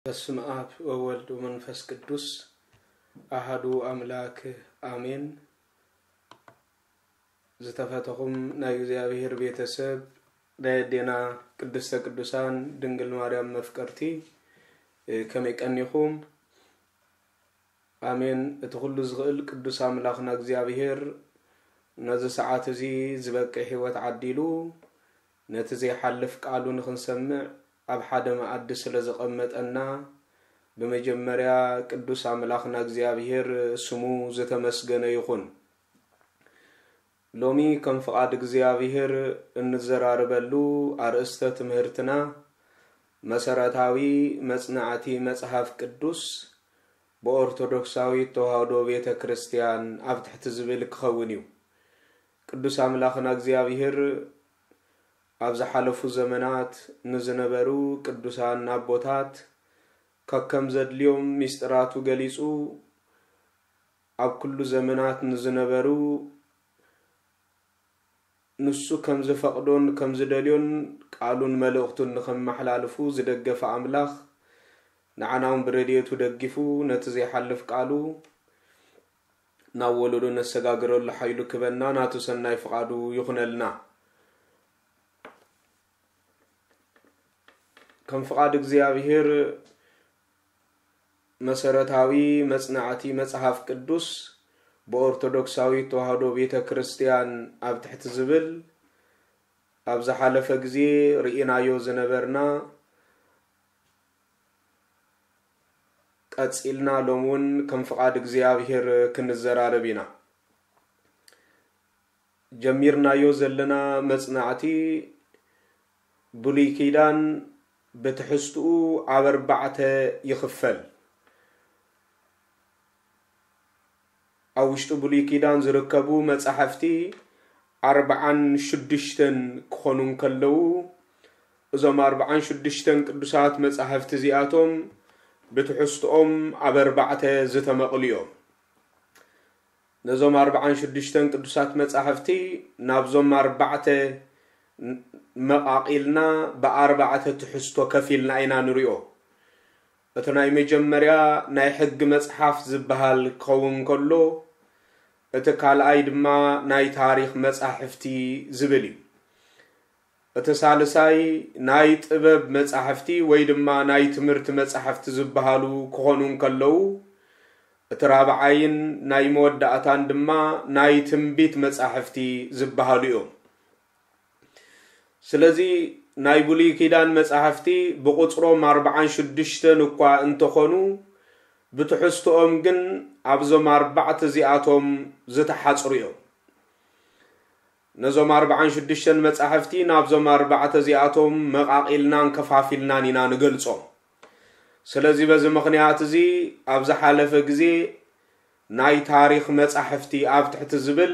በስመ አብ ወወልድ ወመንፈስ ቅዱስ አሐዱ አምላክ አሜን። ዝተፈተኹም ናይ እግዚኣብሔር ቤተሰብ፣ ናይ ኣዴና ቅድስተ ቅዱሳን ድንግል ማርያም መፍቀርቲ፣ እ፣ ከመይ ቀኒኹም? ኣሜን። እቲ ኩሉ ዝኽእል ቅዱስ ኣምላኽና እግዚኣብሔር ነዚ ሰዓት እዚ ዝበቅዕ ህይወት ዓዲሉ፣ ነቲ ዘይሓልፍ ቃሉ ንኽንሰምዕ ኣብ ሓደ መኣዲ ስለ ዘቐመጠና፣ ብመጀመርያ ቅዱስ ኣምላኽና እግዚኣብሔር ስሙ ዝተመስገነ ይኹን። ሎሚ ከም ፍቓድ እግዚኣብሔር እንዘራረበሉ ኣርእስተ ትምህርትና መሰረታዊ መጽናዕቲ መጽሓፍ ቅዱስ ብኦርቶዶክሳዊት ተዋህዶ ቤተ ክርስቲያን ኣብ ትሕቲ ዝብል ክኸውን እዩ። ቅዱስ ኣምላኽና እግዚኣብሔር ኣብ ዝሓለፉ ዘመናት ንዝነበሩ ቅዱሳን ኣቦታት ከከም ዘድልዮም ምስጢራቱ ገሊጹ፣ ኣብ ኩሉ ዘመናት ንዝነበሩ ንሱ ከም ዝፈቕዶን ከም ዝደልዮን ቃሉን መልእኽቱን ንኸመሓላልፉ ዝደገፈ ኣምላኽ፣ ንዓና እውን ብረድኤቱ ደጊፉ ነቲ ዘይሓልፍ ቃሉ ናብ ወለዶ ነሰጋግረሉ ሓይሉ ክበና ናቱ ሰናይ ፍቓዱ ይኹነልና። ከም ፍቓድ እግዚኣብሔር መሰረታዊ መጽናዕቲ መጽሓፍ ቅዱስ ብኦርቶዶክሳዊት ተዋህዶ ቤተ ክርስቲያን ኣብ ትሕቲ ዝብል ኣብ ዝሓለፈ ግዜ ርኢናዮ ዝነበርና ቀጺልና ሎም እውን ከም ፍቓድ እግዚኣብሔር ክንዘራረብ ኢና። ጀሚርናዮ ዘለና መጽናዕቲ ብሉይ ኪዳን ብትሕዝትኡ ኣብ ኣርባዕተ ይኽፈል። ኣብ ውሽጢ ብሉይ ኪዳን ዝርከቡ መጻሕፍቲ ኣርብዓን ሽዱሽተን ክኾኑ እንከለዉ፣ እዞም ኣርብዓን ሽዱሽተን ቅዱሳት መጻሕፍቲ እዚኣቶም ብትሕዝትኦም ኣብ ኣርባዕተ ዝተመቕሉ እዮም። ነዞም ኣርብዓን ሽዱሽተን ቅዱሳት መጻሕፍቲ ናብዞም ኣርባዕተ መቓቒልና ብኣርባዕተ ትሕዝቶ ከፊልና ኢና ንሪኦ። እቲ ናይ መጀመርያ ናይ ሕጊ መጽሓፍ ዝበሃል ክኸውን ከሎ፣ እቲ ካልኣይ ድማ ናይ ታሪኽ መጻሕፍቲ ዝብል እዩ። እቲ ሳልሳይ ናይ ጥበብ መጻሕፍቲ ወይ ድማ ናይ ትምህርቲ መጻሕፍቲ ዝበሃሉ ክኾኑ እንከለዉ፣ እቲ ራብዓይን ናይ መወዳእታን ድማ ናይ ትንቢት መጻሕፍቲ ዝበሃሉ እዮም። ስለዚ ናይ ብሉይ ኪዳን መጻሕፍቲ ብቑጽሮም ኣርብዓን ሽዱሽተን እኳ እንተኾኑ፣ ብትሕዝትኦም ግን ኣብዞም ኣርባዕተ እዚኣቶም ዝተሓጽሩ እዮም። ነዞም ኣርብዓን ሽዱሽተን መጻሕፍቲ ናብዞም ኣርባዕተ እዚኣቶም መቓቒልናን ከፋፊልናን ኢና ንገልጾም። ስለዚ በዚ ምኽንያት እዚ ኣብ ዝሓለፈ ግዜ ናይ ታሪኽ መጻሕፍቲ ኣብ ትሕቲ ዝብል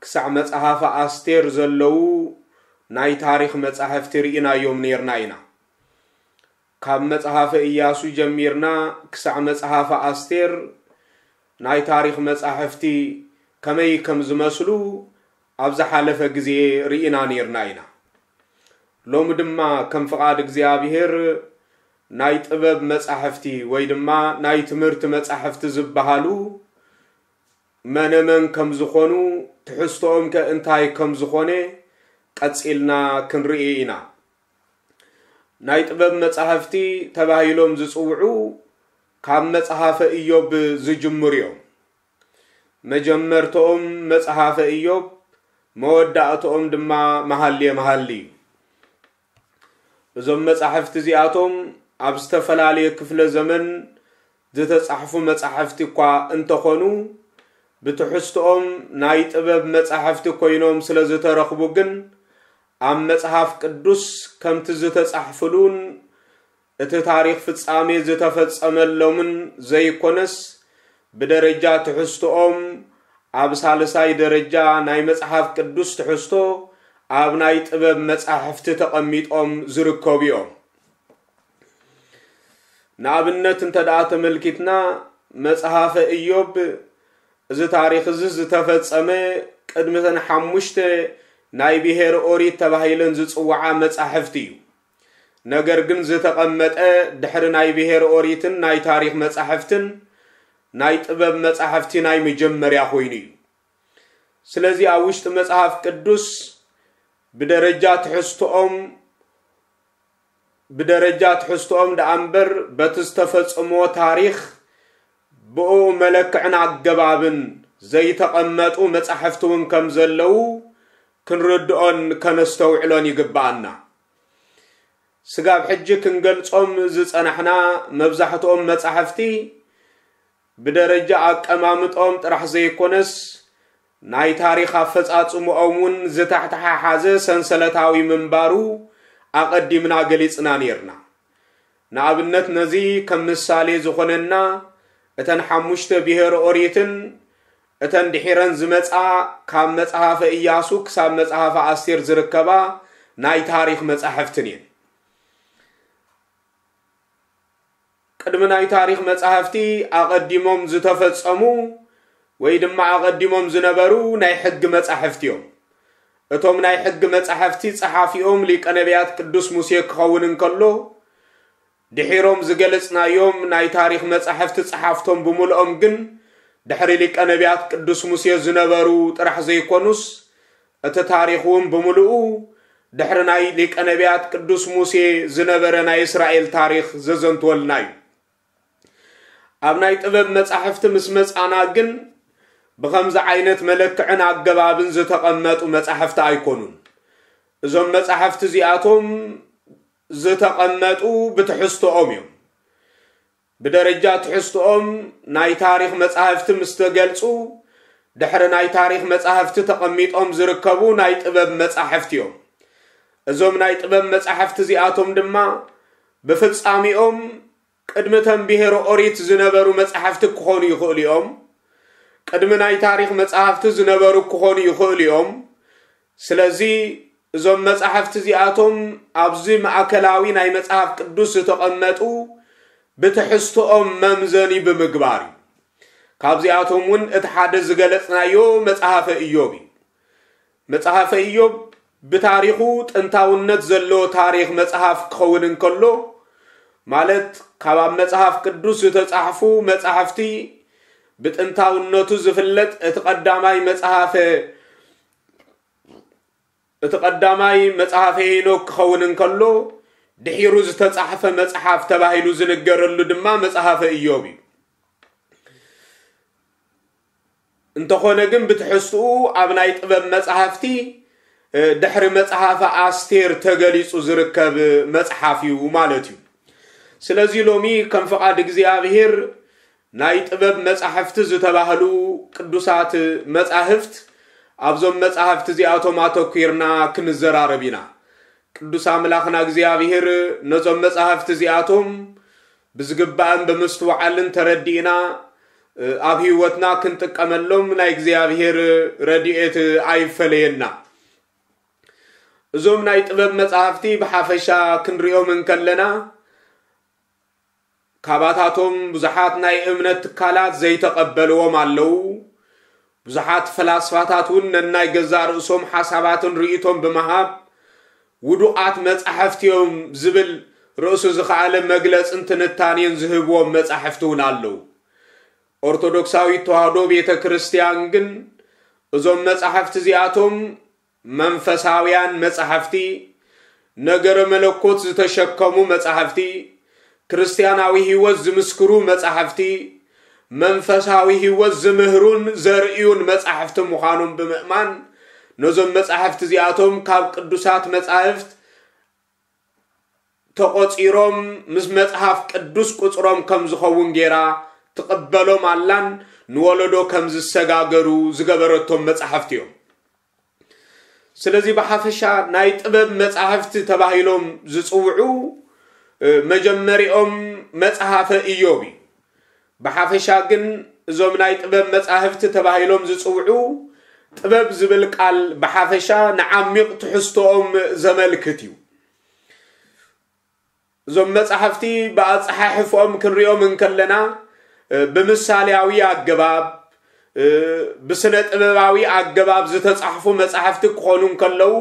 ክሳዕ መጽሓፈ ኣስቴር ዘለዉ ናይ ታሪኽ መጻሕፍቲ ርኢናዮም ነይርና ኢና። ካብ መጽሓፈ ኢያሱ ጀሚርና ክሳዕ መጽሓፈ ኣስቴር ናይ ታሪኽ መጻሕፍቲ ከመይ ከም ዝመስሉ ኣብ ዝሓለፈ ግዜ ርኢና ነይርና ኢና። ሎሚ ድማ ከም ፍቓድ እግዚኣብሔር ናይ ጥበብ መጻሕፍቲ ወይ ድማ ናይ ትምህርቲ መጻሕፍቲ ዝበሃሉ መነመን ከም ዝኾኑ፣ ትሕዝቶኦም ከ እንታይ ከም ዝኾነ ቀጺልና ክንርኢ ኢና። ናይ ጥበብ መጻሕፍቲ ተባሂሎም ዝጽውዑ ካብ መጽሓፈ ኢዮብ ዝጅምሩ እዮም። መጀመርትኦም መጽሓፈ ኢዮብ፣ መወዳእትኦም ድማ መሃልየ መሃሊ እዩ። እዞም መጻሕፍቲ እዚኣቶም ኣብ ዝተፈላለየ ክፍለ ዘመን ዝተጻሕፉ መጻሕፍቲ እኳ እንተኾኑ፣ ብትሕዝትኦም ናይ ጥበብ መጻሕፍቲ ኮይኖም ስለ ዝተረኽቡ ግን፣ ኣብ መጽሓፍ ቅዱስ ከምቲ ዝተጻሕፍሉን እቲ ታሪኽ ፍጻሜ ዝተፈጸመሎምን ዘይኮነስ፣ ብደረጃ ትሕዝቶኦም ኣብ ሳልሳይ ደረጃ ናይ መጽሓፍ ቅዱስ ትሕዝቶ ኣብ ናይ ጥበብ መጻሕፍቲ ተቐሚጦም ዝርከቡ እዮም። ንኣብነት እንተ ደኣ ተመልኪትና፣ መጽሓፈ ኢዮብ፣ እዚ ታሪኽ እዚ ዝተፈጸመ ቅድሚ እተን ሓሙሽተ ናይ ብሄር ኦሪት ተባሂለን ዝጽውዓ መጻሕፍቲ እዩ። ነገር ግን ዝተቐመጠ ድሕሪ ናይ ብሄር ኦሪትን ናይ ታሪኽ መጻሕፍትን ናይ ጥበብ መጻሕፍቲ ናይ መጀመርያ ኮይኑ እዩ። ስለዚ ኣብ ውሽጢ መጽሓፍ ቅዱስ ብደረጃ ትሕዝቶኦም ብደረጃ ትሕዝቶኦም ደኣ እምበር በቲ ዝተፈጸሞ ታሪኽ ብኡ መለክዕን ኣገባብን ዘይተቐመጡ መጻሕፍቲ እውን ከም ዘለዉ ክንርድኦን ከነስተውዕሎን ይግብኣና። ስጋብ ሕጂ ክንገልጾም ዝጸናሕና መብዛሕትኦም መጻሕፍቲ ብደረጃ ኣቀማምጦም ጥራሕ ዘይኮነስ፣ ናይ ታሪኽ ኣፈጻጽምኦም እውን ዝተሓተሓሓዘ ሰንሰለታዊ ምንባሩ ኣቐዲምና ገሊጽና ኔርና። ንኣብነት ነዚ ከም ምሳሌ ዝኾነና፣ እተን ሓሙሽተ ብሄር ኦሪትን እተን ድሒረን ዝመጻ ካብ መጽሓፈ ኢያሱ ክሳብ መጽሓፈ ኣስቴር ዝርከባ ናይ ታሪኽ መጻሕፍትን እየን። ቅድሚ ናይ ታሪኽ መጻሕፍቲ ኣቐዲሞም ዝተፈጸሙ ወይ ድማ ኣቐዲሞም ዝነበሩ ናይ ሕጊ መጻሕፍቲ እዮም። እቶም ናይ ሕጊ መጻሕፍቲ ጸሓፊኦም ሊቀ ነቢያት ቅዱስ ሙሴ ክኸውን እንከሎ፣ ድሒሮም ዝገለጽናዮም ናይ ታሪኽ መጻሕፍቲ ጸሓፍቶም ብምልኦም ግን ድሕሪ ሊቀ ነቢያት ቅዱስ ሙሴ ዝነበሩ ጥራሕ ዘይኮኑስ፣ እቲ ታሪኽ እውን ብምልኡ ድሕሪ ናይ ሊቀ ነቢያት ቅዱስ ሙሴ ዝነበረ ናይ እስራኤል ታሪኽ ዘዘንትወልና እዩ። ኣብ ናይ ጥበብ መጻሕፍቲ ምስ መጻና ግን ብኸምዚ ዓይነት መለክዕን ኣገባብን ዝተቐመጡ መጻሕፍቲ ኣይኮኑን። እዞም መጻሕፍቲ እዚኣቶም ዝተቐመጡ ብትሕዝቶኦም እዮም። ብደረጃ ትሕዝቶኦም ናይ ታሪኽ መጻሕፍቲ ምስ ተገልጹ፣ ድሕሪ ናይ ታሪኽ መጻሕፍቲ ተቐሚጦም ዝርከቡ ናይ ጥበብ መጻሕፍቲ እዮም። እዞም ናይ ጥበብ መጻሕፍቲ እዚኣቶም ድማ ብፍጻሜኦም ቅድሚ ተንብሄሮ ኦሪት ዝነበሩ መጻሕፍቲ ክኾኑ ይኽእሉ እዮም። ቅድሚ ናይ ታሪኽ መጻሕፍቲ ዝነበሩ ክኾኑ ይኽእሉ እዮም። ስለዚ እዞም መጻሕፍቲ እዚኣቶም ኣብዚ ማእከላዊ ናይ መጽሓፍ ቅዱስ ዝተቐመጡ ብትሕዝቶኦም መምዘኒ ብምግባር እዩ። ካብዚኣቶም እውን እቲ ሓደ ዝገለጽናዮ መጽሓፈ ኢዮብ እዩ። መጽሓፈ ኢዮብ ብታሪኹ ጥንታውነት ዘለዎ ታሪኽ መጽሓፍ ክኸውን እንከሎ፣ ማለት ካብ ኣብ መጽሓፍ ቅዱስ ዝተጻሕፉ መጻሕፍቲ ብጥንታውነቱ ዝፍለጥ እቲ ቀዳማይ መጽሓፈ እቲ ቀዳማይ መጽሓፈ ሄኖክ ክኸውን እንከሎ፣ ድሒሩ ዝተጻሕፈ መጽሓፍ ተባሂሉ ዝንገረሉ ድማ መጽሓፈ ኢዮብ እዩ። እንተኾነ ግን ብትሕዝትኡ ኣብ ናይ ጥበብ መጻሕፍቲ ድሕሪ መጽሓፈ ኣስቴር ተገሊጹ ዝርከብ መጽሓፍ እዩ ማለት እዩ። ስለዚ ሎሚ ከም ፍቓድ እግዚኣብሔር ናይ ጥበብ መጻሕፍቲ ዝተባህሉ ቅዱሳት መጻሕፍት ኣብዞም መጻሕፍቲ እዚኣቶም ኣተኲርና ክንዘራረብ ኢና። ቅዱስ ኣምላኽና እግዚኣብሔር ነዞም መጻሕፍቲ እዚኣቶም ብዝግባእን ብምስትውዓልን ተረዲእና ኣብ ህይወትና ክንጥቀመሎም ናይ እግዚኣብሔር ረድኤት ኣይፈለየና። እዞም ናይ ጥበብ መጻሕፍቲ ብሓፈሻ ክንሪኦም እንከለና፣ ካባታቶም ብዙሓት ናይ እምነት ትካላት ዘይተቐበልዎም ኣለዉ። ብዙሓት ፈላስፋታት እውን ነናይ ገዛእ ርእሶም ሓሳባትን ርእይቶን ብምሃብ፣ ውዱቓት መጻሕፍቲ እዮም ዝብል ርእሱ ዝኸኣለ መግለጽን ትንታኔን ዝህብዎም መጻሕፍቲ እውን ኣለዉ። ኦርቶዶክሳዊት ተዋህዶ ቤተ ክርስቲያን ግን እዞም መጻሕፍቲ እዚኣቶም መንፈሳውያን መጻሕፍቲ፣ ነገረ መለኮት ዝተሸከሙ መጻሕፍቲ፣ ክርስትያናዊ ህይወት ዝምስክሩ መጻሕፍቲ፣ መንፈሳዊ ህይወት ዝምህሩን ዘርእዩን መጻሕፍቲ ምዃኖም ብምእማን፣ ነዞም መጻሕፍቲ እዚኣቶም ካብ ቅዱሳት መጻሕፍት ተቖጺሮም ምስ መጽሓፍ ቅዱስ ቁጽሮም ከም ዝኸውን ጌራ ትቕበሎም ኣላን ንወለዶ ከም ዝሰጋገሩ ዝገበረቶም መጻሕፍቲ እዮም። ስለዚ ብሓፈሻ ናይ ጥበብ መጻሕፍቲ ተባሂሎም ዝጽውዑ፣ እ፣ መጀመሪኦም መጽሓፈ ኢዮብ እዩ። ብሓፈሻ ግን እዞም ናይ ጥበብ መጻሕፍቲ ተባሂሎም ዝጽውዑ፣ ጥበብ ዝብል ቃል ብሓፈሻ ንዓሚቕ ትሕዝቶኦም ዘመልክት እዩ። እዞም መጻሕፍቲ ብኣጸሓሕፍኦም ክንሪኦም እንከለና፣ እ፣ ብምሳሌያዊ ኣገባብ፣ እ፣ ብስነ ጥበባዊ ኣገባብ ዝተጻሕፉ መጻሕፍቲ ክኾኑ እንከለዉ፣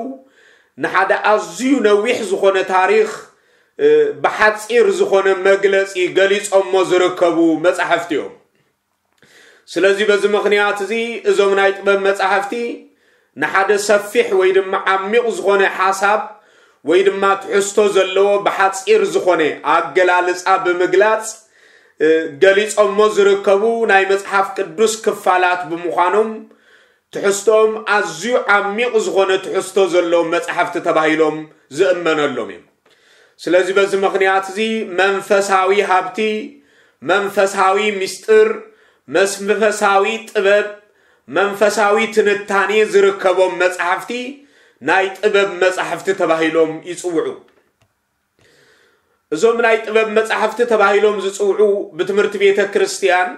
ንሓደ ኣዝዩ ነዊሕ ዝኾነ ታሪኽ፣ እ፣ ብሓጺር ዝኾነ መግለጺ ገሊጾሞ ዝርከቡ መጻሕፍቲ እዮም። ስለዚ በዚ ምኽንያት እዚ እዞም ናይ ጥበብ መጻሕፍቲ ንሓደ ሰፊሕ ወይ ድማ ዓሚቕ ዝኾነ ሓሳብ ወይ ድማ ትሕዝቶ ዘለዎ ብሓጺር ዝኾነ ኣገላልጻ ብምግላጽ፣ እ፣ ገሊጾሞ ዝርከቡ ናይ መጽሓፍ ቅዱስ ክፋላት ብምዃኖም ትሕዝቶኦም ኣዝዩ ዓሚቕ ዝኾነ ትሕዝቶ ዘለዎም መጻሕፍቲ ተባሂሎም ዝእመነሎም እዮም። ስለዚ በዚ ምኽንያት እዚ መንፈሳዊ ሃብቲ፣ መንፈሳዊ ምስጢር፣ መንፈሳዊ ጥበብ፣ መንፈሳዊ ትንታኔ ዝርከቦም መጻሕፍቲ ናይ ጥበብ መጻሕፍቲ ተባሂሎም ይጽውዑ። እዞም ናይ ጥበብ መጻሕፍቲ ተባሂሎም ዝጽውዑ ብትምህርቲ ቤተ ክርስቲያን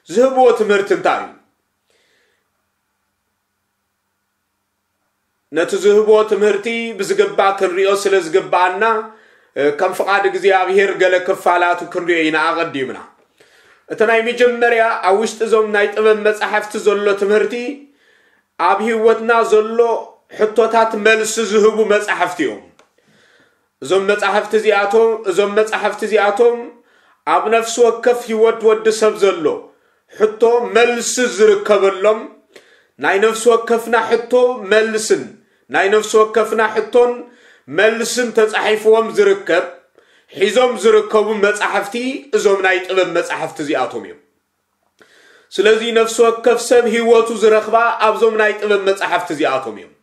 ዝህብዎ ትምህርቲ እንታይ እዩ? ነቲ ዝህብዎ ትምህርቲ ብዝግባእ ክንሪኦ ስለ ዝግብኣና፣ እ፣ ከም ፍቓድ እግዚኣብሔር ገለ ክፋላቱ ክንሪኦ ኢና ኣቐዲምና። እቲ ናይ መጀመርያ ኣብ ውሽጢ እዞም ናይ ጥበብ መጻሕፍቲ ዘሎ ትምህርቲ ኣብ ህይወትና ዘሎ ሕቶታት መልሲ ዝህቡ መጻሕፍቲ እዮም። እዞም መጻሕፍቲ እዚኣቶም፣ እዞም መጻሕፍቲ እዚኣቶም ኣብ ነፍሲ ወከፍ ህይወት ወዲ ሰብ ዘሎ ሕቶ መልሲ ዝርከበሎም፣ ናይ ነፍሲ ወከፍና ሕቶ መልስን፣ ናይ ነፍሲ ወከፍና ሕቶን መልስን ተጻሒፍዎም ዝርከብ፣ ሒዞም ዝርከቡ መጻሕፍቲ እዞም ናይ ጥበብ መጻሕፍቲ እዚኣቶም እዮም። ስለዚ ነፍሲ ወከፍ ሰብ ህይወቱ ዝረኽባ ኣብዞም ናይ ጥበብ መጻሕፍቲ እዚኣቶም እዮም።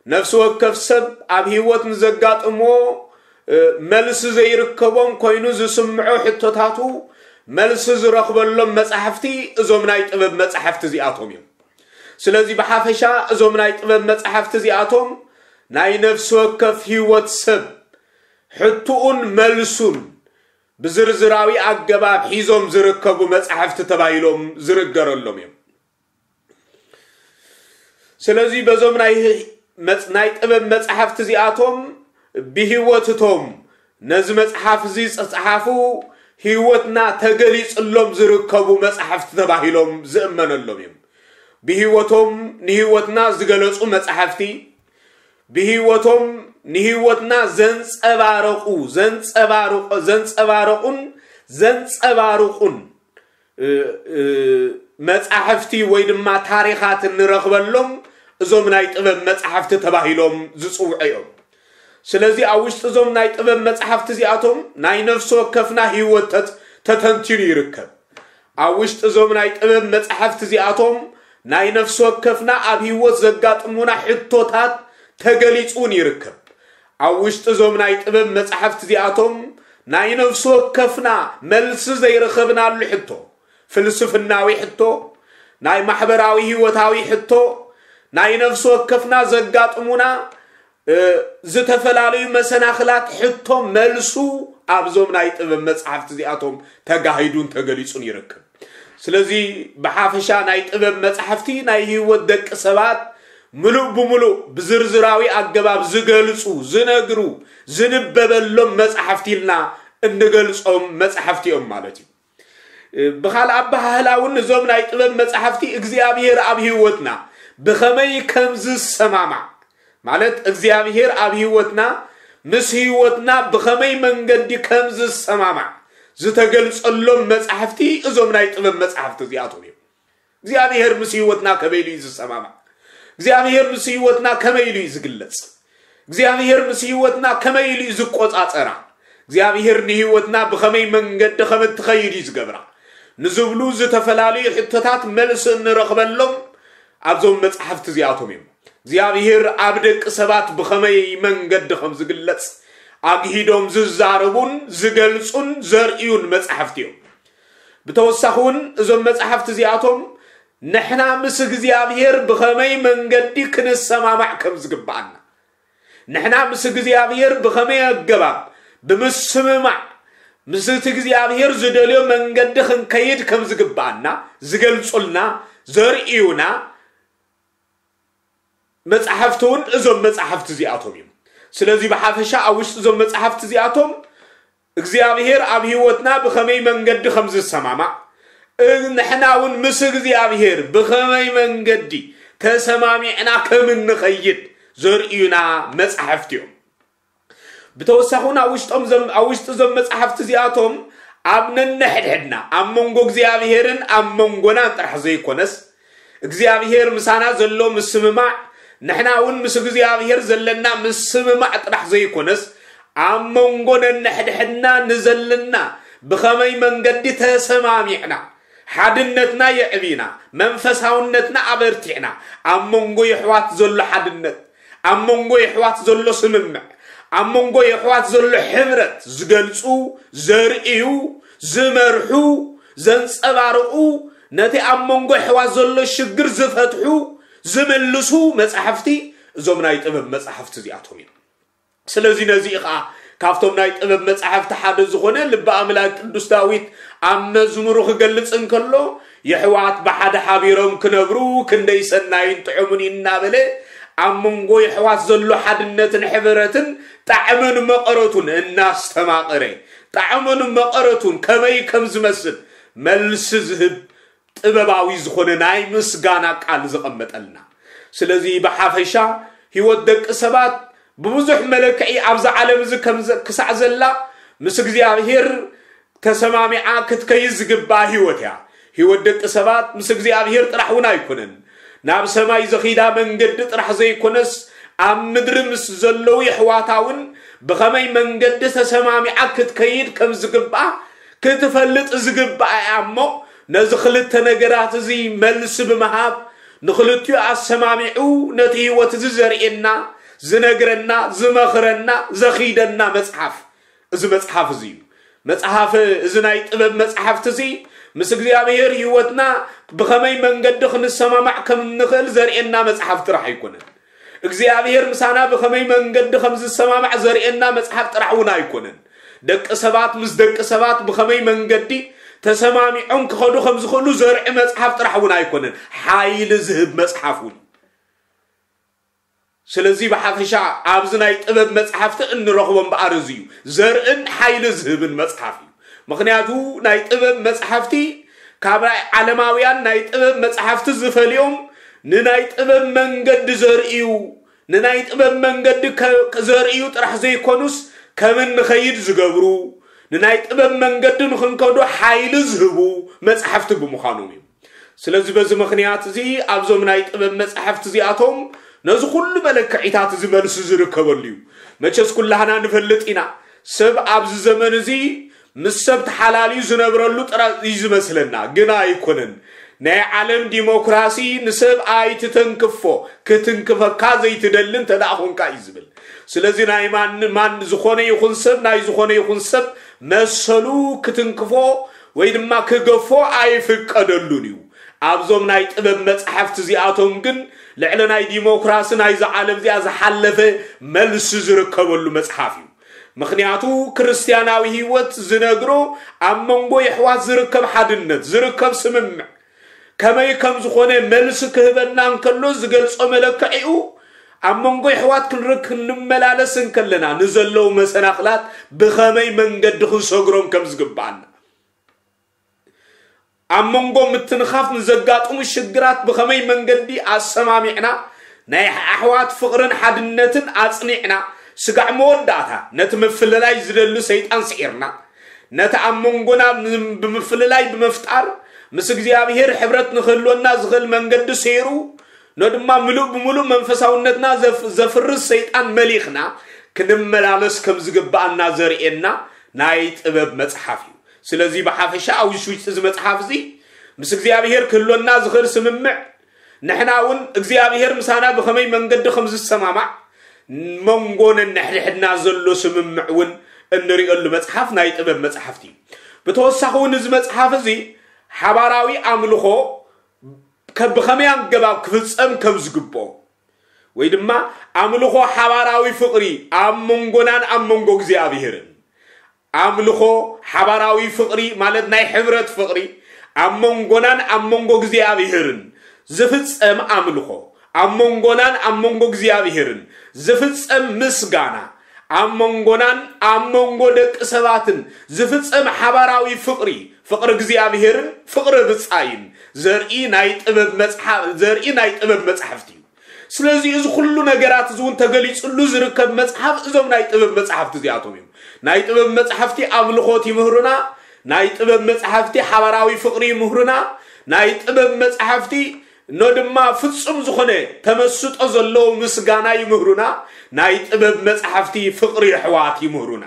ነፍሲ ወከፍ ሰብ ኣብ ህይወት ንዘጋጥምዎ፣ እ፣ መልሲ ዘይርከቦም ኮይኑ ዝስምዖ ሕቶታቱ መልሲ ዝረኽበሎም መጻሕፍቲ እዞም ናይ ጥበብ መጻሕፍቲ እዚኣቶም እዮም። ስለዚ ብሓፈሻ እዞም ናይ ጥበብ መጻሕፍቲ እዚኣቶም ናይ ነፍሲ ወከፍ ህይወት ሰብ ሕቶኡን መልሱን ብዝርዝራዊ ኣገባብ ሒዞም ዝርከቡ መጻሕፍቲ ተባሂሎም ዝርገረሎም እዮም። ስለዚ በዞም ናይ መጽ-፣ ናይ ጥበብ መጻሕፍቲ እዚኣቶም ብህይወት እቶም ነዚ መጽሓፍ እዚ ዝጸሓፉ ህይወትና ተገሊጽሎም ዝርከቡ መጻሕፍቲ ተባሂሎም ዝእመነሎም እዮም። ብህይወቶም ንህይወትና ዝገለጹ መጻሕፍቲ፣ ብህይወቶም ንህይወትና ዘንጸባረቑ፣ ዘንጸባርቑ-፣ ዘንጸባረቑን ዘንጸባርቑን፣ እ፣ እ፣ መጻሕፍቲ ወይ ድማ ታሪኻት እንረኽበሎም እዞም ናይ ጥበብ መጻሕፍቲ ተባሂሎም ዝጽውዑ እዮም። ስለዚ ኣብ ውሽጢ እዞም ናይ ጥበብ መጻሕፍቲ እዚኣቶም ናይ ነፍሲ ወከፍና ህይወት ተት-፣ ተተንቲኑ ይርከብ። ኣብ ውሽጢ እዞም ናይ ጥበብ መጻሕፍቲ እዚኣቶም ናይ ነፍሲ ወከፍና ኣብ ህይወት ዘጋጥሙና ሕቶታት ተገሊጹ እውን ይርከብ። ኣብ ውሽጢ እዞም ናይ ጥበብ መጻሕፍቲ እዚኣቶም ናይ ነፍሲ ወከፍና መልሲ ዘይረኸብናሉ ሕቶ፣ ፍልስፍናዊ ሕቶ፣ ናይ ማሕበራዊ ህይወታዊ ሕቶ፣ ናይ ነፍሲ ወከፍና ዘጋጥሙና እ፣ ዝተፈላለዩ መሰናኽላት ሕቶ መልሱ ኣብዞም ናይ ጥበብ መጻሕፍቲ እዚኣቶም ተጋሂዱን ተገሊጹን ይርከብ። ስለዚ ብሓፈሻ ናይ ጥበብ መጻሕፍቲ ናይ ህይወት ደቂ ሰባት ምሉእ ብምሉእ ብዝርዝራዊ ኣገባብ ዝገልጹ፣ ዝነግሩ፣ ዝንበበሎም መጻሕፍቲ ኢልና እንገልጾም መጻሕፍቲ እዮም ማለት እዩ። ብኻልእ ኣበሃህላ እውን እዞም ናይ ጥበብ መጻሕፍቲ እግዚኣብሔር ኣብ ህይወትና ብኸመይ ከም ዝሰማማዕ፣ ማለት እግዚኣብሔር ኣብ ህይወትና ምስ ህይወትና ብኸመይ መንገዲ ከም ዝሰማማዕ ዝተገልጸሎም መጻሕፍቲ እዞም ናይ ጥበብ መጻሕፍቲ እዚኣቶም እዮም። እግዚኣብሔር ምስ ህይወትና ከመይ ኢሉ እዩ ዝሰማማዕ? እግዚኣብሔር ምስ ህይወትና ከመይ ኢሉ እዩ ዝግለጽ? እግዚኣብሔር ምስ ህይወትና ከመይ ኢሉ እዩ ዝቆጻጸራ? እግዚኣብሔር ንህይወትና ብኸመይ መንገዲ ከም እትኸይድ እዩ ዝገብራ? ንዝብሉ ዝተፈላለዩ ሕቶታት መልሲ እንረኽበሎም ኣብዞም መጻሕፍቲ እዚኣቶም እዮም። እግዚኣብሔር ኣብ ደቂ ሰባት ብኸመይ መንገዲ ከም ዝግለጽ ኣግሂዶም ዝዛረቡን ዝገልጹን ዘርእዩን መጻሕፍቲ እዮም። ብተወሳኺ እውን እዞም መጻሕፍቲ እዚኣቶም ንሕና ምስ እግዚኣብሔር ብኸመይ መንገዲ ክንሰማማዕ ከም ዝግብኣና፣ ንሕና ምስ እግዚኣብሔር ብኸመይ ኣገባብ ብምስምማዕ ምስ እቲ እግዚኣብሔር ዝደልዮ መንገዲ ክንከይድ ከም ዝግባኣና ዝገልጹልና፣ ዘርእዩና መጻሕፍቲ እውን እዞም መጻሕፍቲ እዚኣቶም እዮም። ስለዚ ብሓፈሻ ኣብ ውሽጢ እዞም መጻሕፍቲ እዚኣቶም እግዚኣብሔር ኣብ ህይወትና ብኸመይ መንገዲ ከም ዝሰማማዕ፣ እ- ንሕና እውን ምስ እግዚኣብሔር ብኸመይ መንገዲ ተሰማሚዕና ከም እንኸይድ ዘርእዩና መጻሕፍቲ እዮም። ብተወሳኺ እውን ኣብ ውሽጦም ዘም- ኣብ ውሽጢ እዞም መጻሕፍቲ እዚኣቶም ኣብ ነንሕድሕድና ኣብ መንጎ እግዚኣብሔርን ኣብ መንጎናን ጥራሕ ዘይኮነስ እግዚኣብሔር ምሳና ዘሎ ምስምማዕ፣ ንሕና እውን ምስ እግዚኣብሔር ዘለና ምስምማዕ ጥራሕ ዘይኮነስ ኣብ መንጎ ነንሕድሕድና ንዘለና ብኸመይ መንገዲ ተሰማሚዕና ሓድነትና የዕቢና፣ መንፈሳውነትና ኣበርቲዕና፣ ኣብ መንጎ የሕዋት ዘሎ ሓድነት፣ ኣብ መንጎ የሕዋት ዘሎ ስምምዕ፣ ኣብ መንጎ የሕዋት ዘሎ ሕብረት ዝገልጹ፣ ዘርእዩ፣ ዝመርሑ፣ ዘንጸባርቑ፣ ነቲ ኣብ መንጎ የሕዋት ዘሎ ሽግር ዝፈትሑ፣ ዝምልሱ መጻሕፍቲ እዞም ናይ ጥበብ መጻሕፍቲ እዚኣቶም እዮም። ስለዚ ነዚ ኸኣ ካብቶም ናይ ጥበብ መጻሕፍቲ ሓደ ዝኾነ ልቢ ኣምላክ ቅዱስ ዳዊት ኣብ መዝሙሩ ክገልጽ እንከሎ፣ የሕዋት ብሓደ ሓቢሮም ክነብሩ ክንደይ ሰናይን ጥዑምን እዩ እናበለ ኣብ መንጎ የሕዋት ዘሎ ሓድነትን ሕብረትን ጣዕምን መቐረቱን እናስተማቐረ፣ ጣዕምን መቐረቱን ከመይ ከም ዝመስል መልሲ ዝህብ ጥበባዊ ዝኾነ ናይ ምስጋና ቃል ዘቐመጠልና። ስለዚ ብሓፈሻ ህይወት ደቂ ሰባት ብብዙሕ መለክዒ ኣብዛ ዓለም እዚ ከም ዘ- ክሳዕ ዘላ ምስ እግዚኣብሔር ተሰማሚዓ ክትከይድ ዝግባኣ ህይወት እያ። ህይወት ደቂ ሰባት ምስ እግዚኣብሔር ጥራሕ እውን ኣይኮነን። ናብ ሰማይ ዘኺዳ መንገዲ ጥራሕ ዘይኮነስ ኣብ ምድሪ ምስ ዘለዉ የሕዋታ እውን ብኸመይ መንገዲ ተሰማሚዓ ክትከይድ ከም ዝግባኣ ክትፈልጥ ዝግባኣ እያ እሞ ነዚ ክልተ ነገራት እዚ መልሲ ብምሃብ ንኽልቲኡ ኣሰማሚዑ ነቲ ህይወት እዚ ዘርእየና ዝነግረና ዝመኽረና ዘኺደና መጽሓፍ እዚ መጽሓፍ እዚ እዩ። መጽሓፍ እዚ ናይ ጥበብ መጽሓፍቲ እዚ ምስ እግዚኣብሔር ህይወትና ብኸመይ መንገዲ ክንሰማማዕ ከም እንኽእል ዘርእየና መጽሓፍ ጥራሕ ኣይኮነን። እግዚኣብሔር ምሳና ብኸመይ መንገዲ ከም ዝሰማማዕ ዘርእየና መጽሓፍ ጥራሕ እውን ኣይኮነን። ደቂ ሰባት ምስ ደቂ ሰባት ብኸመይ መንገዲ ተሰማሚዖም ክኸዱ ከም ዝኽእሉ ዘርኢ መጽሓፍ ጥራሕ እውን ኣይኮነን፣ ሓይሊ ዝህብ መጽሓፍ እውን። ስለዚ ብሓፈሻ ኣብዚ ናይ ጥበብ መጽሓፍቲ እንረኽቦ እምበኣር እዚ እዩ፣ ዘርእን ሓይሊ ዝህብን መጽሓፍ እዩ። ምኽንያቱ ናይ ጥበብ መጽሓፍቲ ካብ ናይ ዓለማውያን ናይ ጥበብ መጽሓፍቲ ዝፈልዮም ንናይ ጥበብ መንገዲ ዘርእዩ፣ ንናይ ጥበብ መንገዲ ከ- ዘርእዩ ጥራሕ ዘይኮኑስ ከም እንኸይድ ዝገብሩ፣ ንናይ ጥበብ መንገዲ ንኽንከዶ ሓይሊ ዝህቡ መጽሓፍቲ ብምዃኖም እዩ። ስለዚ በዚ ምኽንያት እዚ ኣብዞም ናይ ጥበብ መጻሕፍቲ እዚኣቶም ነዚ ኩሉ መለክዒታት እዚ መልሲ ዝርከበሉ እዩ። መቸስ ኩላህና ንፈልጥ ኢና፣ ሰብ ኣብዚ ዘመን እዚ ምስ ሰብ ተሓላልዩ ዝነብረሉ ጥራይ እዩ ዝመስለና፣ ግና ኣይኮነን። ናይ ዓለም ዲሞክራሲ ንሰብ ኣይትተንክፎ፣ ክትንክፈካ ዘይትደሊ እንተ ደኣ ኾንካ እዩ ዝብል። ስለዚ ናይ ማን ማን ዝኾነ ይኹን ሰብ ናይ ዝኾነ ይኹን ሰብ መሰሉ ክትንክፎ ወይ ድማ ክገፎ ኣይፍቀደሉን እዩ። ኣብዞም ናይ ጥበብ መጻሕፍቲ እዚኣቶም ግን ልዕሊ ናይ ዲሞክራሲ ናይዚ ዓለም እዚኣ ዝሓለፈ መልሲ ዝርከበሉ መጽሓፍ እዩ። ምኽንያቱ ክርስትያናዊ ህይወት ዝነግሮ ኣብ መንጎ የሕዋት ዝርከብ ሓድነት፣ ዝርከብ ስምምዕ ከመይ ከም ዝኾነ መልሲ ክህበና እንከሎ ዝገልጾ መለክዒኡ ኣብ መንጎ የሕዋት ክንርክ ክንመላለስ እንከለና ንዘለዉ መሰናኽላት ብኸመይ መንገዲ ክንሰግሮም ከም ዝግባኣና ኣብ መንጎ ምትንኻፍ ንዘጋጥሙ ሽግራት ብኸመይ መንገዲ ኣሰማሚዕና ናይ ኣሕዋት ፍቕርን ሓድነትን ኣጽኒዕና ስጋዕ መወዳእታ ነቲ ምፍልላይ ዝደሊ ሰይጣን ስዒርና ነቲ ኣብ መንጎና ም- ብምፍልላይ ብምፍጣር ምስ እግዚኣብሔር ሕብረት ንክህልወና ዝኽእል መንገዲ ሰይሩ ኖ ድማ ምሉእ ብምሉእ መንፈሳውነትና ዘፍ- ዘፍርስ ሰይጣን መሊኽና ክንመላለስ ከም ዝግባኣና ዘርእየና ናይ ጥበብ መጽሓፍ እዩ። ስለዚ ብሓፈሻ ኣብ ውሽውሽጢ እዚ መጽሓፍ እዚ ምስ እግዚኣብሔር ክህልወና ዝኽእል ስምምዕ ንሕና እውን እግዚኣብሔር ምሳና ብኸመይ መንገዲ ከም ዝሰማማዕ መንጎ ነንሕድሕድና ዘሎ ስምምዕ እውን እንርእየሉ መጽሓፍ ናይ ጥበብ መጽሓፍቲ እዩ። ብተወሳኺ እውን እዚ መጽሓፍ እዚ ሓባራዊ ኣምልኾ ከ- ብኸመይ ኣገባብ ክፍጸም ከም ዝግብኦ ወይ ድማ ኣምልኾ ሓባራዊ ፍቕሪ ኣብ መንጎናን ኣብ መንጎ እግዚኣብሔርን ኣምልኾ፣ ሓባራዊ ፍቕሪ፣ ማለት ናይ ሕብረት ፍቕሪ፣ ኣብ መንጎናን ኣብ መንጎ እግዚኣብሄርን ዝፍጸም ኣምልኾ፣ ኣብ መንጎናን ኣብ መንጎ እግዚኣብሄርን ዝፍጸም ምስጋና፣ ኣብ መንጎናን ኣብ መንጎ ደቂ ሰባትን ዝፍጸም ሓባራዊ ፍቕሪ፣ ፍቕሪ እግዚኣብሄርን ፍቕሪ ብጻይን ዘርኢ ናይ ጥበብ መጽሓ-፣ ዘርኢ ናይ ጥበብ መጻሕፍቲ እዩ። ስለዚ እዚ ኩሉ ነገራት እዚ እውን ተገሊጽሉ ዝርከብ መጽሓፍ እዞም ናይ ጥበብ መጻሕፍቲ እዚኣቶም እዮም። ናይ ጥበብ መጻሕፍቲ ኣምልኾት ይምህሩና፣ ናይ ጥበብ መጻሕፍቲ ሓባራዊ ፍቕሪ ይምህሩና፣ ናይ ጥበብ መጻሕፍቲ ኖ ድማ ፍጹም ዝኾነ ተመስጦ ዘለዎ ምስጋና ይምህሩና፣ ናይ ጥበብ መጻሕፍቲ ፍቕሪ ኣሕዋት ይምህሩና።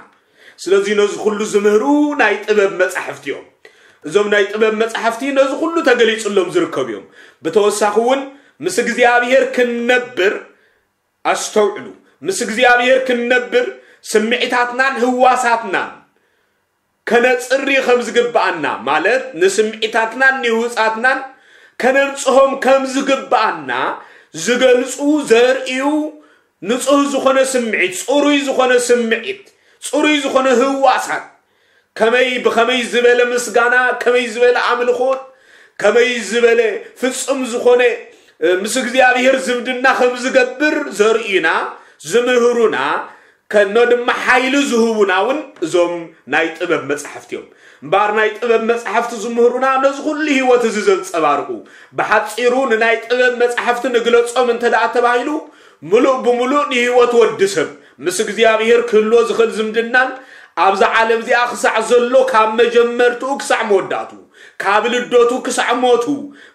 ስለዚ ነዚ ኩሉ ዝምህሩ ናይ ጥበብ መጻሕፍቲ እዮም። እዞም ናይ ጥበብ መጻሕፍቲ ነዚ ኩሉ ተገሊጽሎም ዝርከቡ እዮም። ብተወሳኺ እውን ምስ እግዚኣብሔር ክንነብር፣ ኣስተውዕሉ፣ ምስ እግዚኣብሔር ክንነብር ስምዒታትናን ህዋሳትናን ከነጽሪ ከም ዝግብኣና፣ ማለት ንስምዒታትናን ንህውጻትናን ከነንጽሆም ከም ዝግብኣና ዝገልጹ፣ ዘርእዩ፣ ንጹህ ዝኾነ ስምዒት፣ ጽሩይ ዝኾነ ስምዒት፣ ጽሩይ ዝኾነ ህዋሳት፣ ከመይ፣ ብኸመይ ዝበለ ምስጋና፣ ከመይ ዝበለ ኣምልኾት፣ ከመይ ዝበለ ፍጹም ዝኾነ፣ እ፣ ምስ እግዚኣብሔር ዝምድና ከም ዝገብር ዘርእዩና፣ ዝምህሩና፣ ከኖ ድማ ሓይሊ ዝህቡና እውን እዞም ናይ ጥበብ መጻሕፍቲ እዮም። እምበኣር ናይ ጥበብ መጻሕፍቲ ዝምህሩና ነዚ ኩሉ ህይወት እዚ ዘንጸባርቑ። ብሓጺሩ ንናይ ጥበብ መጻሕፍቲ ንግለጾም እንተ ደኣ ተባሂሉ፣ ምሉእ ብምሉእ ንህይወት ወዲ ሰብ ምስ እግዚኣብሔር ክህልዎ ዝኽእል ዝምድናን ኣብዛ ዓለም እዚኣ ክሳዕ ዘሎ ካብ መጀመርትኡ ክሳዕ መወዳእቱ፣ ካብ ልደቱ ክሳዕ ሞቱ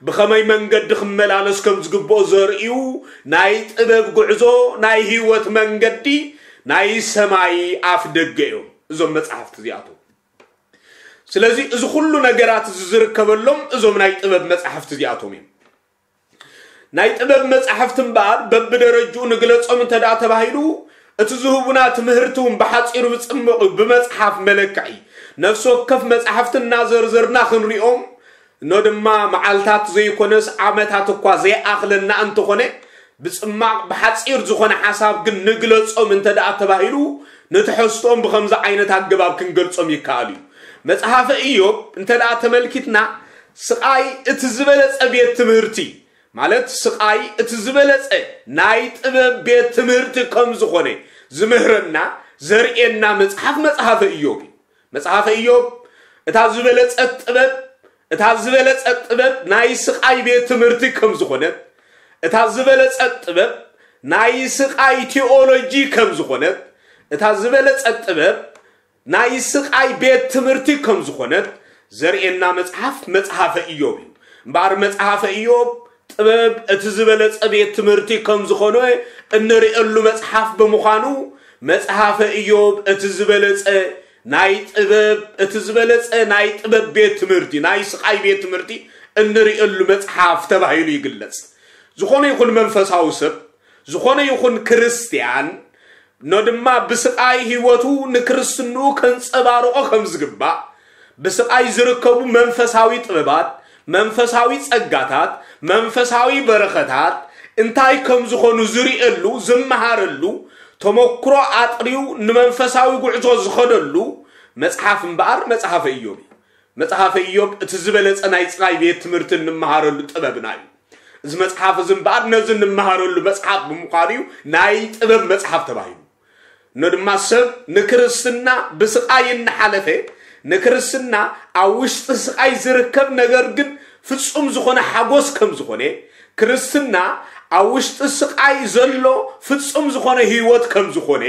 ብኸመይ መንገዲ ክመላለስ ከም ዝግብኦ ዘርእዩ ናይ ጥበብ ጉዕዞ፣ ናይ ህይወት መንገዲ፣ ናይ ሰማይ ኣፍ ደገ እዮም እዞም መጻሕፍቲ እዚኣቶም። ስለዚ እዚ ኩሉ ነገራት እዚ ዝርከበሎም እዞም ናይ ጥበብ መጻሕፍቲ እዚኣቶም እዮም። ናይ ጥበብ መጻሕፍቲ እምበኣር በብደረጅኡ ንግለጾም እንተ ደኣ ተባሂሉ፣ እቲ ዝህቡና ትምህርቲ እውን ብሓጺሩ ብጽምቕ ብመጽሓፍ መለክዒ ነፍሲ ወከፍ መጻሕፍቲ እናዘርዘርና ክንሪኦም፣ እኖ ድማ መዓልታት ዘይኮነስ ዓመታት እኳ ዘይኣኽለና እንተኾነ፣ ብጽማቕ ብሓጺር ዝኾነ ሓሳብ ግን ንግለጾም እንተ ደኣ ተባሂሉ፣ ንትሕዝቶኦም ብኸምዚ ዓይነት ኣገባብ ክንገልጾም ይከኣል እዩ። መጽሓፈ ኢዮብ እንተ ደኣ ተመልኪትና፣ ስቓይ እቲ ዝበለጸ ቤት ትምህርቲ፣ ማለት ስቓይ እቲ ዝበለጸ ናይ ጥበብ ቤት ትምህርቲ ከም ዝኾነ ዝምህረና፣ ዘርእየና መጽሓፍ መጽሓፈ ኢዮብ እዩ። መጽሓፈ ኢዮብ እታ ዝበለጸት ጥበብ፣ እታ ዝበለጸት ጥበብ ናይ ስቓይ ቤት ትምህርቲ ከም ዝኾነት፣ እታ ዝበለጸት ጥበብ ናይ ስቓይ ቲኦሎጂ ከም ዝኾነት፣ እታ ዝበለጸት ጥበብ ናይ ስቓይ ቤት ትምህርቲ ከም ዝኾነት ዘርእየና መጽሓፍ መጽሓፈ ኢዮብ እዩ። እምበኣር መጽሓፈ ኢዮብ ጥበብ እቲ ዝበለጸ ቤት ትምህርቲ ከም ዝኾነ እንርእየሉ መጽሓፍ ብምዃኑ፣ መጽሓፈ ኢዮብ እቲ ዝበለጸ ናይ ጥበብ፣ እቲ ዝበለጸ ናይ ጥበብ ቤት ትምህርቲ፣ ናይ ስቓይ ቤት ትምህርቲ እንርእየሉ መጽሓፍ ተባሂሉ ይግለጽ። ዝኾነ ይኹን መንፈሳዊ ሰብ፣ ዝኾነ ይኹን ክርስትያን፣ ኖ ድማ ብስቓይ ህይወቱ ንክርስትንኡ ከንጸባርቖ ከም ዝግባእ፣ ብስቓይ ዝርከቡ መንፈሳዊ ጥበባት፣ መንፈሳዊ ጸጋታት፣ መንፈሳዊ በረኸታት እንታይ ከም ዝኾኑ ዝርእየሉ፣ ዝመሃረሉ፣ ተመክሮ ኣጥርዩ ንመንፈሳዊ ጉዕዞ ዝኸደሉ መጽሓፍ እምበኣር መጽሓፈ ኢዮብ እዩ። መጽሓፈ ኢዮብ እቲ ዝበለጸ ናይ ስቓይ ቤት ትምህርቲ እንመሃረሉ ጥበብና እዩ። እዚ መጽሓፍ እዚ እምበኣር ነዚ እንመሃረሉ መጽሓፍ ብምዃኑ እዩ ናይ ጥበብ መጽሓፍ ተባሂሉ። እኖ ድማ ሰብ ንክርስትና ብስቓይ እናሓለፈ፣ ንክርስትና ኣብ ውሽጢ ስቓይ ዝርከብ ነገር ግን ፍጹም ዝኾነ ሓጎስ ከም ዝኾነ፣ ክርስትና ኣብ ውሽጢ ስቓይ ዘሎ ፍጹም ዝኾነ ህይወት ከም ዝኾነ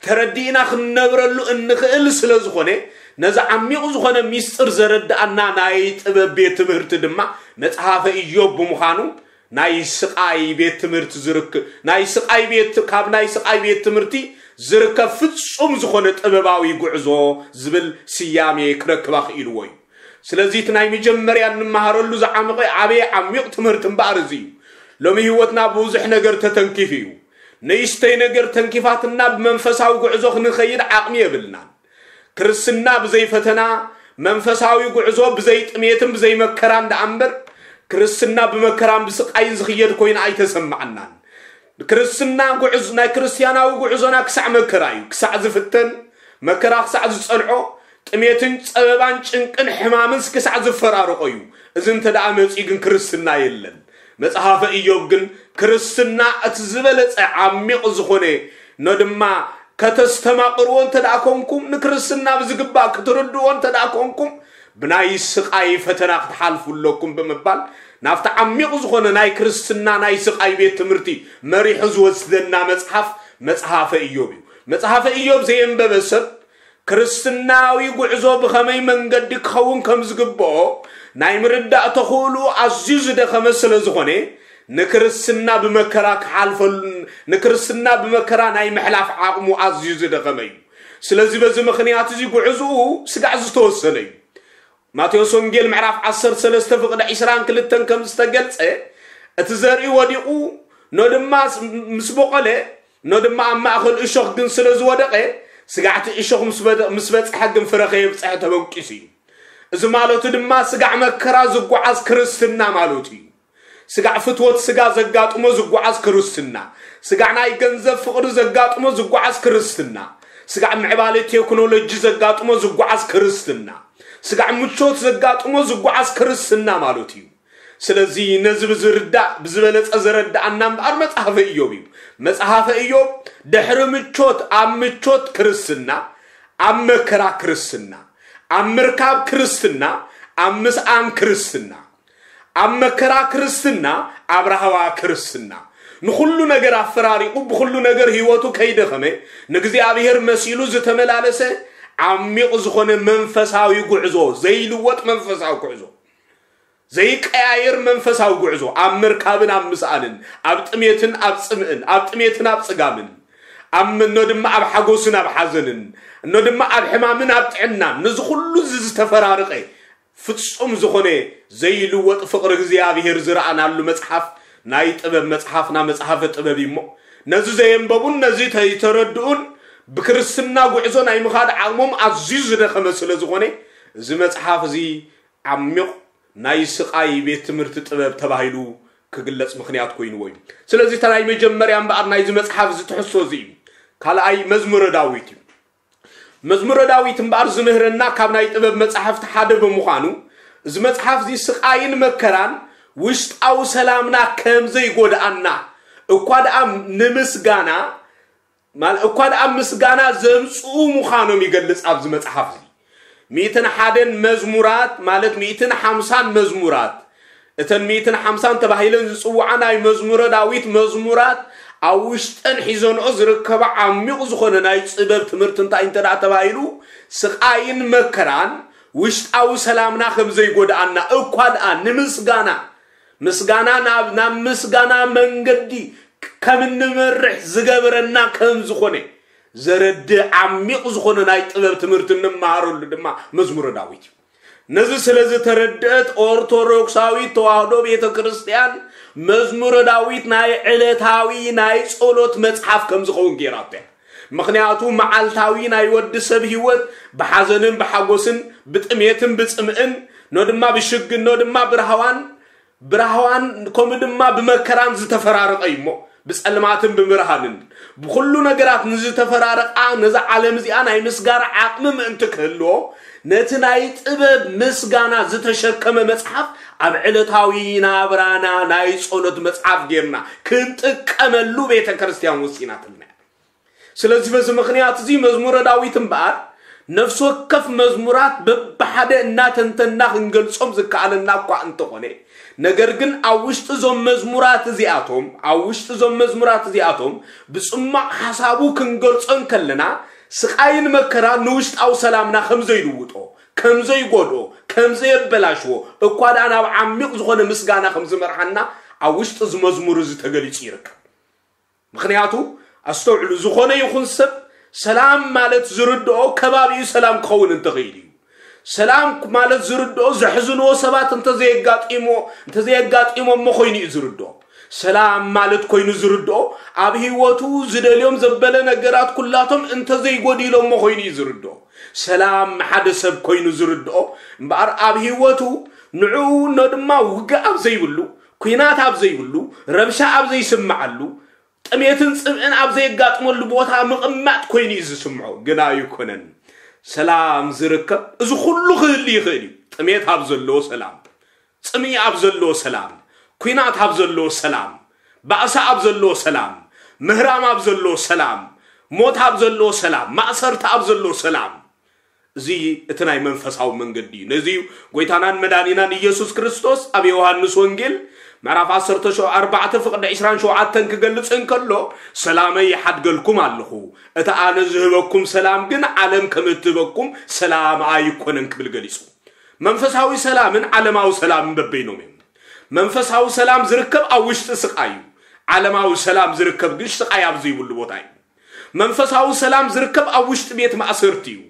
ተረዲእና ክንነብረሉ እንኽእል ስለ ዝኾነ፣ ነዚ ዓሚቕ ዝኾነ ሚስጥር ዘረድኣና ናይ ጥበብ ቤት ትምህርቲ ድማ መጽሓፈ ኢዮብ ብምዃኑ፣ ናይ ስቓይ ቤት ትምህርቲ ዝርክ-፣ ናይ ስቓይ ቤት፣ ካብ ናይ ስቓይ ቤት ትምህርቲ ዝርከብ ፍጹም ዝኾነ ጥበባዊ ጉዕዞ ዝብል ስያሜ ክረክባ ክኢልዎ እዩ። ስለዚ እቲ ናይ መጀመርያ እንመሃረሉ ዝዓመቐ ዓበየ ዓሚቕ ትምህርቲ እምበኣር እዚ እዩ። ሎሚ ህይወትና ብብዙሕ ነገር ተተንኪፉ እዩ። ንእሽተይ ነገር ተንኪፋትና ብመንፈሳዊ ጉዕዞ ክንኸይድ ዓቕሚ የብልናን። ክርስትና ብዘይ ፈተና፣ መንፈሳዊ ጉዕዞ ብዘይ ጥሜትን ብዘይ መከራን ደኣ እምበር፣ ክርስትና ብመከራን ብስቓይን ዝኽየድ ኮይኑ ኣይተሰማዓናን። ክርስትና ጉዕዝ-፣ ናይ ክርስትያናዊ ጉዕዞና ክሳዕ መከራ እዩ። ክሳዕ ዝፍተን፣ መከራ ክሳዕ ዝጸንዖ፣ ጥሜትን ጸበባን ጭንቅን ሕማምን ክሳዕ ዝፈራርቆ እዩ። እዚ እንተ ደኣ መጺኡ ግን ክርስትና የለን። መጽሓፈ ኢዮብ ግን ክርስትና እቲ ዝበለጸ ዓሚቕ ዝኾነ፣ ኖ ድማ ከተስተማቕርዎ እንተ ደኣ ኮንኩም፣ ንክርስትና ብዝግባእ ክትርድዎ እንተ ደኣ ኮንኩም፣ ብናይ ስቓይ ፈተና ክትሓልፉ ኣለኩም ብምባል ናብቲ ዓሚቕ ዝኾነ ናይ ክርስትና ናይ ስቓይ ቤት ትምህርቲ መሪሑ ዝወስደና መጽሓፍ መጽሓፈ ኢዮብ እዩ። መጽሓፈ ኢዮብ ዘየንበበ ሰብ ክርስትናዊ ጉዕዞ ብኸመይ መንገዲ ክኸውን ከም ዝግብኦ ናይ ምርዳእ ተኽእሉ ኣዝዩ ዝደኸመ ስለ ዝኾነ፣ ንክርስትና ብመከራ ክሓልፈሉን ንክርስትና ብመከራ ናይ ምሕላፍ ዓቕሙ ኣዝዩ ዝደኸመ እዩ። ስለዚ በዚ ምኽንያት እዚ ጉዕዝኡ ስጋዕ ዝተወሰነ እዩ። ማቴዎስ ወንጌል ምዕራፍ ዓሰርተ ሰለስተ ፍቕዲ ዕስራን ክልተን ከም ዝተገልጸ፣ እቲ ዘርኢ ወዲቑ፣ ኖ ድማ ምስ በቖለ፣ ኖ ድማ ኣብ ማእኸል እሾኽ ግን ስለ ዝወደቐ፣ ስጋዕቲ እሾኽ ምስ በደ- ምስ በጽሐ ግን ፍረ ከየብጽሐ ተበንቂሱ እዩ። እዚ ማለቱ ድማ ስጋዕ መከራ ዝጓዓዝ ክርስትና ማለቱ እዩ። ስጋዕ ፍትወት ስጋ ዘጋጥሞ ዝጓዓዝ ክርስትና፣ ስጋዕ ናይ ገንዘብ ፍቕሪ ዘጋጥሞ ዝጓዓዝ ክርስትና፣ ስጋዕ ምዕባለ ቴክኖሎጂ ዘጋጥሞ ዝጓዓዝ ክርስትና፣ ስጋዕ ምቾት ዘጋጥሞ ዝጓዓዝ ክርስትና ማለት እዩ። ስለዚ ነዚ ብዝርዳእ ብዝበለጸ ዘረድኣና እምበኣር መጽሓፈ ኢዮብ እዩ። መጽሓፈ ኢዮብ ድሕሪ ምቾት ኣብ ምቾት ክርስትና፣ ኣብ መከራ ክርስትና፣ ኣብ ምርካብ ክርስትና፣ ኣብ ምስኣን ክርስትና፣ ኣብ መከራ ክርስትና፣ ኣብ ራህዋ ክርስትና፣ ንኹሉ ነገር ኣፈራሪቑ ብኹሉ ነገር ህይወቱ ከይደኸመ ንእግዚኣብሔር መሲሉ ዝተመላለሰ ዓሚቕ ዝኾነ መንፈሳዊ ጉዕዞ፣ ዘይልወጥ መንፈሳዊ ጉዕዞ፣ ዘይቀያየር መንፈሳዊ ጉዕዞ፣ ኣብ ምርካብን ኣብ ምስኣንን፣ ኣብ ጥሜትን ኣብ ጽምእን፣ ኣብ ጥሜትን ኣብ ጽጋምን፣ ኣብ እኖ ድማ ኣብ ሓጎስን ኣብ ሓዘንን፣ እኖ ድማ ኣብ ሕማምን ኣብ ጥዕናን፣ ነዚ ኩሉ እዚ ዝተፈራረቐ ፍጹም ዝኾነ ዘይልወጥ ፍቕሪ እግዚኣብሔር ዝረኣናሉ መጽሓፍ ናይ ጥበብ መጽሓፍና መጽሓፈ ጥበብ እዩ እሞ፣ ነዚ ዘየንበቡን ነዚ ዘይተረድኡን ብክርስትና ጉዕዞ ናይ ምኻድ ዓቕሞም ኣዝዩ ዝደኸመ ስለ ዝኾነ፣ እዚ መጽሓፍ እዚ ዓሚቕ ናይ ስቓይ ቤት ትምህርቲ ጥበብ ተባሂሉ ክግለጽ ምኽንያት ኮይንዎ እዩ። ስለዚ እታ ናይ መጀመርያ እምበኣር ናይዚ መጽሓፍ እዚ ትሕዝቶ እዚ እዩ። ካልኣይ መዝሙረ ዳዊት እዩ። መዝሙረ ዳዊት እምበኣር ዝምህረና ካብ ናይ ጥበብ መጻሕፍቲ ሓደ ብምዃኑ፣ እዚ መጽሓፍ እዚ ስቓይን መከራን ውሽጣዊ ሰላምና ከም ዘይጎድኣና፣ እኳ ደኣ ንምስጋና፣ ማል-፣ እኳ ደኣ ምስጋና ዘምጽኡ ምዃኖም ይገልጽ ኣብዚ መጽሓፍ እዚ። ሚእትን ሓደን መዝሙራት፣ ማለት ሚእትን ሓምሳን መዝሙራት፣ እተን ሚእትን ሓምሳን ተባሂለን ዝጽውዓ ናይ መዝሙረ ዳዊት መዝሙራት፣ ኣብ ውሽጠን ሒዘንኦ ዝርከባ ዓሚቕ ዝኾነ ናይ ጽበብ ትምህርቲ እንታይ እንተ ደኣ ተባሂሉ፣ ስቓይን መከራን ውሽጣዊ ሰላምና ከም ዘይጎድኣና፣ እኳ ደኣ ንምስጋና፣ ምስጋና ናብ፣ ናብ ምስጋና መንገዲ ከም እንመርሕ ዝገበረና ከም ዝኾነ ዘረድእ ዓሚቕ ዝኾነ ናይ ጥበብ ትምህርቲ እንመሃረሉ ድማ መዝሙረ ዳዊት እዩ። ነዚ ስለ ዝተረድአት ኦርቶዶክሳዊት ተዋህዶ ቤተ ክርስቲያን መዝሙረ ዳዊት ናይ ዕለታዊ ናይ ጸሎት መጽሓፍ ከም ዝኸውን ገይራቶ እያ። ምኽንያቱ መዓልታዊ ናይ ወዲ ሰብ ህይወት ብሓዘንን ብሓጎስን ብጥሜትን ብጽምእን ኖ ድማ ብሽግን ኖ ድማ ብራህዋን ብራህዋን ከምኡ ድማ ብመከራን ዝተፈራረቐ እዩ እሞ፣ ብጸልማትን ብብርሃንን ብኹሉ ነገራት ንዝተፈራረቓ ነዛ ዓለም እዚኣ ናይ ምስጋር ዓቕሚ ምእንቲ ክህልዎ፣ ነቲ ናይ ጥበብ ምስጋና ዝተሸከመ መጽሓፍ ኣብ ዕለታዊ ናብራና ናይ ጸሎት መጽሓፍ ጌርና ክንጥቀመሉ ቤተ ክርስቲያን ወሲናትልና እያ። ስለዚ በዚ ምኽንያት እዚ መዝሙረ ዳዊት እምበኣር ነፍሲ ወከፍ መዝሙራት በብሓደ እናተንተንና ክንገልጾም ዝከኣለና እኳ እንተኾነ፣ ነገር ግን ኣብ ውሽጢ እዞም መዝሙራት እዚኣቶም፣ ኣብ ውሽጢ እዞም መዝሙራት እዚኣቶም ብጽማቕ ሓሳቡ ክንገልጾ እንከለና፣ ስቓይን መከራን ንውሽጣዊ ሰላምና ከም ዘይልውጦ፣ ከም ዘይጎድኦ፣ ከም ዘየበላሽዎ፣ እኳ ደኣ ናብ ዓሚቕ ዝኾነ ምስጋና ከም ዝመርሓና ኣብ ውሽጢ እዚ መዝሙር እዚ ተገሊጹ ይርከብ። ምኽንያቱ ኣስተውዕሉ፣ ዝኾነ ይኹን ሰብ ሰላም ማለት ዝርድኦ ከባቢኡ ሰላም ክኸውን እንተኽእል እዩ። ሰላም ማለት ዝርድኦ ዘሕዝንዎ ሰባት እንተዘየጋጢሞ እንተዘየጋጢሞ እሞ ኮይኑ እዩ ዝርድኦ። ሰላም ማለት ኮይኑ ዝርድኦ ኣብ ህይወቱ ዝደልዮም ዘበለ ነገራት ኩላቶም እንተዘይጎዲሎሞ ኮይኑ እዩ ዝርድኦ። ሰላም ሓደ ሰብ ኮይኑ ዝርድኦ እምበኣር ኣብ ህይወቱ ንዕኡ እኖ ድማ ውግእ ኣብ ዘይብሉ፣ ኲናት ኣብ ዘይብሉ፣ ረብሻ ኣብ ዘይስምዓሉ፣ ጥሜትን ጽምእን ኣብ ዘየጋጥመሉ ቦታ ምቕማጥ ኮይኑ እዩ ዝስምዖ። ግን ኣይኮነን። ሰላም ዝርከብ እዚ ኩሉ ክህሉ ይኽእል እዩ። ጥሜት ኣብ ዘለዎ ሰላም፣ ጽምኢ ኣብ ዘለዎ ሰላም፣ ኲናት ኣብ ዘለዎ ሰላም፣ ባእሲ ኣብ ዘለዎ ሰላም፣ ምህራም ኣብ ዘለዎ ሰላም፣ ሞት ኣብ ዘለዎ ሰላም፣ ማእሰርቲ ኣብ ዘለዎ ሰላም። እዚ እቲ ናይ መንፈሳዊ መንገዲ እዩ። ነዚ እዩ ጎይታናን መዳኒናን ኢየሱስ ክርስቶስ ኣብ ዮሃንስ ወንጌል ምዕራፍ ዓሰርተ ኣርባዕተ ፍቕዲ ዕስራን ሸውዓተን ክገልጽ እንከሎ፣ ሰላመይ ይሓድገልኩም ኣለኹ፣ እቲ ኣነ ዝህበኩም ሰላም ግን ዓለም ከም እትህበኩም ሰላም ኣይኮነን ክብል ገሊጹ። መንፈሳዊ ሰላምን ዓለማዊ ሰላምን በበይኖም እዮም። መንፈሳዊ ሰላም ዝርከብ ኣብ ውሽጢ ስቓይ እዩ። ዓለማዊ ሰላም ዝርከብ ግን ስቓይ ኣብ ዘይብሉ ቦታ እዩ። መንፈሳዊ ሰላም ዝርከብ ኣብ ውሽጢ ቤት ማእሰርቲ እዩ።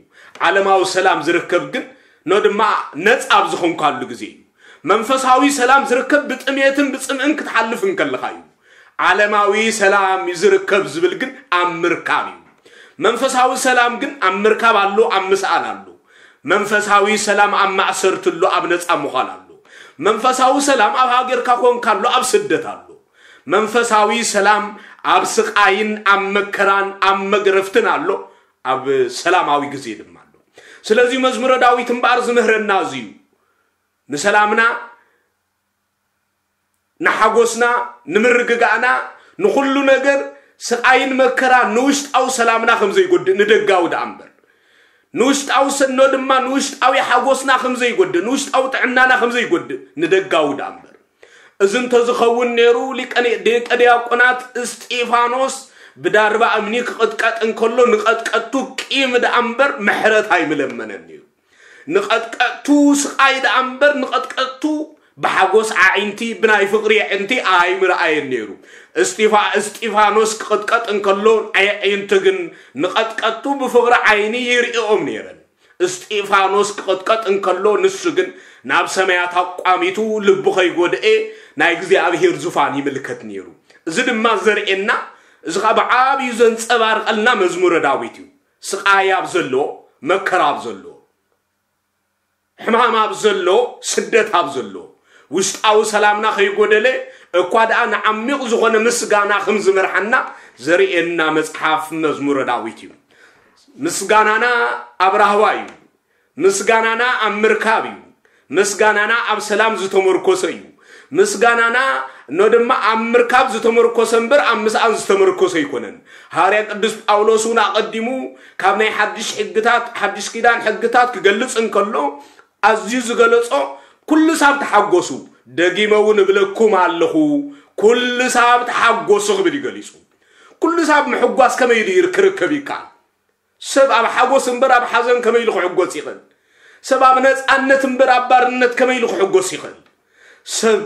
ዓለማዊ ሰላም ዝርከብ ግን ኖ ድማ ነጻ ኣብ ዝኾንካሉ ግዜ እዩ። መንፈሳዊ ሰላም ዝርከብ ብጥሜትን ብጽምእን ክትሓልፍ እንከለኻ እዩ። ዓለማዊ ሰላም ዝርከብ ዝብል ግን ኣብ ምርካብ እዩ። መንፈሳዊ ሰላም ግን ኣብ ምርካብ ኣሎ፣ ኣብ ምስኣን ኣሎ። መንፈሳዊ ሰላም ኣብ ማእሰርቲ ኣሎ፣ ኣብ ነጻ ምዃን ኣሎ። መንፈሳዊ ሰላም ኣብ ሃገርካ ኮንካ ኣሎ፣ ኣብ ስደት ኣሎ። መንፈሳዊ ሰላም ኣብ ስቓይን ኣብ መከራን ኣብ መግረፍትን ኣሎ፣ ኣብ ሰላማዊ ግዜ ድማ ኣሎ። ስለዚ መዝሙረ ዳዊት እምበኣር ዝምህረና እዚ እዩ። ንሰላምና፣ ንሓጎስና፣ ንምርግጋእና፣ ንኹሉ ነገር ስቓይን መከራ ንውሽጣዊ ሰላምና ከም ዘይጎድእ ንደጋዊ ደኣ እምበር። ንውሽጣዊ ሰኖ ድማ ንውሽጣዊ ሓጎስና ከም ዘይጎድእ፣ ንውሽጣዊ ጥዕናና ከም ዘይጎድእ ንደጋዊ ደኣ እምበር። እዚ እንተዝኸውን ነይሩ ሊቀ ዲያቆናት እስጢፋኖስ ብዳርባ እምኒ ክቕጥቀጥ እንከሎ ንቐጥቀቱ ቂም ደኣ እምበር ምሕረት ኣይምለመነን ነይሩ። ንቐጥቀጥቱ ስቓይ ደኣ እምበር ንቐጥቀጥቱ ብሓጎስ ኣዒንቲ ብናይ ፍቕሪ ኣዒንቲ ኣይምረኣየን ነይሩ። እስጢፋ እስጢፋኖስ ክቕጥቀጥ እንከሎ ኣዒንቲ ግን ንቐጥቀጥቱ ብፍቕሪ ዓይኒ ይርእኦም ነይረን። እስጢፋኖስ ክቕጥቀጥ እንከሎ ንሱ ግን ናብ ሰማያት ኣቋሚቱ ልቡ ከይጎድኤ ናይ እግዚኣብሔር ዙፋን ይምልከት ነይሩ። እዚ ድማ ዘርእየና፣ እዚ ኸዓ ብዓብዩ ዘንጸባርቐልና መዝሙረ ዳዊት እዩ። ስቓይ ኣብ ዘሎ፣ መከራ ኣብ ዘሎ፣ ሕማም ኣብ ዘሎ፣ ስደት ኣብ ዘሎ፣ ውሽጣዊ ሰላምና ከይጎደለ እኳ ደኣ ንዓሚቕ ዝኾነ ምስጋና ከም ዝመርሓና ዘርእየና መጽሓፍ መዝሙረ ዳዊት እዩ። ምስጋናና ኣብ ራህዋ እዩ። ምስጋናና ኣብ ምርካብ እዩ። ምስጋናና ኣብ ሰላም ዝተመርኮሰ እዩ። ምስጋናና ኖ ድማ ኣብ ምርካብ ዝተመርኮሰ እምበር ኣብ ምስኣን ዝተመርኮሰ ኣይኮነን። ሃዋርያ ቅዱስ ጳውሎስ እውን ኣቐዲሙ ካብ ናይ ሓድሽ ሕግታት፣ ሓድሽ ኪዳን ሕግታት ክገልጽ እንከሎ ኣዝዩ ዝገለጾ፣ "ኩሉ ሳብ ተሓጎሱ፣ ደጊመ እውን እብለኩም ኣለኹ፣ ኩሉ ሳብ ተሓጎሱ" ክብል እዩ ገሊጹ። ኩሉ ሳብ ምሕጓስ ከመይ ኢሉ ይር-፣ ክርከብ ይከኣል? ሰብ ኣብ ሓጎስ እምበር ኣብ ሓዘን ከመይ ኢሉ ክሕጎስ ይኽእል? ሰብ ኣብ ነጻነት እምበር ኣብ ባርነት ከመይ ኢሉ ክሕጎስ ይኽእል? ሰብ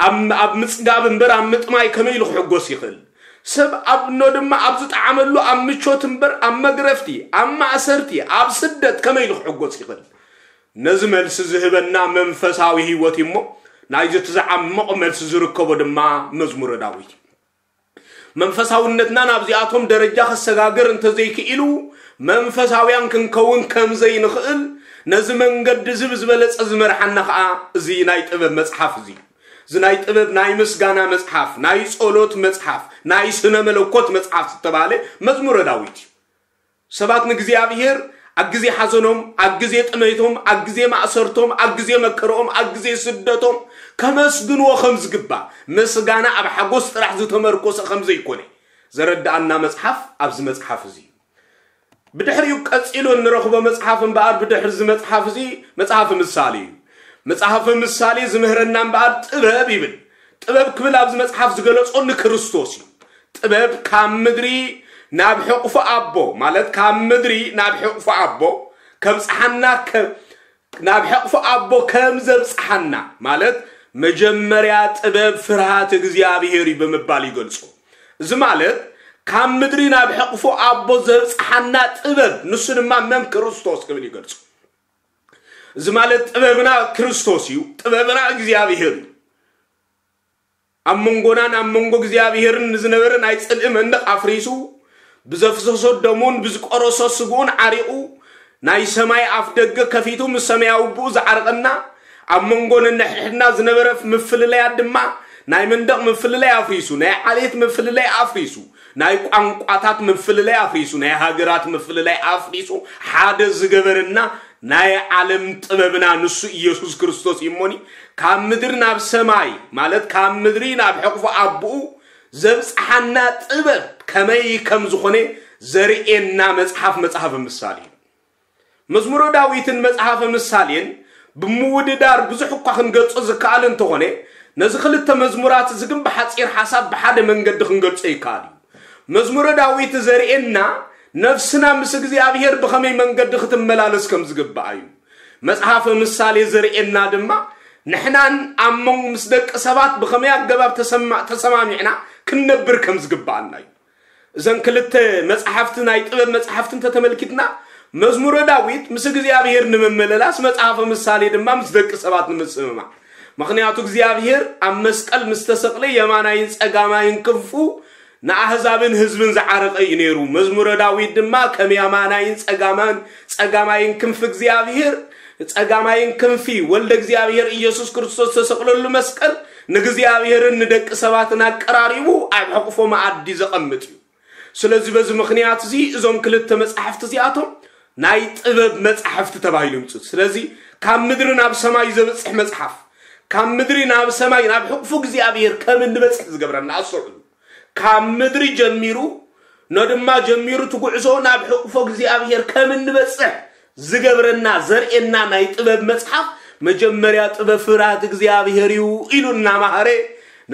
ኣብ፣ ኣብ ምጽጋብ እምበር ኣብ ምጥማይ ከመይ ኢሉ ክሕጎስ ይኽእል? ሰብ ኣብ ኖ ድማ ኣብ ዝጠዓመሉ ኣብ ምቾት እምበር ኣብ መግረፍቲ፣ ኣብ ማእሰርቲ፣ ኣብ ስደት ከመይ ኢሉ ክሕጎስ ይኽእል? ነዚ መልሲ ዝህበና መንፈሳዊ ህይወት እዩ እሞ፣ ናይዚ እቲ ዝዓምቕ መልሲ ዝርከቦ ድማ መዝሙረ ዳዊት እዩ። መንፈሳውነትና ናብዚኣቶም ደረጃ ከሰጋግር እንተዘይክኢሉ፣ መንፈሳውያን ክንከውን ከም ዘይንኽእል፣ ነዚ መንገዲ እዚ ብዝበለጸ ዝመርሓና ኸኣ እዚ ናይ ጥበብ መጽሓፍ እዚ። እዚ ናይ ጥበብ፣ ናይ ምስጋና መጽሓፍ፣ ናይ ጸሎት መጽሓፍ፣ ናይ ስነ መለኮት መጽሓፍ ዝተባህለ መዝሙረ ዳዊት እዩ። ሰባት ንእግዚኣብሔር ኣብ ግዜ ሓዘኖም፣ ኣብ ግዜ ጥሜቶም፣ ኣብ ግዜ ማእሰርቶም፣ ኣብ ግዜ መከርኦም፣ ኣብ ግዜ ስደቶም ከመስግንዎ ከም ዝግባእ፣ ምስጋና ኣብ ሓጎስ ጥራሕ ዝተመርኮሰ ከም ዘይኮነ ዘረድኣና መጽሓፍ ኣብዚ መጽሓፍ እዚ እዩ። ብድሕሪኡ ቀጺሉ እንረኽቦ መጽሓፍ እምበኣር፣ ብድሕሪ እዚ መጽሓፍ እዚ መጽሓፍ ምሳሌ እዩ። መጽሓፍ ምሳሌ ዝምህረና እምበኣር ጥበብ ይብል። ጥበብ ክብል ኣብዚ መጽሓፍ ዝገለጾ ንክርስቶስ እዩ። ጥበብ ካብ ምድሪ ናብ ሕቑፎ ኣቦ፣ ማለት ካብ ምድሪ ናብ ሕቑፎ ኣቦ ከብጽሓና፣ ከ-፣ ናብ ሕቑፎ ኣቦ ከም ዘብጽሓና፣ ማለት መጀመርያ ጥበብ ፍርሃት እግዚኣብሔር እዩ ብምባል ይገልጾ። እዚ ማለት ካብ ምድሪ ናብ ሕቑፎ ኣቦ ዘብጽሓና ጥበብ፣ ንሱ ድማ መን? ክርስቶስ ክብል ይገልጾ። እዚ ማለት ጥበብና ክርስቶስ እዩ፣ ጥበብና እግዚኣብሔር እዩ። ኣብ መንጎናን ኣብ መንጎ እግዚኣብሔርን ንዝነበረ ናይ ጽልኢ መንደቕ ኣፍሪሱ፣ ብዘፍሰሶ ደሙን ብዝቆረሶ ስግኡን ዓሪቑ፣ ናይ ሰማይ ኣፍ ደገ ከፊቱ ምስ ሰማያዊ ኣቦኡ ዝዓርቐና፣ ኣብ መንጎ ነንሕድሕድና ዝነበረ ምፍልላያት ድማ ናይ መንደቕ ምፍልላይ ኣፍሪሱ፣ ናይ ዓሌት ምፍልላይ ኣፍሪሱ፣ ናይ ቋንቋታት ምፍልላይ ኣፍሪሱ፣ ናይ ሃገራት ምፍልላይ ኣፍሪሱ ሓደ ዝገበረና ናይ ዓለም ጥበብና ንሱ ኢየሱስ ክርስቶስ እዩ እሞኒ፣ ካብ ምድሪ ናብ ሰማይ፣ ማለት ካብ ምድሪ ናብ ሕቕፎ ኣቦኡ ዘብጽሓና ጥበብ ከመይ ከም ዝኾነ ዘርእየና መጽሓፍ፣ መጽሓፈ ምሳሌ እዩ። መዝሙረ ዳዊትን መጽሓፈ ምሳሌን ብምውድዳር ብዙሕ እኳ ክንገልጾ ዝከኣል እንተኾነ፣ ነዚ ክልተ መዝሙራት እዚ ግን ብሓጺር ሓሳብ ብሓደ መንገዲ ክንገልጾ ይከኣል እዩ። መዝሙረ ዳዊት ዘርእየና ነፍስና ምስ እግዚኣብሔር ብኸመይ መንገዲ ክትመላለስ ከም ዝግባኣ እዩ። መጽሓፈ ምሳሌ ዘርእየና ድማ ንሕናን ኣብ መንጎ ምስ ደቂ ሰባት ብኸመይ ኣገባብ ተሰማ-፣ ተሰማሚዕና ክንነብር ከም ዝግባኣና እዩ። እዘን ክልተ መጽሓፍቲ ናይ ጥበብ መጽሓፍቲ እንተተመልኪትና፣ መዝሙረ ዳዊት ምስ እግዚኣብሔር ንምምልላስ፣ መጽሓፈ ምሳሌ ድማ ምስ ደቂ ሰባት ንምስምማዕ። ምኽንያቱ እግዚኣብሔር ኣብ መስቀል ምስ ተሰቕለ የማናይን ጸጋማይን ክንፉ ንኣህዛብን ህዝብን ዝዓረቐ እዩ ነይሩ። መዝሙረ ዳዊት ድማ ከም የማናይን ጸጋማን-፣ ጸጋማይን ክንፊ እግዚኣብሔር፣ ጸጋማይን ክንፊ ወልደ እግዚኣብሔር ኢየሱስ ክርስቶስ ዝተሰቕለሉ መስቀል ንእግዚኣብሔርን ንደቂ ሰባትን ኣቀራሪቡ ኣብ ሕቕፎ መኣዲ ዘቐምጥ እዩ። ስለዚ በዚ ምኽንያት እዚ እዞም ክልተ መጻሕፍቲ እዚኣቶም ናይ ጥበብ መጻሕፍቲ ተባሂሉ ይምጽኡ። ስለዚ ካብ ምድሪ ናብ ሰማይ ዘብጽሕ መጽሓፍ፣ ካብ ምድሪ ናብ ሰማይ ናብ ሕቕፉ እግዚኣብሔር ከም እንበጽሕ ዝገብረና፣ ኣስተውዕሉ። ካብ ምድሪ ጀሚሩ፣ ነድማ ጀሚሩ እቲ ጉዕዞ ናብ ሕቕፎ እግዚኣብሔር ከም እንበጽሕ ዝገብረና፣ ዘርእየና ናይ ጥበብ መጽሓፍ መጀመርያ ጥበብ ፍርሃት እግዚኣብሔር እዩ ኢሉ እናማሃረ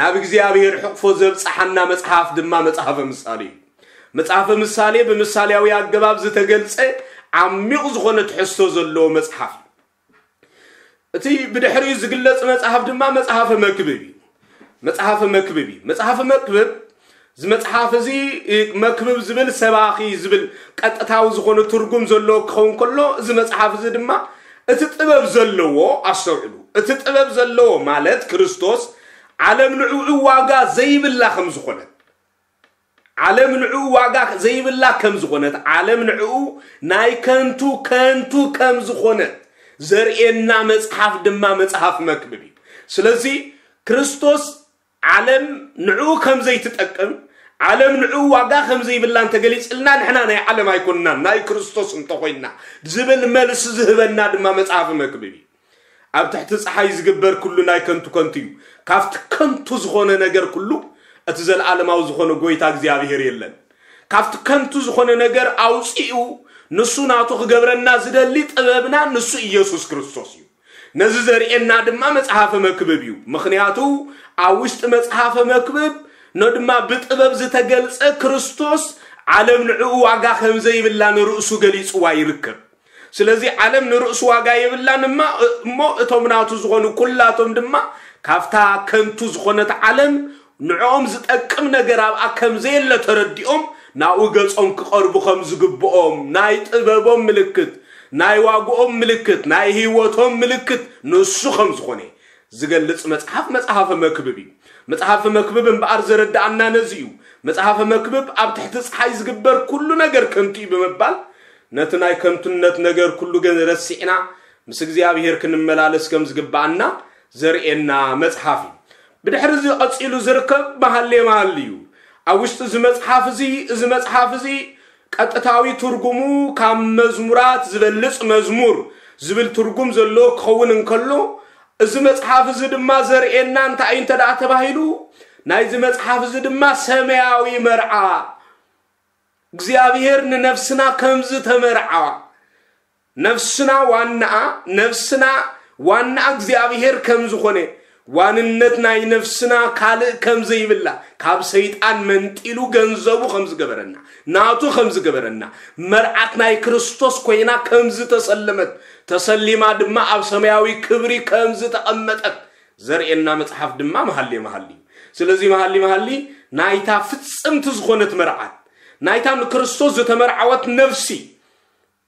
ናብ እግዚኣብሔር ሕቕፎ ዘብጽሓና መጽሓፍ ድማ መጽሓፈ ምሳሌ እዩ። መጽሓፈ ምሳሌ ብምሳሌያዊ ኣገባብ ዝተገልጸ ዓሚቕ ዝኾነ ትሕዝቶ ዘለዎ መጽሓፍ እዩ። እቲ ብድሕሪኡ ዝግለጽ መጽሓፍ ድማ መጽሓፈ መክብብ እዩ። መጽሓፈ መክብብ እዩ። መጽሓፈ መክብብ፣ እዚ መጽሓፍ እዚ፣ እ፣ መክብብ ዝብል ሰባኺ ዝብል ቀጥታዊ ዝኾነ ትርጉም ዘለዎ ክኸውን ከሎ፣ እዚ መጽሓፍ እዚ ድማ እቲ ጥበብ ዘለዎ፣ ኣስተውዕሉ፣ እቲ ጥበብ ዘለዎ ማለት ክርስቶስ ዓለም ንዕኡ ዋጋ ዘይብላ ከም ዝኾነት፣ ዓለም ንዕኡ ዋጋ ዘይብላ ከም ዝኾነት፣ ዓለም ንዕኡ ናይ ከንቱ ከንቱ ከም ዝኾነት ዘርእየና መጽሓፍ ድማ መጽሓፍ መክብብ እዩ። ስለዚ ክርስቶስ ዓለም ንዕኡ ከም ዘይትጠቅም፣ ዓለም ንዕኡ ዋጋ ከም ዘይብላ እንተገሊጽልና፣ ንሕና ናይ ዓለም ኣይኮንናን፣ ናይ ክርስቶስ እንተኾይንና ዝብል መልሲ ዝህበና ድማ መጽሓፍ መክብብ እዩ። ኣብ ትሕቲ ጸሓይ ዝግበር ኩሉ ናይ ከንቱ ከንቱ እዩ። ካብቲ ከንቱ ዝኾነ ነገር ኩሉ እቲ ዘለዓለማዊ ዝኾነ ጎይታ እግዚኣብሔር የለን። ካብቲ ከንቱ ዝኾነ ነገር ኣውጺኡ ንሱ ናቱ ክገብረና ዝደሊ ጥበብና ንሱ ኢየሱስ ክርስቶስ እዩ። ነዚ ዘርእየና ድማ መጽሓፈ መክብብ እዩ። ምኽንያቱ ኣብ ውሽጢ መጽሓፈ መክብብ ነድማ ብጥበብ ዝተገልጸ ክርስቶስ ዓለም ንዕኡ ዋጋ ከም ዘይብላ ንርእሱ ገሊጽዋ ይርከብ። ስለዚ ዓለም ንርእሱ ዋጋ የብላን እማ፣ እሞ እቶም ናቱ ዝኾኑ ኩላቶም ድማ ካብታ ከንቱ ዝኾነት ዓለም ንዕኦም ዝጠቅም ነገር ኣብኣ ከም ዘየለ ተረዲኦም ናብኡ ገጾም ክቐርቡ ከም ዝግብኦም ናይ ጥበቦም ምልክት፣ ናይ ዋግኦም ምልክት፣ ናይ ህይወቶም ምልክት ንሱ ከም ዝኾነ ዝገልጽ መጽሓፍ መጽሓፈ መክብብ እዩ። መጽሓፈ መክብብ እምበኣር ዘረድኣና ነዚ እዩ። መጽሓፈ መክብብ ኣብ ትሕቲ ጸሓይ ዝግበር ኩሉ ነገር ከንቱ እዩ ብምባል ነቲ ናይ ከንቱነት ነገር ኩሉ ግን ረሲዕና ምስ እግዚኣብሔር ክንመላለስ ከም ዝግብኣና ዘርእየና መጽሓፍ እዩ። ብድሕሪ እዚ ቀጺሉ ዝርከብ መሃሌ መሃሊ እዩ። ኣብ ውሽጢ እዚ መጽሓፍ እዚ፣ እዚ መጽሓፍ እዚ ቀጥታዊ ትርጉሙ ካብ መዝሙራት ዝበልጽ መዝሙር ዝብል ትርጉም ዘለዎ ክኸውን እንከሎ፣ እዚ መጽሓፍ እዚ ድማ ዘርእየና እንታይ እዩ እንተ ደኣ ተባሂሉ፣ ናይዚ መጽሓፍ እዚ ድማ ሰማያዊ መርዓ፣ እግዚኣብሔር ንነፍስና ከም ዝተመርዓ፣ ነፍስና ዋናኣ፣ ነፍስና ዋናኣ እግዚኣብሔር ከም ዝኾነ፣ ዋንነት ናይ ነፍስና ካልእ ከም ዘይብላ፣ ካብ ሰይጣን መንጢሉ ገንዘቡ ከም ዝገበረና፣ ናቱ ከም ዝገበረና፣ መርዓት ናይ ክርስቶስ ኮይና ከም ዝተሰለመት፣ ተሰሊማ ድማ ኣብ ሰማያዊ ክብሪ ከም ዝተቐመጠት ዘርእየና መጽሓፍ ድማ መሃሌ መሃሊ እዩ። ስለዚ መሃሊ መሃሊ ናይታ ፍጽምቲ ዝኾነት መርዓት፣ ናይታ ንክርስቶስ ዝተመርዓወት ነፍሲ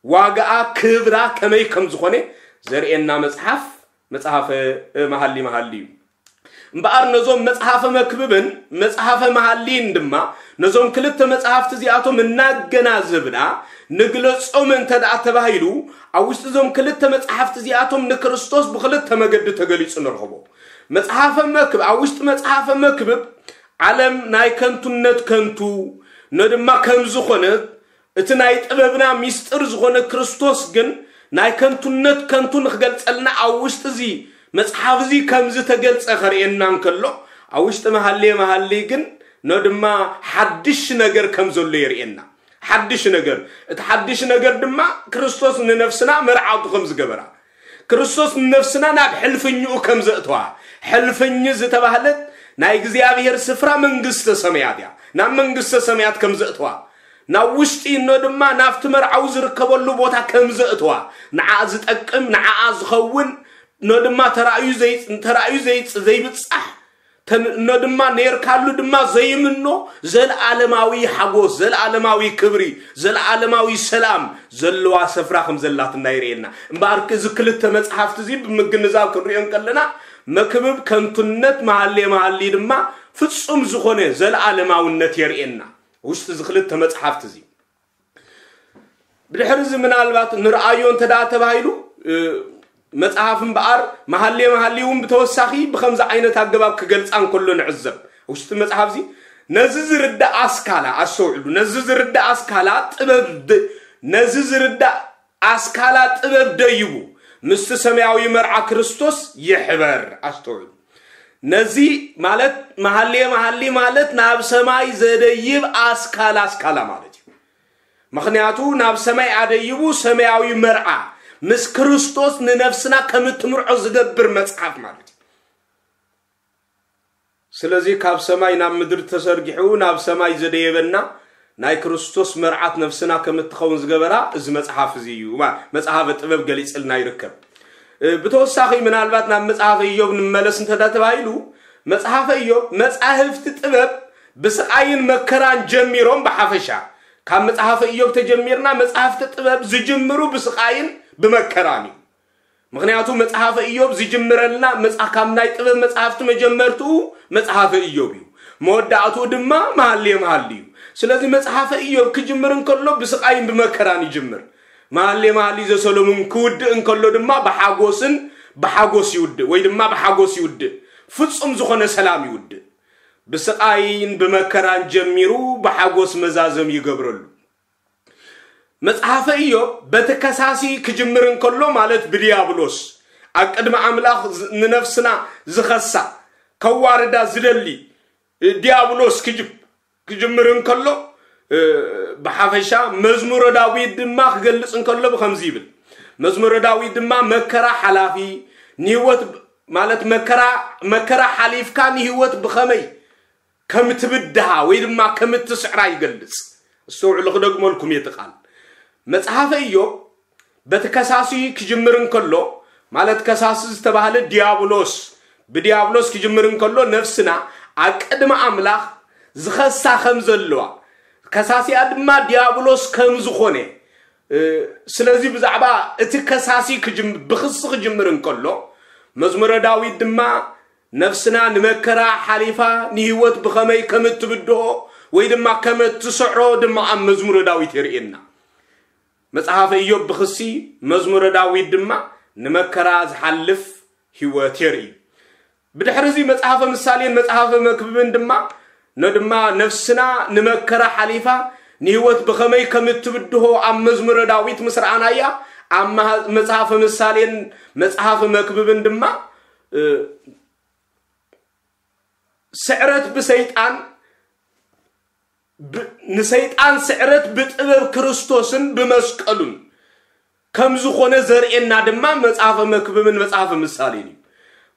ዋጋኣ ክብራ ከመይ ከም ዝኾነ ዘርእየና መጽሓፍ መጽሓፈ መሃሊ መሃሊ እዩ። እምበኣር ነዞም መጽሓፈ መክብብን መጽሓፈ መሃሊን ድማ ነዞም ክልተ መጽሓፍቲ እዚኣቶም እናገናዘብና ንግለጾም እንተ ደኣ ተባሂሉ፣ ኣብ ውሽጢ እዞም ክልተ መጽሓፍቲ እዚኣቶም ንክርስቶስ ብክልተ መገዲ ተገሊጹ ንረኽቦ። መጽሓፈ መክብ-፣ ኣብ ውሽጢ መጽሓፈ መክብብ ዓለም ናይ ከንቱነት ከንቱ፣ ኖ ድማ ከም ዝኾነ እቲ ናይ ጥበብና ሚስጥር ዝኾነ ክርስቶስ ግን ናይ ከንቱነት ከንቱ ንክገልጸልና ኣብ ውሽጢ እዚ መጽሓፍ እዚ ከም ዝተገልጸ ከርእየና እንከሎ፣ ኣብ ውሽጢ መሃሌ መሃሊ ግን ኖ ድማ ሓድሽ ነገር ከም ዘሎ የርእየና። ሓድሽ ነገር፣ እቲ ሓድሽ ነገር ድማ ክርስቶስ ንነፍስና መርዓቱ ከም ዝገበራ፣ ክርስቶስ ንነፍስና ናብ ሕልፍኝኡ ከም ዘእተዋ። ሕልፍኝ ዝተባህለት ናይ እግዚኣብሔር ስፍራ መንግስተ ሰማያት እያ። ናብ መንግስተ ሰማያት ከም ዘእተዋ፣ ናብ ውሽጢ እኖ ድማ ናብቲ መርዓዊ ዝርከበሉ ቦታ ከም ዘእተዋ፣ ንዓ ዝጠቅም፣ ንዓ ዝኸውን፣ እኖ ድማ ተራእዩ ዘይ-፣ ተራእዩ ዘይጽ-፣ ዘይብጻሕ፣ ተን-፣ እኖ ድማ ነርካሉ ድማ ዘይምኖ፣ ዘለዓለማዊ ሓጎስ፣ ዘለዓለማዊ ክብሪ፣ ዘለዓለማዊ ሰላም ዘለዋ ስፍራ ከም ዘላትና ይርእየና። እምበኣር እዚ ክልተ መጽሓፍቲ እዚ ብምግንዛብ ክንሪኦ እንከለና፣ መክብብ ከንቱነት፣ መሃሌ መሃሊ ድማ ፍጹም ዝኾነ ዘለዓለማውነት የርእየና። ውሽጢ እዚ ክልተ መጽሓፍቲ እዚ ብድሕሪ እዚ ምናልባት ንርኣዮ እንተ ደኣ ተባሂሉ፣ እ፣ መጽሓፍ እምበኣር መሃሌ መሃሊ እውን ብተወሳኺ ብኸምዚ ዓይነት ኣገባብ ክገልጻ እንከሎ ንዕዘብ። ውሽጢ መጽሓፍ እዚ ነዚ ዝርዳእ ኣስካላ፣ ኣስተውዕሉ፣ ነዚ ዝርዳእ ኣስካላ ጥበብ ደ-፣ ነዚ ዝርዳእ ኣስካላ ጥበብ ደይቡ ምስቲ ሰማያዊ መርዓ ክርስቶስ ይሕበር። ኣስተውዕሉ። ነዚ ማለት መሃሌ መሃሊ ማለት ናብ ሰማይ ዘደይብ ኣስካላ ኣስካላ ማለት እዩ። ምኽንያቱ ናብ ሰማይ ኣደይቡ ሰማያዊ መርዓ ምስ ክርስቶስ ንነፍስና ከም እትምርዖ ዝገብር መጽሓፍ ማለት እዩ። ስለዚ ካብ ሰማይ ናብ ምድሪ ተሰርጊሑ ናብ ሰማይ ዘደየበና ናይ ክርስቶስ መርዓት ነፍስና ከም እትኸውን ዝገበራ እዚ መጽሓፍ እዚ እዩ። ማ-፣ መጽሓፈ ጥበብ ገሊጽልና ይርከብ። እ፣ ብተወሳኺ ምናልባት ናብ መጽሓፈ ኢዮብ ንመለስ እንተ ተባሂሉ፣ መጽሓፈ ኢዮብ መጻሕፍቲ ጥበብ ብስቓይን መከራን ጀሚሮም ብሓፈሻ፣ ካብ መጽሓፈ ኢዮብ ተጀሚርና መጽሓፍቲ ጥበብ ዝጅምሩ ብስቓይን ብመከራን እዩ። ምኽንያቱ መጽሓፈ ኢዮብ ዝጅምረልና መጽ-፣ ካብ ናይ ጥበብ መጽሓፍቲ መጀመርትኡ መጽሓፈ ኢዮብ እዩ። መወዳእትኡ ድማ መሃሌ መሃሊ እዩ። ስለዚ መጽሓፈ ኢዮብ ክጅምር እንከሎ ብስቓይን ብመከራን ይጅምር። መሃሌ መሃሊ ዘሰሎሙን ክውድእ እንከሎ ድማ ብሓጎስን ብሓጎስ ይውድእ፣ ወይ ድማ ብሓጎስ ይውድእ። ፍጹም ዝኾነ ሰላም ይውድእ። ብስቓይን ብመከራን ጀሚሩ ብሓጎስ መዛዘም ይገብረሉ። መጽሓፈ ኢዮብ በቲ ከሳሲ ክጅምር እንከሎ፣ ማለት ብድያብሎስ ኣብ ቅድሚ ኣምላኽ ዝ-፣ ንነፍስና ዝኸሳ፣ ከዋርዳ ዝደሊ፣ እ፣ ድያብሎስ ክጅ-፣ ክጅምር እንከሎ፣ እ፣ ብሓፈሻ መዝሙረ ዳዊት ድማ ክገልጽ እንከሎ ብኸምዚ ይብል። መዝሙረ ዳዊት ድማ መከራ ሓላፊ፣ ንህይወት ብ-፣ ማለት መከራ፣ መከራ ሓሊፍካ ንህይወት ብኸመይ ከም ትብድሃ ወይ ድማ ከም ትስዕራ ይገልጽ። እስተውዕሉ፣ ክደግመልኩም እየ እቲ ቃል። መጽሓፈ ኢዮብ በቲ ከሳሲ ክጅምር እንከሎ፣ ማለት ከሳሲ ዝተባህለ ዲያብሎስ፣ ብዲያብሎስ ክጅምር እንከሎ ነፍስና ኣብ ቅድሚ ኣምላኽ ዝኸሳ ከም ዘለዋ፣ ከሳሲኣ ድማ ዲያብሎስ ከም ዝኾነ፣ እ፣ ስለዚ ብዛዕባ እቲ ከሳሲ ክጅም-፣ ብኽሲ ክጅምር እንከሎ፣ መዝሙረ ዳዊት ድማ ነፍስና ንመከራ ሓሊፋ ንህይወት ብኸመይ ከም እትብድሆ ወይ ድማ ከም እትስዕሮ ድማ ኣብ መዝሙረ ዳዊት የርእየና። መጽሓፈ ኢዮብ ብኽሲ፣ መዝሙረ ዳዊት ድማ ንመከራ ዝሓልፍ ህይወት የርኢ። ብድሕሪ እዚ መጽሓፈ ምሳሌን መጽሓፈ መክብብን ድማ፣ ኖ ድማ ነፍስና ንመከራ ሓሊፋ ንህይወት ብኸመይ ከም እትብድሆ ኣብ መዝሙረ ዳዊት ምስ ረኣናያ፣ ኣብ መሃ-፣ መጽሓፈ ምሳሌን መጽሓፈ መክብብን ድማ፣ እ፣ ስዕረት ብሰይጣን ብ-፣ ንሰይጣን ስዕረት ብጥበብ ክርስቶስን ብመስቀሉን ከም ዝኾነ ዘርእየና ድማ መጽሓፈ መክብብን መጽሓፈ ምሳሌን እዩ።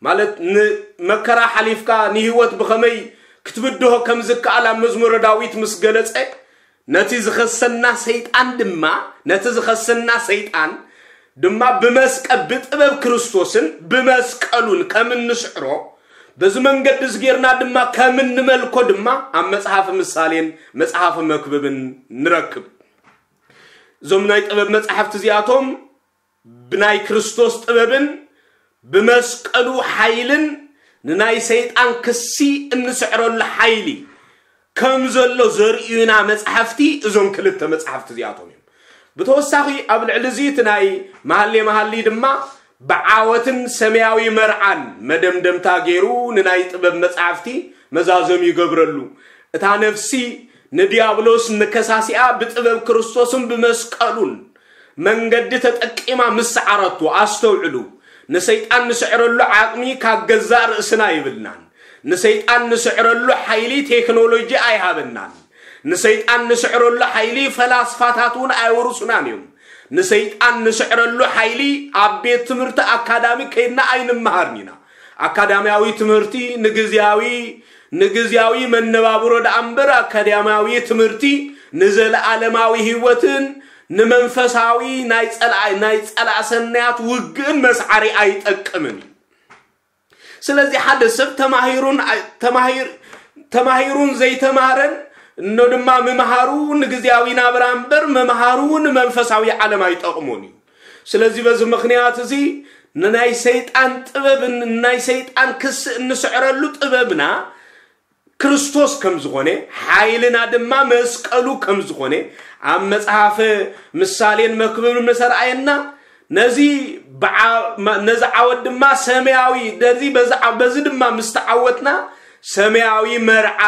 ማለት ንመከራ ሓሊፍካ ንህይወት ብኸመይ ክትብድሆ ከም ዝከኣል ኣብ መዝሙረ ዳዊት ምስ ገለጸ፣ ነቲ ዝኸሰና ሰይጣን ድማ፣ ነቲ ዝኸሰና ሰይጣን ድማ ብመስቀ-፣ ብጥበብ ክርስቶስን ብመስቀሉን ከም እንስዕሮ፣ በዚ መንገዲ እዚ ጌርና ድማ ከም እንመልኮ ድማ ኣብ መጽሓፍ ምሳሌን መጽሓፍ መክብብን ንረክብ። እዞም ናይ ጥበብ መጻሕፍቲ እዚኣቶም ብናይ ክርስቶስ ጥበብን ብመስቀሉ ሓይልን ንናይ ሰይጣን ክሲ እንስዕረሉ ሓይሊ ከም ዘሎ ዘርእዩና መጻሕፍቲ እዞም ክልተ መጻሕፍቲ እዚኣቶም እዮም። ብተወሳኺ ኣብ ልዕሊ እዚ እቲ ናይ መሃሌ መሃሊ ድማ ብዓወትን ሰማያዊ መርዓን መደምደምታ ገይሩ ንናይ ጥበብ መጻሕፍቲ መዛዘም ይገብረሉ። እታ ነፍሲ ንዲያብሎስ ንከሳሲኣ ብጥበብ ክርስቶስን ብመስቀሉን መንገዲ ተጠቂማ ምስ ሰዓረቶ፣ ኣስተውዕሉ፣ ንሰይጣን ንስዕረሉ ዓቕሚ ካብ ገዛእ ርእስና ይብልናን። ንሰይጣን ንስዕረሉ ሓይሊ ቴክኖሎጂ ኣይሃበናን። ንሰይጣን ንስዕረሉ ሓይሊ ፈላስፋታት እውን ኣይወርሱናን እዮም። ንሰይጣን ንስዕረሉ ሓይሊ ኣብ ቤት ትምህርቲ ኣካዳሚ ከይድና ኣይንመሃርን ኢና። ኣካዳሚያዊ ትምህርቲ ንግዝያዊ ንግዝያዊ መነባብሮ ደኣ እምበር፣ ኣካዳሚያዊ ትምህርቲ ንዘለኣለማዊ ህይወትን ንመንፈሳዊ ናይ ጸላኢ ናይ ጸላእ ሰናያት ውግእን መስዓሪ ኣይጠቅምን እዩ። ስለዚ ሓደ ሰብ ተማሂሩን ኣይ- ተማሂር ተማሂሩን ዘይተማረን እኖ ድማ ምምሃሩ ንግዝያዊ ናብራ እምበር፣ ምምሃሩ ንመንፈሳዊ ዓለም ኣይጠቕሞን እዩ። ስለዚ በዚ ምኽንያት እዚ ንናይ ሰይጣን ጥበብን ናይ ሰይጣን ክሲ እንስዕረሉ ጥበብና ክርስቶስ ከም ዝኾነ፣ ሓይልና ድማ መስቀሉ ከም ዝኾነ ኣብ መጽሓፍ ምሳሌን መክብብን ምስ ኣርኣየና፣ ነዚ ብዓ- መ- ነዚ ዓወት ድማ ሰማያዊ፣ ነዚ በዚ ዓ- በዚ ድማ ምስ ተዓወትና ሰማያዊ መርዓ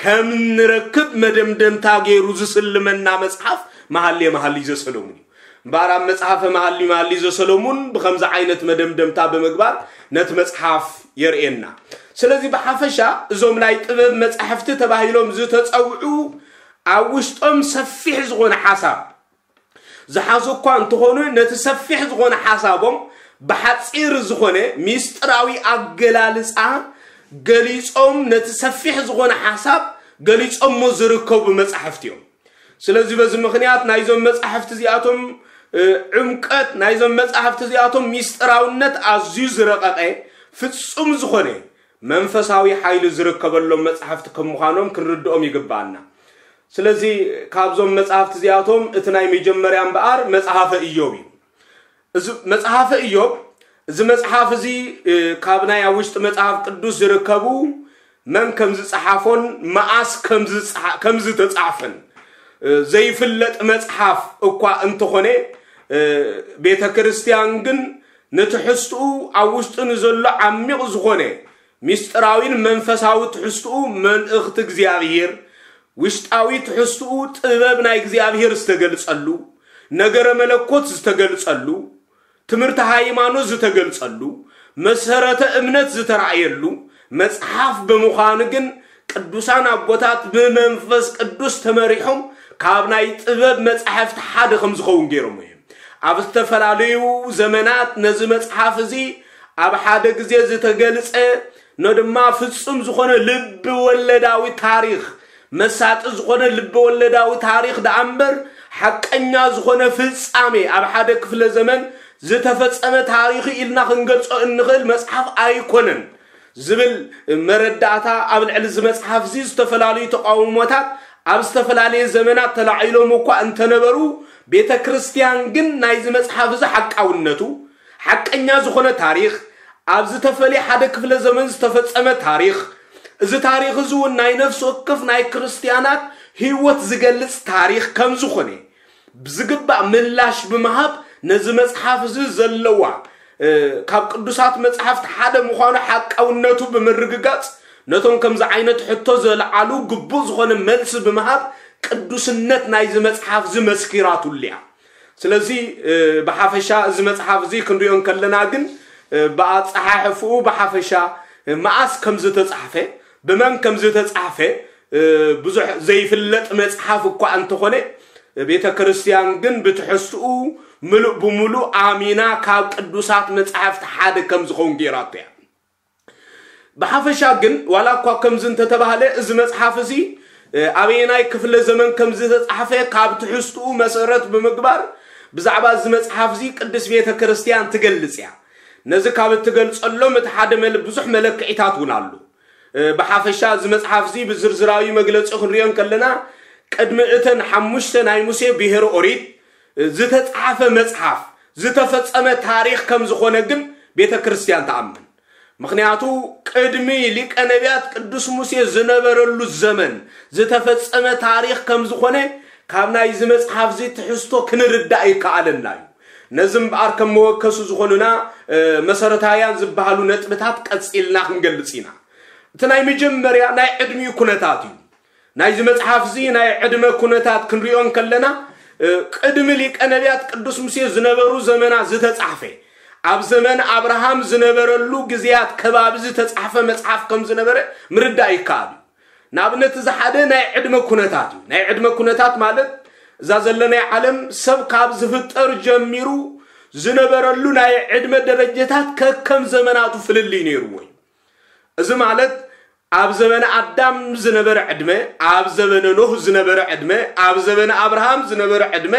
ከም ንረክብ መደምደምታ ገይሩ ዝስልመና መጽሓፍ መሃልየ መሃልይ ዘሰሎሙን እዩ። እምበኣር ኣብ መጽሓፈ መሃሊ መሃሊ ዘሰሎሙን ብኸምዚ ዓይነት መደምደምታ ብምግባር ነቲ መጽሓፍ የርእየና። ስለዚ ብሓፈሻ እዞም ናይ ጥበብ መጻሕፍቲ ተባሂሎም ዝተጸውዑ ኣብ ውሽጦም ሰፊሕ ዝኾነ ሓሳብ ዝሓዙ እኳ እንተኾኑ፣ ነቲ ሰፊሕ ዝኾነ ሓሳቦም ብሓጺር ዝኾነ ሚስጥራዊ ኣገላልጻ ገሊጾም፣ ነቲ ሰፊሕ ዝኾነ ሓሳብ ገሊጾሞ ዝርከቡ መጻሕፍቲ እዮም። ስለዚ በዚ ምኽንያት ናይዞም መጻሕፍቲ እዚኣቶም እ፣ ዕምቀት ናይዞም መጻሕፍቲ እዚኣቶም ሚስጥራውነት ኣዝዩ ዝረቐቐ ፍጹም ዝኾነ መንፈሳዊ ሓይሊ ዝርከበሎም መጻሕፍቲ ከም ምዃኖም ክንርድኦም ይግብኣና። ስለዚ ካብዞም መጻሕፍቲ እዚኣቶም እቲ ናይ መጀመርያ እምበኣር መጽሓፈ ኢዮብ እዩ። እዚ መጽሓፈ ኢዮብ፣ እዚ መጽሓፍ እዚ እ፣ ካብ ናይ ኣብ ውሽጢ መጽሓፍ ቅዱስ ዝርከቡ መን ከም ዝጸሓፎን መኣስ ከም ዝጸሓ- ከም ዝተጻሕፈን እ፣ ዘይፍለጥ መጽሓፍ እኳ እንተኾነ፣ እ፣ ቤተ ክርስቲያን ግን ንትሕዝትኡ ኣብ ውሽጡ ንዘሎ ዓሚቕ ዝኾነ ሚስጥራዊን መንፈሳዊ ትሕዝትኡ መልእኽቲ እግዚኣብሔር፣ ውሽጣዊ ትሕዝትኡ ጥበብ ናይ እግዚኣብሔር ዝተገልጸሉ፣ ነገረ መለኮት ዝተገልጸሉ፣ ትምህርቲ ሃይማኖት ዝተገልጸሉ፣ መሰረተ እምነት ዝተራእየሉ መጽሓፍ ብምዃኑ ግን ቅዱሳን ኣቦታት ብመንፈስ ቅዱስ ተመሪሖም ካብ ናይ ጥበብ መጻሕፍቲ ሓደ ከም ዝኸውን ገይሮም እዮም። ኣብ ዝተፈላለዩ ዘመናት ነዚ መጽሓፍ እዚ ኣብ ሓደ ግዜ ዝተገልጸ ኖ ድማ ፍጹም ዝኾነ ልቢ ወለዳዊ ታሪኽ፣ መሳጢ ዝኾነ ልቢ ወለዳዊ ታሪኽ ደኣ እምበር፣ ሓቀኛ ዝኾነ ፍጻሜ ኣብ ሓደ ክፍለ ዘመን ዝተፈጸመ ታሪኽ ኢልና ክንገልጾ እንኽእል መጽሓፍ ኣይኮነን ዝብል መረዳእታ ኣብ ልዕሊ እዚ መጽሓፍ እዚ ዝተፈላለዩ ተቃውሞታት ኣብ ዝተፈላለየ ዘመናት ተላዒሎም እኳ እንተነበሩ፣ ቤተ ክርስቲያን ግን ናይዚ መጽሓፍ እዚ ሓቃውነቱ፣ ሓቀኛ ዝኾነ ታሪኽ፣ ኣብ ዝተፈልየ ሓደ ክፍለ ዘመን ዝተፈጸመ ታሪኽ፣ እዚ ታሪኽ እዚ እውን ናይ ነፍሲ ወከፍ ናይ ክርስቲያናት ህይወት ዝገልጽ ታሪኽ ከም ዝኾነ ብዝግባእ ምላሽ ብምሃብ ነዚ መጽሓፍ እዚ ዘለዋ እ፣ ካብ ቅዱሳት መጽሓፍቲ ሓደ ምዃኑ ሓቃውነቱ ብምርግጋጽ ነቶም ከምዚ ዓይነት ሕቶ ዘልዓሉ ግቡእ ዝኾነ መልሲ ብምሃብ ቅዱስነት ናይዚ መጽሓፍ እዚ መስኪራትሉ እያ። ስለዚ እ፣ ብሓፈሻ እዚ መጽሓፍ እዚ ክንሪኦ እንከለና ግን እ፣ ብኣጸሓሕፍኡ ብሓፈሻ እ፣ መኣስ ከም ዝተጻሕፈ ብመን ከም ዝተጻሕፈ እ፣ ብዙሕ ዘይፍለጥ መጽሓፍ እኳ እንተኾነ፣ ቤተ ክርስቲያን ግን ብትሕዝትኡ ምሉእ ብምሉእ ኣሚና ካብ ቅዱሳት መጻሕፍቲ ሓደ ከም ዝኸውን ገይራቶ እያ። ብሓፈሻ ግን ዋላ እኳ ከምዚ እንተተባህለ፣ እዚ መጽሓፍ እዚ እ፣ ኣበየናይ ክፍለ ዘመን ከም ዝተጻሕፈ ካብ ትሕዝትኡ መሰረት ብምግባር ብዛዕባ እዚ መጽሓፍ እዚ ቅድስት ቤተ ክርስቲያን ትገልጽ እያ። ነዚ ካብ እትገልጸሎም እቲ ሓደ መል ብዙሕ መለክዒታት እውን ኣሎ። እ፣ ብሓፈሻ እዚ መጽሓፍ እዚ ብዝርዝራዊ መግለጺ ክንሪኦ እንከለና፣ ቅድሚ እተን ሓሙሽተ ናይ ሙሴ ብሄረ ኦሪት እ፣ ዝተጻሕፈ መጽሓፍ፣ ዝተፈጸመ ታሪኽ ከም ዝኾነ ግን ቤተ ክርስቲያን ትኣምን። ምኽንያቱ ቅድሚ ሊቀ ነቢያት ቅዱስ ሙሴ ዝነበረሉ ዘመን ዝተፈጸመ ታሪኽ ከም ዝኾነ ካብ ናይዚ መጽሓፍ እዚ ትሕዝቶ ክንርዳእ ይከኣለና እዩ። ነዚ እምበኣር ከም መወከሱ ዝኾኑና እ፣ መሰረታውያን ዝበሃሉ ነጥብታት ቀጺልና ክንገልጽ ኢና። እቲ ናይ መጀመርያ ናይ ዕድሚኡ ኩነታት እዩ። ናይዚ መጽሓፍ እዚ ናይ ዕድመ ኩነታት ክንሪኦ እንከለና፣ እ፣ ቅድሚ ሊቀ ነቢያት ቅዱስ ሙሴ ዝነበሩ ዘመናት ዝተጻሕፈ፣ ኣብ ዘመን ኣብርሃም ዝነበረሉ ግዜያት ከባቢ ዝተጻሕፈ መጽሓፍ ከም ዝነበረ ምርዳእ ይከኣል እዩ። ንኣብነት፣ እዚ ሓደ ናይ ዕድመ ኩነታት እዩ። ናይ ዕድመ ኩነታት ማለት፣ እዛ ዘለናይ ዓለም ሰብ ካብ ዝፍጠር ጀሚሩ ዝነበረሉ ናይ ዕድመ ደረጃታት ከከም ዘመናቱ ፍልልይ ነይርዎ እዩ። እዚ ማለት፣ ኣብ ዘመነ ኣዳም ዝነበረ ዕድመ፣ ኣብ ዘመነ ኖህ ዝነበረ ዕድመ፣ ኣብ ዘመነ ኣብርሃም ዝነበረ ዕድመ፣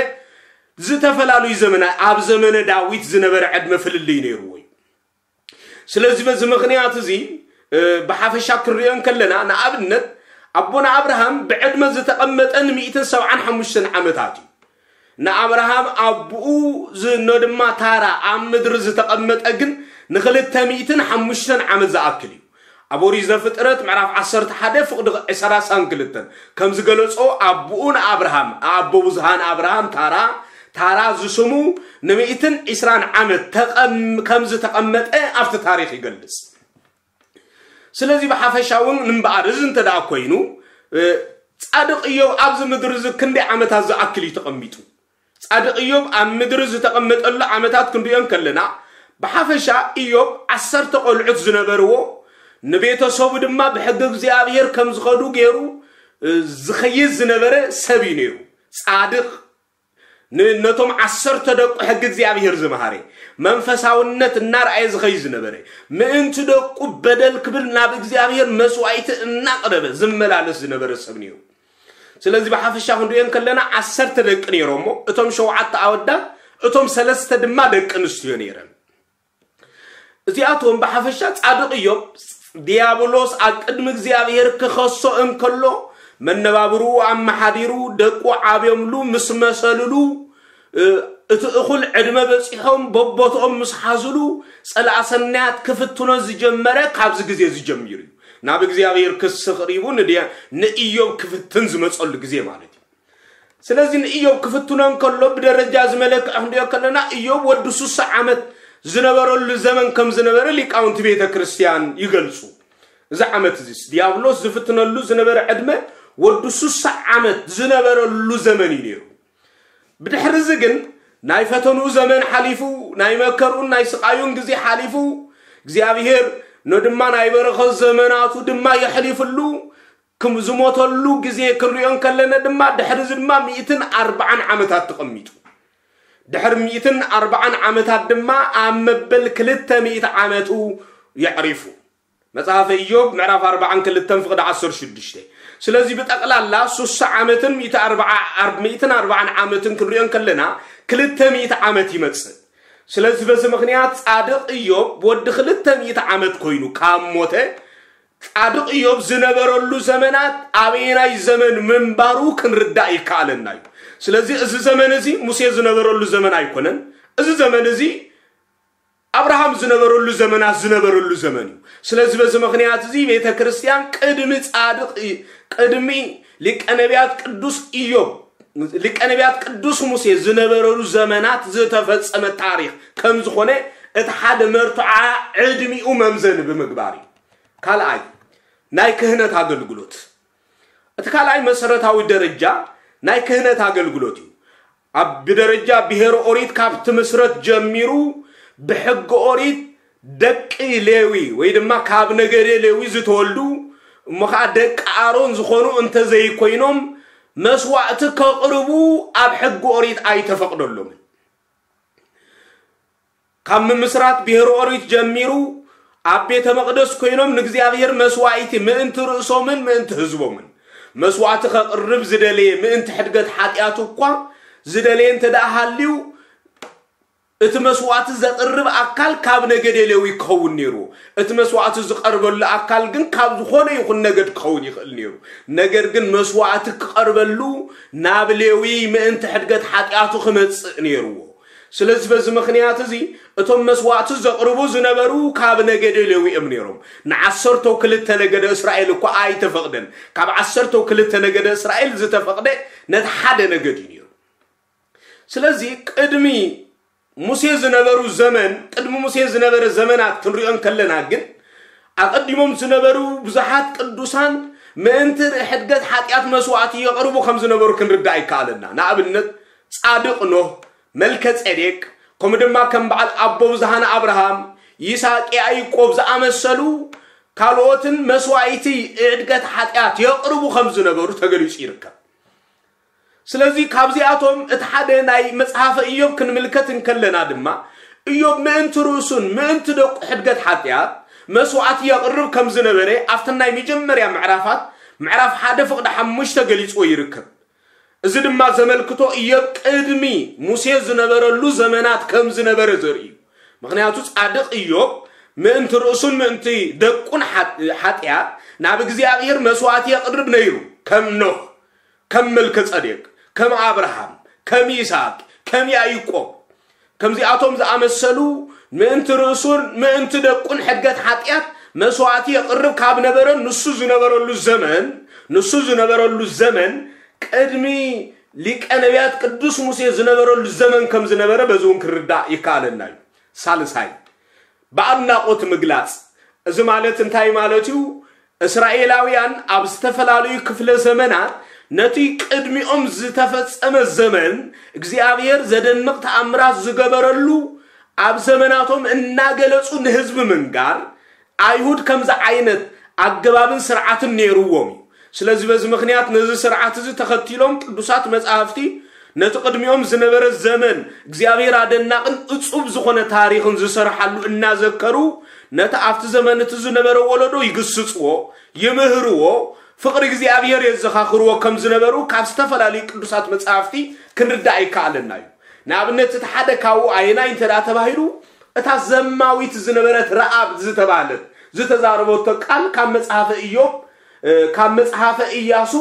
ዝተፈላለዩ ዘመና፣ ኣብ ዘመነ ዳዊት ዝነበረ ዕድመ ፍልልይ ነይርዎ እዩ። ስለዚ በዚ ምኽንያት እዚ፣ እ፣ ብሓፈሻ ክንሪኦ እንከለና፣ ንኣብነት፣ ኣቦና ኣብርሃም ብዕድመ ዝተቐመጠ ን175 ዓመታት እዩ። ንኣብርሃም ኣቦኡ ዝ-፣ ኖ ድማ ታራ ኣብ ምድሪ ዝተቐመጠ ግን ን205 ዓመት ዝኣክል እዩ። ኣብ ኦሪት ዘፍጥረት ምዕራፍ ዓሰርተ ሓደ ፍቕዲ ዕስራን ክልተን ከም ዝገለጾ፣ ኣቦኡ ንኣብርሃም፣ ኣቦ ብዙሃን ኣብርሃም ታራ፣ ታራ ዝስሙ ን120 ዓመት ተቐም-፣ ከም ዝተቐመጠ ኣብቲ ታሪኽ ይገልጽ። ስለዚ ብሓፈሻ እውን እምበኣር እዚ እንተ ደኣ ኮይኑ፣ እ፣ ጻድቕ እዮብ ኣብዚ ምድሪ እዚ ክንደይ ዓመታት ዝኣክል እዩ ተቐሚጡ? ጻድቕ እዮብ ኣብ ምድሪ ዝተቐመጠሉ ዓመታት ክንሪኦ እንከለና፣ ብሓፈሻ እዮብ ዓሰርተ ቆልዑት ዝነበርዎ፣ ንቤተሰቡ ድማ ብሕጊ እግዚኣብሔር ከም ዝኸዱ ገይሩ፣ እ፣ ዝኸይድ ዝነበረ ሰብ እዩ ነይሩ። ጻድቕ፣ ን-፣ ነቶም ዓሰርተ ደቁ ሕጊ እግዚኣብሔር ዝመሃረ፣ መንፈሳውነት እናርኣየ ዝኸይድ ዝነበረ፣ ምእንቲ ደቁ በደል ክብል ናብ እግዚኣብሔር መስዋዕቲ እናቕረበ ዝመላለስ ዝነበረ ሰብ ነይሩ። ስለዚ ብሓፈሻ ክንሪኦ እንከለና ዓሰርተ ደቂ ነይሮሞ፣ እቶም ሸውዓተ ኣወዳት፣ እቶም ሰለስተ ድማ ደቂ ኣንስትዮ ነይረን። እዚኣቶም ብሓፈሻ ጻድቕ እዮብ፣ ዲያብሎስ ኣብ ቅድሚ እግዚኣብሔር ክኸሶ እንከሎ፣ መነባብርኡ ኣመሓዲሩ፣ ደቁ ዓብዮምሉ፣ ምስ መሰልሉ፣ እ፣ እቲ እኹል ዕድመ በጺሖም፣ በቦትኦም ምስ ሓዝሉ፣ ጸላእ ሰናያት ክፍትኖ ዝጀመረ ካብዚ ግዜ እዚ ጀሚሩ እዩ። ናብ እግዚኣብሔር ክሲ ቅሪቡ ንድያ-፣ ንእዮብ ክፍትን ዝመጸሉ ግዜ ማለት እዩ። ስለዚ ንእዮብ ክፍትኖ እንከሎ፣ ብደረጃ ዝመለክዕ ክንሪኦ ከለና፣ እዮብ ወዲ ሱሳ ዓመት ዝነበረሉ ዘመን ከም ዝነበረ ሊቃውንቲ ቤተ ክርስቲያን ይገልጹ። እዚ ዓመት እዚስ፣ ዲያብሎስ ዝፍትነሉ ዝነበረ ዕድመ፣ ወዲ ሱሳ ዓመት ዝነበረሉ ዘመን እዩ ነይሩ። ብድሕሪ እዚ ግን፣ ናይ ፈተንኡ ዘመን ሓሊፉ፣ ናይ መከርኡን ናይ ስቓዩን ግዜ ሓሊፉ፣ እግዚኣብሔር ኖ ድማ ናይ በረኸት ዘመናቱ ድማ የሕሊፍሉ፣ ክም-፣ ዝሞተሉ ግዜ ክንሪኦ እንከለና ድማ፣ ድሕሪ እዚ ድማ ሚእትን ኣርባዓን ዓመታት ተቐሚጡ። ድሕሪ ሚእትን ኣርባዓን ዓመታት ድማ ኣብ መበል ክልተ ሚእቲ ዓመቱ የዕሪፉ። መጽሓፈ ኢዮብ ምዕራፍ ኣርባዓን ክልተን ፍቕዲ ዓሰርተ ሽዱሽተ። ስለዚ ብጠቕላላ ሱሳ ዓመትን ሚእቲ ኣርባዓ፣ ኣር-፣ ሚእትን ኣርባዓን ዓመትን ክንሪኦ እንከለና፣ ክልተ ሚእቲ ዓመት ይመጽእ። ስለዚ በዚ ምኽንያት ጻድቕ ኢዮብ ወዲ ክልተ ሚእቲ ዓመት ኮይኑ ካብ ሞተ፣ ጻድቕ ኢዮብ ዝነበረሉ ዘመናት ኣበየናይ ዘመን ምንባሩ ክንርዳእ ይከኣለና እዩ። ስለዚ እዚ ዘመን እዚ ሙሴ ዝነበረሉ ዘመን ኣይኮነን። እዚ ዘመን እዚ ኣብርሃም ዝነበረሉ ዘመናት ዝነበረሉ ዘመን እዩ። ስለዚ በዚ ምኽንያት እዚ ቤተ ክርስቲያን ቅድሚ ጻድቕ ኢ-፣ ቅድሚ ሊቀ ነቢያት ቅዱስ ኢዮብ፣ ሊቀ ነቢያት ቅዱስ ሙሴ ዝነበረሉ ዘመናት ዝተፈጸመ ታሪኽ ከም ዝኾነ እቲ ሓደ መርትዖ ዕድሚኡ መምዘኒ ብምግባር እዩ። ካልኣይ፣ ናይ ክህነት ኣገልግሎት። እቲ ካልኣይ መሰረታዊ ደረጃ ናይ ክህነት ኣገልግሎት እዩ። ኣብ ብደረጃ ብሄር ኦሪት ካብ ትምስረት ጀሚሩ፣ ብሕጊ ኦሪት ደቂ ሌዊ ወይ ድማ ካብ ነገደ ሌዊ ዝተወልዱ፣ እሞ ኸዓ ደቂ ኣሮን ዝኾኑ እንተዘይኮይኖም፣ መስዋእቲ ከቕርቡ ኣብ ሕጊ ኦሪት ኣይተፈቕደሎምን። ካብ ምምስራት ብሄር ኦሪት ጀሚሩ፣ ኣብ ቤተ መቕደስ ኮይኖም ንእግዚኣብሔር መስዋእቲ ምእንቲ ርእሶምን ምእንቲ ህዝቦምን መስዋእቲ ከቕርብ ዝደለየ፣ ምእንቲ ሕድገት ሓጢኣቱ እኳ ዝደለየ እንተ ደኣ ሃልዩ፣ እቲ መስዋእቲ ዘቕርብ ኣካል ካብ ነገደ ሌዊ ክኸውን ነይርዎ። እቲ መስዋእቲ ዝቐርበሉ ኣካል ግን ካብ ዝኾነ ይኹን ነገድ ክኸውን ይኽእል ነይሩ። ነገር ግን መስዋእቲ ክቐርበሉ ናብ ሌዊ ምእንቲ ሕድገት ሓጢኣቱ ክመጽእ ነይርዎ። ስለዚ በዚ ምኽንያት እዚ እቶም መስዋእቲ ዘቕርቡ ዝነበሩ ካብ ነገደ ሌዊ እዮም ነይሮም። ንዓሰርተው ክልተ ነገደ እስራኤል እኳ ኣይተፈቕደን። ካብ ዓሰርተው ክልተ ነገደ እስራኤል ዝተፈቕደ ነቲ ሓደ ነገድ እዩ ነይሩ። ስለዚ ቅድሚ ሙሴ ዝነበሩ ዘመን፣ ቅድሚ ሙሴ ዝነበረ ዘመናት ክንሪኦ እንከለና ግን፣ ኣቐዲሞም ዝነበሩ ብዙሓት ቅዱሳን ምእንቲ ሕድገት ሓጢኣት መስዋዕቲ የቕርቡ ከም ዝነበሩ ክንርዳእ ይከኣለና። ንኣብነት ጻድቕ ኖህ፣ መልከ ጼዴቅ፣ ከምኡ ድማ ከም በዓል ኣቦ ብዝሃን ኣብርሃም፣ ይስሐቅ፣ ያዕቆብ ዝኣመሰሉ ካልኦትን መስዋዕቲ ሕድገት ሓጢኣት የቕርቡ ከም ዝነበሩ ተገሊጹ ይርከብ። ስለዚ ካብዚኣቶም እቲ ሓደ ናይ መጽሓፈ ኢዮብ ክንምልከት እንከለና ድማ ኢዮብ ምእንቲ ርእሱን ምእንቲ ደቁ ሕድገት ሓጢኣት መስዋዕቲ የቕርብ ከም ዝነበረ ኣብተን ናይ መጀመርያ ምዕራፋት ምዕራፍ ሓደ ፍቕዲ ሓሙሽተ ገሊጽዎ ይርከብ። እዚ ድማ ዘመልክቶ ኢዮብ ቅድሚ ሙሴ ዝነበረሉ ዘመናት ከም ዝነበረ ዘርኢ እዩ። ምኽንያቱ ጻድቕ ኢዮብ ምእንቲ ርእሱን ምእንቲ ደቁን ሓጢኣት ናብ እግዚኣብሔር መስዋዕቲ የቕርብ ነይሩ። ከም ኖህ፣ ከም መልከ ጸዴቅ፣ ከም ኣብርሃም፣ ከም ይስሐቅ፣ ከም ያዕቆብ ከምዚኣቶም ዝኣመሰሉ ምእንቲ ርእሱን ምእንቲ ደቁን ሕድገት ሓጢኣት መስዋዕቲ የቕርብ ካብ ነበረ ንሱ ዝነበረሉ ዘመን ንሱ ዝነበረሉ ዘመን ቅድሚ ሊቀ ነቢያት ቅዱስ ሙሴ ዝነበረሉ ዘመን ከም ዝነበረ በዚ እውን ክርዳእ ይከኣለና እዩ። ሳልሳይ ብኣድናቖት ምግላጽ። እዚ ማለት እንታይ ማለት እዩ? እስራኤላውያን ኣብ ዝተፈላለዩ ክፍለ ዘመናት ነቲ ቅድሚኦም ዝተፈጸመ ዘመን እግዚኣብሔር ዘደንቕ ተኣምራት ዝገበረሉ ኣብ ዘመናቶም እናገለጹ ንህዝቢ ምንጋር ኣይሁድ ከምዚ ዓይነት ኣገባብን ስርዓትን ነይርዎም እዩ። ስለዚ በዚ ምክንያት ነዚ ስርዓት እዚ ተኸቲሎም ቅዱሳት መጻሕፍቲ ነቲ ቅድሚኦም ዝነበረ ዘመን እግዚኣብሔር ኣደናቕን እጹብ ዝኾነ ታሪኽን ዝሰርሓሉ እናዘከሩ ነቲ ኣብቲ ዘመን እቲ ዝነበረ ወለዶ ይግስጽዎ፣ ይምህርዎ፣ ፍቕሪ እግዚኣብሔር የዘኻኽርዎ ከም ዝነበሩ ካብ ዝተፈላለዩ ቅዱሳት መጻሕፍቲ ክንርዳእ ይከኣለና እዩ። ንኣብነት እቲ ሓደ ካብኡ ኣየናይ እንተ ደኣ ተባሂሉ እታ ዘማዊት ዝነበረት ረኣብ ዝተባህለት ዝተዛረበቶ ቃል ካብ መጽሓፈ ኢዮብ ካብ መጽሓፈ ኢያሱ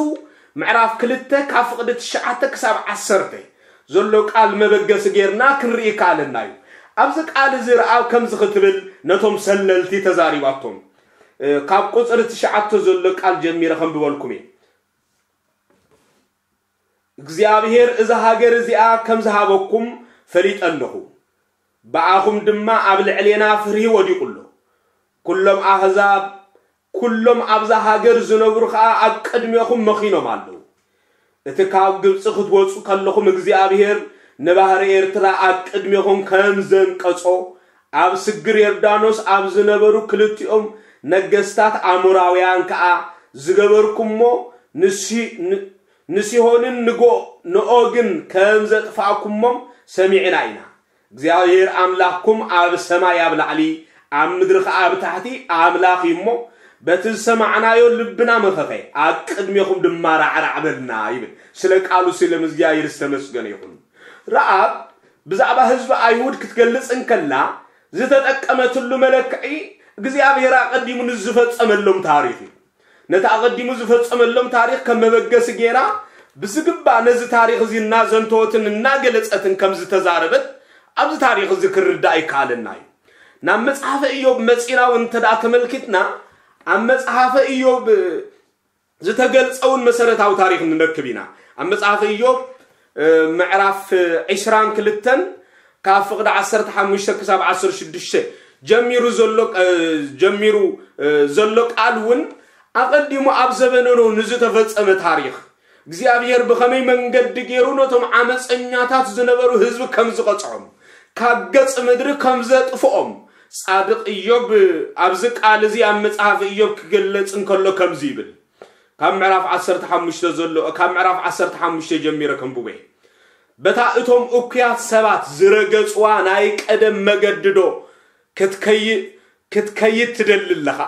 ምዕራፍ ክልተ ካብ ፍቕዲ ትሽዓተ ክሳብ ዓሰርተ ዘሎ ቃል መበገሲ ጌርና ክንርኢ ይከኣለና እዩ። ኣብዚ ቃል እዚ ረኣብ ከምዚ ክትብል ነቶም ሰለልቲ ተዛሪባቶም። ካብ ቁፅሪ ትሽዓተ ዘሎ ቃል ጀሚረ ከንብበልኩም እየ። እግዚኣብሔር እዛ ሃገር እዚኣ ከም ዝሃበኩም ፈሊጠ ኣለኹ። ብኣኹም ድማ ኣብ ልዕሌና ፍርሂ ወዲቑ ኣሎ። ኩሎም ኣህዛብ ኩሎም ኣብዛ ሃገር ዝነብሩ ኸኣ ኣብ ቅድሜኹም መኺኖም ኣለዉ። እቲ ካብ ግብጺ ክትወጹ ከለኹም እግዚኣብሔር ንባህሪ ኤርትራ ኣብ ቅድሜኹም ከም ዘንቀጾ፣ ኣብ ስግር ዮርዳኖስ ኣብ ዝነበሩ ክልቲኦም ነገስታት ኣሞራውያን ከኣ ዝገበርኩሞ ንሲ-፣ ን-፣ ንሲሆንን ንጎ-፣ ንኦግን ከም ዘጥፋእኩሞም ሰሚዕና ኢና። እግዚኣብሔር ኣምላኽኩም ኣብ ሰማይ ኣብ ላዕሊ፣ ኣብ ምድሪ ኸዓ ኣብ ታሕቲ ኣምላኽ እዩ እሞ፣ በቲ ዝሰማዕናዮ ልብና መኸኸ፣ ኣብ ቅድሜኹም ድማ ራዕራዕ በልና ይብል። ስለ ቃሉ ስለ እግዚኣብሔር ዝተመስገነ ይኹን። ረኣብ ብዛዕባ ህዝቢ ኣይሁድ ክትገልጽ እንከላ ዝተጠቀመትሉ መለክዒ እግዚኣብሔር ኣቐዲሙ ንዝፈጸመሎም ታሪኽ እዩ። ነቲ ኣቐዲሙ ዝፈጸመሎም ታሪኽ ከም መበገሲ ገይራ ብዝግባእ ነዚ ታሪኽ እዚ እናዘንተወትን እናገለጸትን ከም ዝተዛረበት ኣብዚ ታሪኽ እዚ ክርዳእ ይከኣለና እዩ። ናብ መጽሓፈ ኢዮብ መጺና እውን እንተ ደኣ ተመልኪትና ኣብ መጽሓፈ ኢዮብ ዝተገልጸ እውን መሰረታዊ ታሪኽ ንረክብ ኢና። ኣብ መጽሓፈ ኢዮብ ምዕራፍ ዕስራን ክልተን ካብ ፍቕዲ ዓሰርተ ሓሙሽተ ክሳብ ዓሰርተ ሽዱሽተ ጀሚሩ ዘሎ ጀሚሩ ዘሎ ቃል እውን ኣቐዲሙ ኣብ ዘበነ ኖህ ንዝተፈጸመ ታሪኽ እግዚኣብሔር ብኸመይ መንገዲ ገይሩ ነቶም ዓመፀኛታት ዝነበሩ ህዝቢ ከም ዝቐጽዖም ካብ ገጽ ምድሪ ከም ዘጥፍኦም ጻድቕ ኢዮብ ኣብዚ ቃል እዚ ኣብ መጽሓፍ ኢዮብ ክገለጽ እንከሎ ከምዚ ይብል። ካብ ምዕራፍ ዓሰርተ ሓሙሽተ ዘሎ ካብ ምዕራፍ ዓሰርተ ሓሙሽተ ጀሚረ ከንብበ። በታ እቶም እኩያት ሰባት ዝረገጽዋ ናይ ቀደም መገዲ ዶ ክትከይ-፣ ክትከይድ ትደሊ ኣለኻ?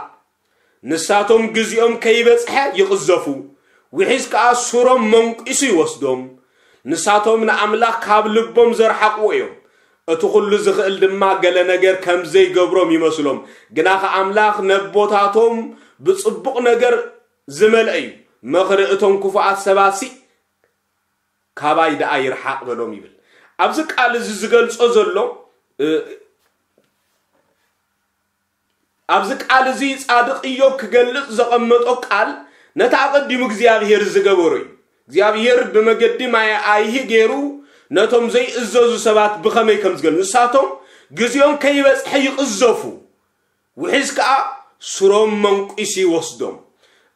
ንሳቶም ግዜኦም ከይበጽሐ ይቕዘፉ፣ ውሒዝ ከኣ ሱሮም መንቂሱ ይወስዶም። ንሳቶም ንኣምላኽ ካብ ልቦም ዘርሓቕዎ እዮም። እቲ ኹሉ ዝኽእል ድማ ገለ ነገር ከም ዘይገብሮም ይመስሎም። ግናኸ ኣምላኽ ነቦታቶም ብጽቡቕ ነገር ዝመልአ እዩ። ምኽሪ እቶም ክፉኣት ሰባትሲ ካባይ ደኣ ይርሓቕ በሎም ይብል። ኣብዚ ቃል እዚ ዝገልጾ ዘሎ፣ እ፣ ኣብዚ ቃል እዚ ጻድቕ ኢዮብ ክገልጽ ዘቐመጦ ቃል ነቲ ኣቐዲሙ እግዚኣብሔር ዝገበሮ እዩ። እግዚኣብሔር ብመገዲ ማይ ኣይሂ ገይሩ ነቶም ዘይእዘዙ ሰባት ብኸመይ ከም ዝገል-፣ ንሳቶም ግዜኦም ከይበጽሐ ይቕዘፉ፣ ውሒዝ ከኣ ሱሮም መንቂሱ ይወስዶም።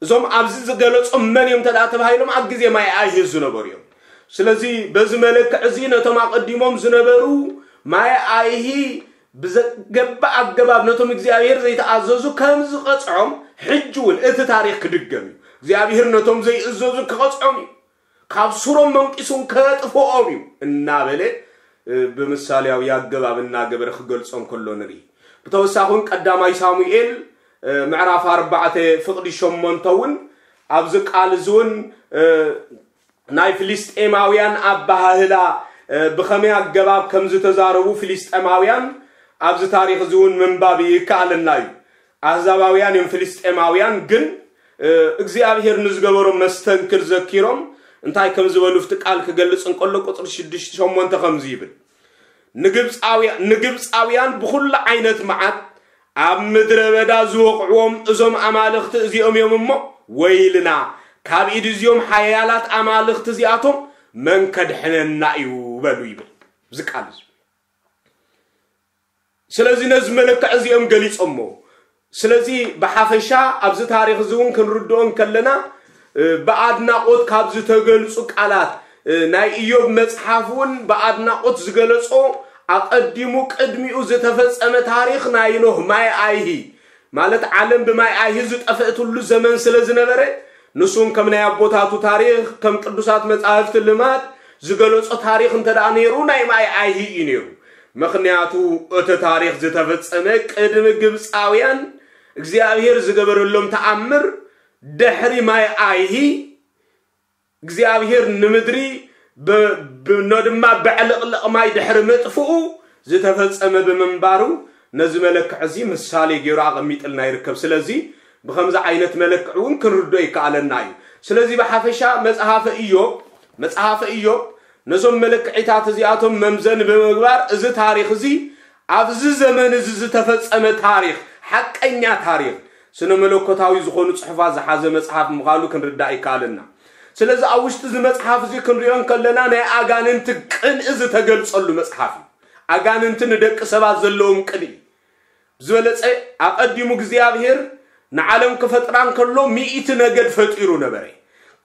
እዞም ኣብዚ ዝገለጾም መን እዮም እንተ ደኣ ተባሂሎም ኣብ ግዜ ማይ ኣይሂ ዝነበሩ እዮም። ስለዚ በዚ መለክዕ እዚ ነቶም ኣቐዲሞም ዝነበሩ ማይ ኣይሂ ብዘገባእ ኣገባብ ነቶም እግዚኣብሔር ዘይተኣዘዙ ከም ዝቐጽዖም ሕጂ እውን እቲ ታሪኽ ክድገም እዩ። እግዚኣብሔር ነቶም ዘይእዘዙ ክቐጽዖም እዩ። ካብ ሱሮም መንቂሱን ከጥፍኦም እዩ እናበለ ብምሳሌያዊ ኣገባብ እናገበረ ክገልጾም ከሎ ንርኢ። ብተወሳኺ እውን ቀዳማይ ሳሙኤል ምዕራፍ ኣርባዕተ ፍቕዲ ሸሞንተ እውን ኣብዚ ቃል እዚ እውን ናይ ፍልስጤማውያን ኣበሃህላ ብኸመይ ኣገባብ ከም ዝተዛረቡ ፍልስጤማውያን ኣብዚ ታሪኽ እዚ እውን ምንባብ ይከኣለና እዩ። ኣህዛባውያን እዮም ፍልስጤማውያን፣ ግን እግዚኣብሔር ንዝገበሮም መስተንክር ዘኪሮም እንታይ ከም ዝበሉ ፍቲ ቃል ክገልጽ እንከሎ ቁጽሪ ሽዱሽተ ሸሞንተ ከምዚ ይብል፣ ንግብፃውያን ብኩሉ ዓይነት መዓት ኣብ ምድረ በዳ ዝወቕዕዎም እዞም ኣማልኽቲ እዚኦም እዮም እሞ፣ ወይልና፣ ካብ ኢድ እዚኦም ሓያላት ኣማልኽቲ እዚኣቶም መን ከድሕነና እዩ በሉ ይብል። እዚ ቃል እዚ ስለዚ ነዚ መለክዕ እዚኦም ገሊጾሞ። ስለዚ ብሓፈሻ ኣብዚ ታሪኽ እዚ እውን ክንርድኦ እንከለና ብኣድናቖት ካብ ዝተገልጹ ቃላት ናይ ኢዮብ መጽሓፍ እውን ብኣድናቖት ዝገለጾ ኣቐዲሙ ቅድሚኡ ዝተፈጸመ ታሪኽ ናይ ኖህ ማይ ኣይሂ ማለት ዓለም ብማይ ኣይሂ ዝጠፍእትሉ ዘመን ስለ ዝነበረ ንሱን ከም ናይ ኣቦታቱ ታሪኽ ከም ቅዱሳት መጻሕፍቲ ልማድ ዝገለጾ ታሪኽ እንተ ደኣ ነይሩ ናይ ማይ ኣይሂ እዩ ነይሩ። ምኽንያቱ እቲ ታሪኽ ዝተፈጸመ ቅድሚ ግብፃውያን እግዚኣብሔር ዝገበረሎም ተኣምር ድሕሪ ማይ ኣይሂ እግዚኣብሔር ንምድሪ ኖ ድማ ብዕልቕልቕ ማይ ድሕሪ ምጥፍኡ ዝተፈጸመ ብምንባሩ ነዚ መለክዕ እዚ ምሳሌ ገይሩ ኣቐሚጥልና ይርከብ። ስለዚ ብኸምዚ ዓይነት መለክዕ እውን ክንርዶ ይከኣለና እዩ። ስለዚ ብሓፈሻ መጽሓፈ ኢዮብ መጽሓፈ ኢዮብ ነዞም መለክዒታት እዚኣቶም መምዘኒ ብምግባር እዚ ታሪኽ እዚ ኣብዚ ዘመን እዚ ዝተፈጸመ ታሪኽ ሓቀኛ ታሪኽ ስነ መለኮታዊ ዝኾኑ ጽሑፋት ዝሓዘ መጽሓፍ ምዃኑ ክንርዳእ ይከኣለና። ስለዚ ኣብ ውሽጢ እዚ መጽሓፍ እዚ ክንሪኦ እንከለና ናይ ኣጋንንቲ ቅንኢ ዝተገልጸሉ መጽሓፍ እዩ። ኣጋንንቲ ንደቂ ሰባት ዘለዎም ቅንኢ ዝበለጸ ኣቐዲሙ እግዚኣብሔር ንዓለም ክፈጥራ እንከሎ ሚእቲ ነገድ ፈጢሩ ነበረ።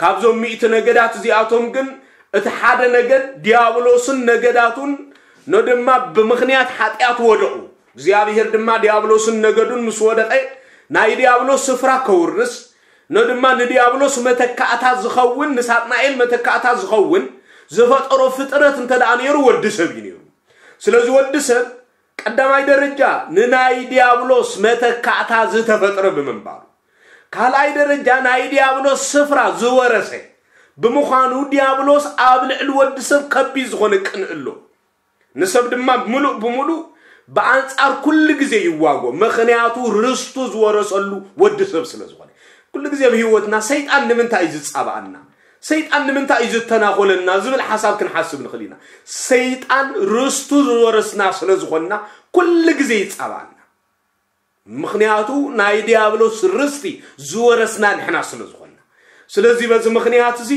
ካብዞም ሚእቲ ነገዳት እዚኣቶም ግን እቲ ሓደ ነገድ ዲያብሎስን ነገዳቱን ኖ ድማ ብምኽንያት ሓጢኣት ወደቑ። እግዚኣብሔር ድማ ዲያብሎስን ነገዱን ምስ ወደቐ ናይ ዲያብሎስ ስፍራ ከውርስ ኖ ድማ ንዲያብሎስ መተካእታ ዝኸውን ንሳጥናኤል መተካእታ ዝኸውን ዝፈጠሮ ፍጥረት እንተ ደኣ ነይሩ ወዲ ሰብ እዩ ነይሩ። ስለዚ ወዲ ሰብ ቀዳማይ ደረጃ ንናይ ዲያብሎስ መተካእታ ዝተፈጥረ ብምንባሩ፣ ካልኣይ ደረጃ ናይ ዲያብሎስ ስፍራ ዝወረሰ ብምዃኑ ዲያብሎስ ኣብ ልዕሊ ወዲ ሰብ ከቢድ ዝኾነ ቅንኢ ኣሎ። ንሰብ ድማ ምሉእ ብምሉእ ብኣንጻር ኩሉ ግዜ ይዋጎ። ምኽንያቱ ርስቱ ዝወረሰሉ ወዲ ሰብ ስለ ዝኾነ። ኩሉ ግዜ ኣብ ህይወትና ሰይጣን ንምንታይ እዩ ዝጻባኣና? ሰይጣን ንምንታይ እዩ ዝተናኾለና? ዝብል ሓሳብ ክንሓስብ ንኽእል ኢና። ሰይጣን ርስቱ ዝወረስና ስለ ዝኾንና ኩሉ ግዜ ይጻባኣና። ምኽንያቱ ናይ ዲያብሎስ ርስቲ ዝወረስና ንሕና ስለ ዝኾንና። ስለዚ በዚ ምኽንያት እዚ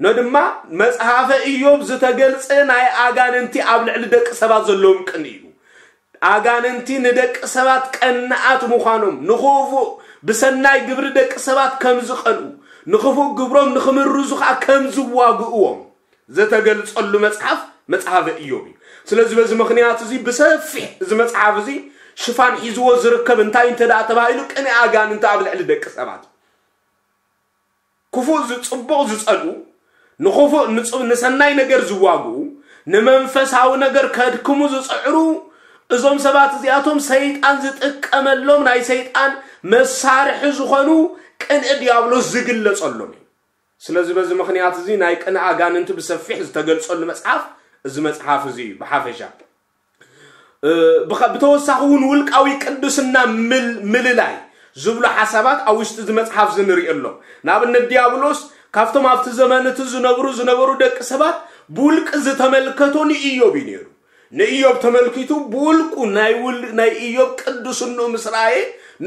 ኖ ድማ መጽሓፈ ኢዮብ ዝተገልጸ ናይ ኣጋንንቲ ኣብ ልዕሊ ደቂ ሰባት ዘለዎም ቅንኢ እዩ። ኣጋንንቲ ንደቂ ሰባት ቀናኣት ምዃኖም፣ ንኽፉእ ብሰናይ ግብሪ ደቂ ሰባት ከም ዝቐንኡ፣ ንኽፉእ ግብሮም ንኽምርዙ ኸኣ ከም ዝዋግእዎም ዝተገልጸሉ መጽሓፍ መጽሓፈ ኢዮብ እዩ። ስለዚ በዚ ምኽንያት እዚ ብሰፊሕ እዚ መጽሓፍ እዚ ሽፋን ሒዝዎ ዝርከብ እንታይ እንተ ደኣ ተባሂሉ ቅንኢ ኣጋንንቲ ኣብ ልዕሊ ደቂ ሰባት ክፉእ ዝጽቡቕ ዝጸልኡ ንኽፉእ ንጽ- ንሰናይ ነገር ዝዋግኡ ንመንፈሳዊ ነገር ከድክሙ ዝጽዕሩ እዞም ሰባት እዚኣቶም ሰይጣን ዝጥቀመሎም ናይ ሰይጣን መሳርሒ ዝኾኑ ቅንኢ ዲያብሎስ ዝግለጸሎም እዩ። ስለዚ በዚ ምኽንያት እዚ ናይ ቅንኢ ኣጋንንቲ ብሰፊሕ ዝተገልጸሉ መጽሓፍ እዚ መጽሓፍ እዚ እዩ ብሓፈሻ። ብተወሳኺ እውን ውልቃዊ ቅድስና ምልላይ ዝብሉ ሓሳባት ኣብ ውሽጢ እዚ መፅሓፍ እዚ ንሪኦ ኣሎ። ንኣብነት ዲያብሎስ ካብቶም ኣብቲ ዘመን እቲ ዝነብሩ ዝነበሩ ደቂ ሰባት ብውልቂ ዝተመልከቶ ንኢዮብ እዩ ነይሩ። ንኢዮብ ተመልኪቱ ብውልቁ ናይ ውል ናይ ኢዮብ ቅድስንኡ ምስ ረኣየ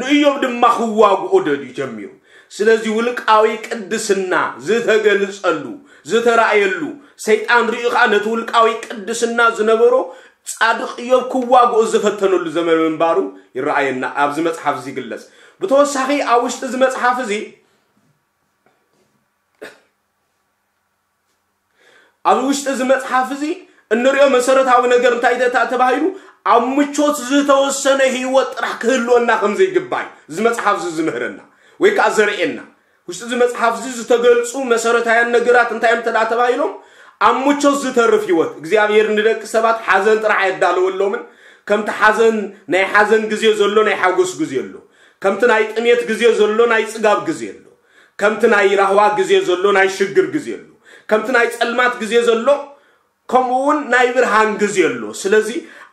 ንኢዮብ ድማ ክዋግኦ ደልዩ ጀሚሩ። ስለዚ ውልቃዊ ቅድስና ዝተገልጸሉ ዝተራእየሉ ሰይጣን ርእዩ ከዓ ነቲ ውልቃዊ ቅድስና ዝነበሮ ጻድቕ ኢዮብ ክዋግኦ ዝፈተነሉ ዘመን ምንባሩ ይረኣየና ኣብዚ መጽሓፍ እዚ ይግለጽ። ብተወሳኺ ኣብ ውሽጢ እዚ መጽሓፍ እዚ ኣብ ውሽጢ እዚ መጽሓፍ እዚ እንሪኦ መሰረታዊ ነገር እንታይ ተ- ተባሂሉ፣ ኣብ ምቾት ዝተወሰነ ህይወት ጥራሕ ክህልወና ከም ዘይግባይ እዚ መጽሓፍ እዚ ዝምህረና ወይ ከዓ ዘርእየና። ውሽጢ እዚ መጽሓፍ እዚ ዝተገልጹ መሰረታውያን ነገራት እንታይ እዮም ተዳ ተባሂሎም? ኣብ ምቾት ዝተርፍ ህይወት። እግዚኣብሔር ንደቂ ሰባት ሓዘን ጥራሕ ኣየዳለወሎምን። ከምቲ ሓዘን፣ ናይ ሓዘን ግዜ ዘሎ ናይ ሓጎስ ግዜ ኣሎ። ከምቲ ናይ ጥሜት ግዜ ዘሎ ናይ ጽጋብ ግዜ ኣሎ። ከምቲ ናይ ራህዋ ግዜ ዘሎ ናይ ሽግር ግዜ ኣሎ። ከምቲ ናይ ጸልማት ግዜ ዘሎ ከምኡ እውን ናይ ብርሃን ግዜ ኣሎ። ስለዚ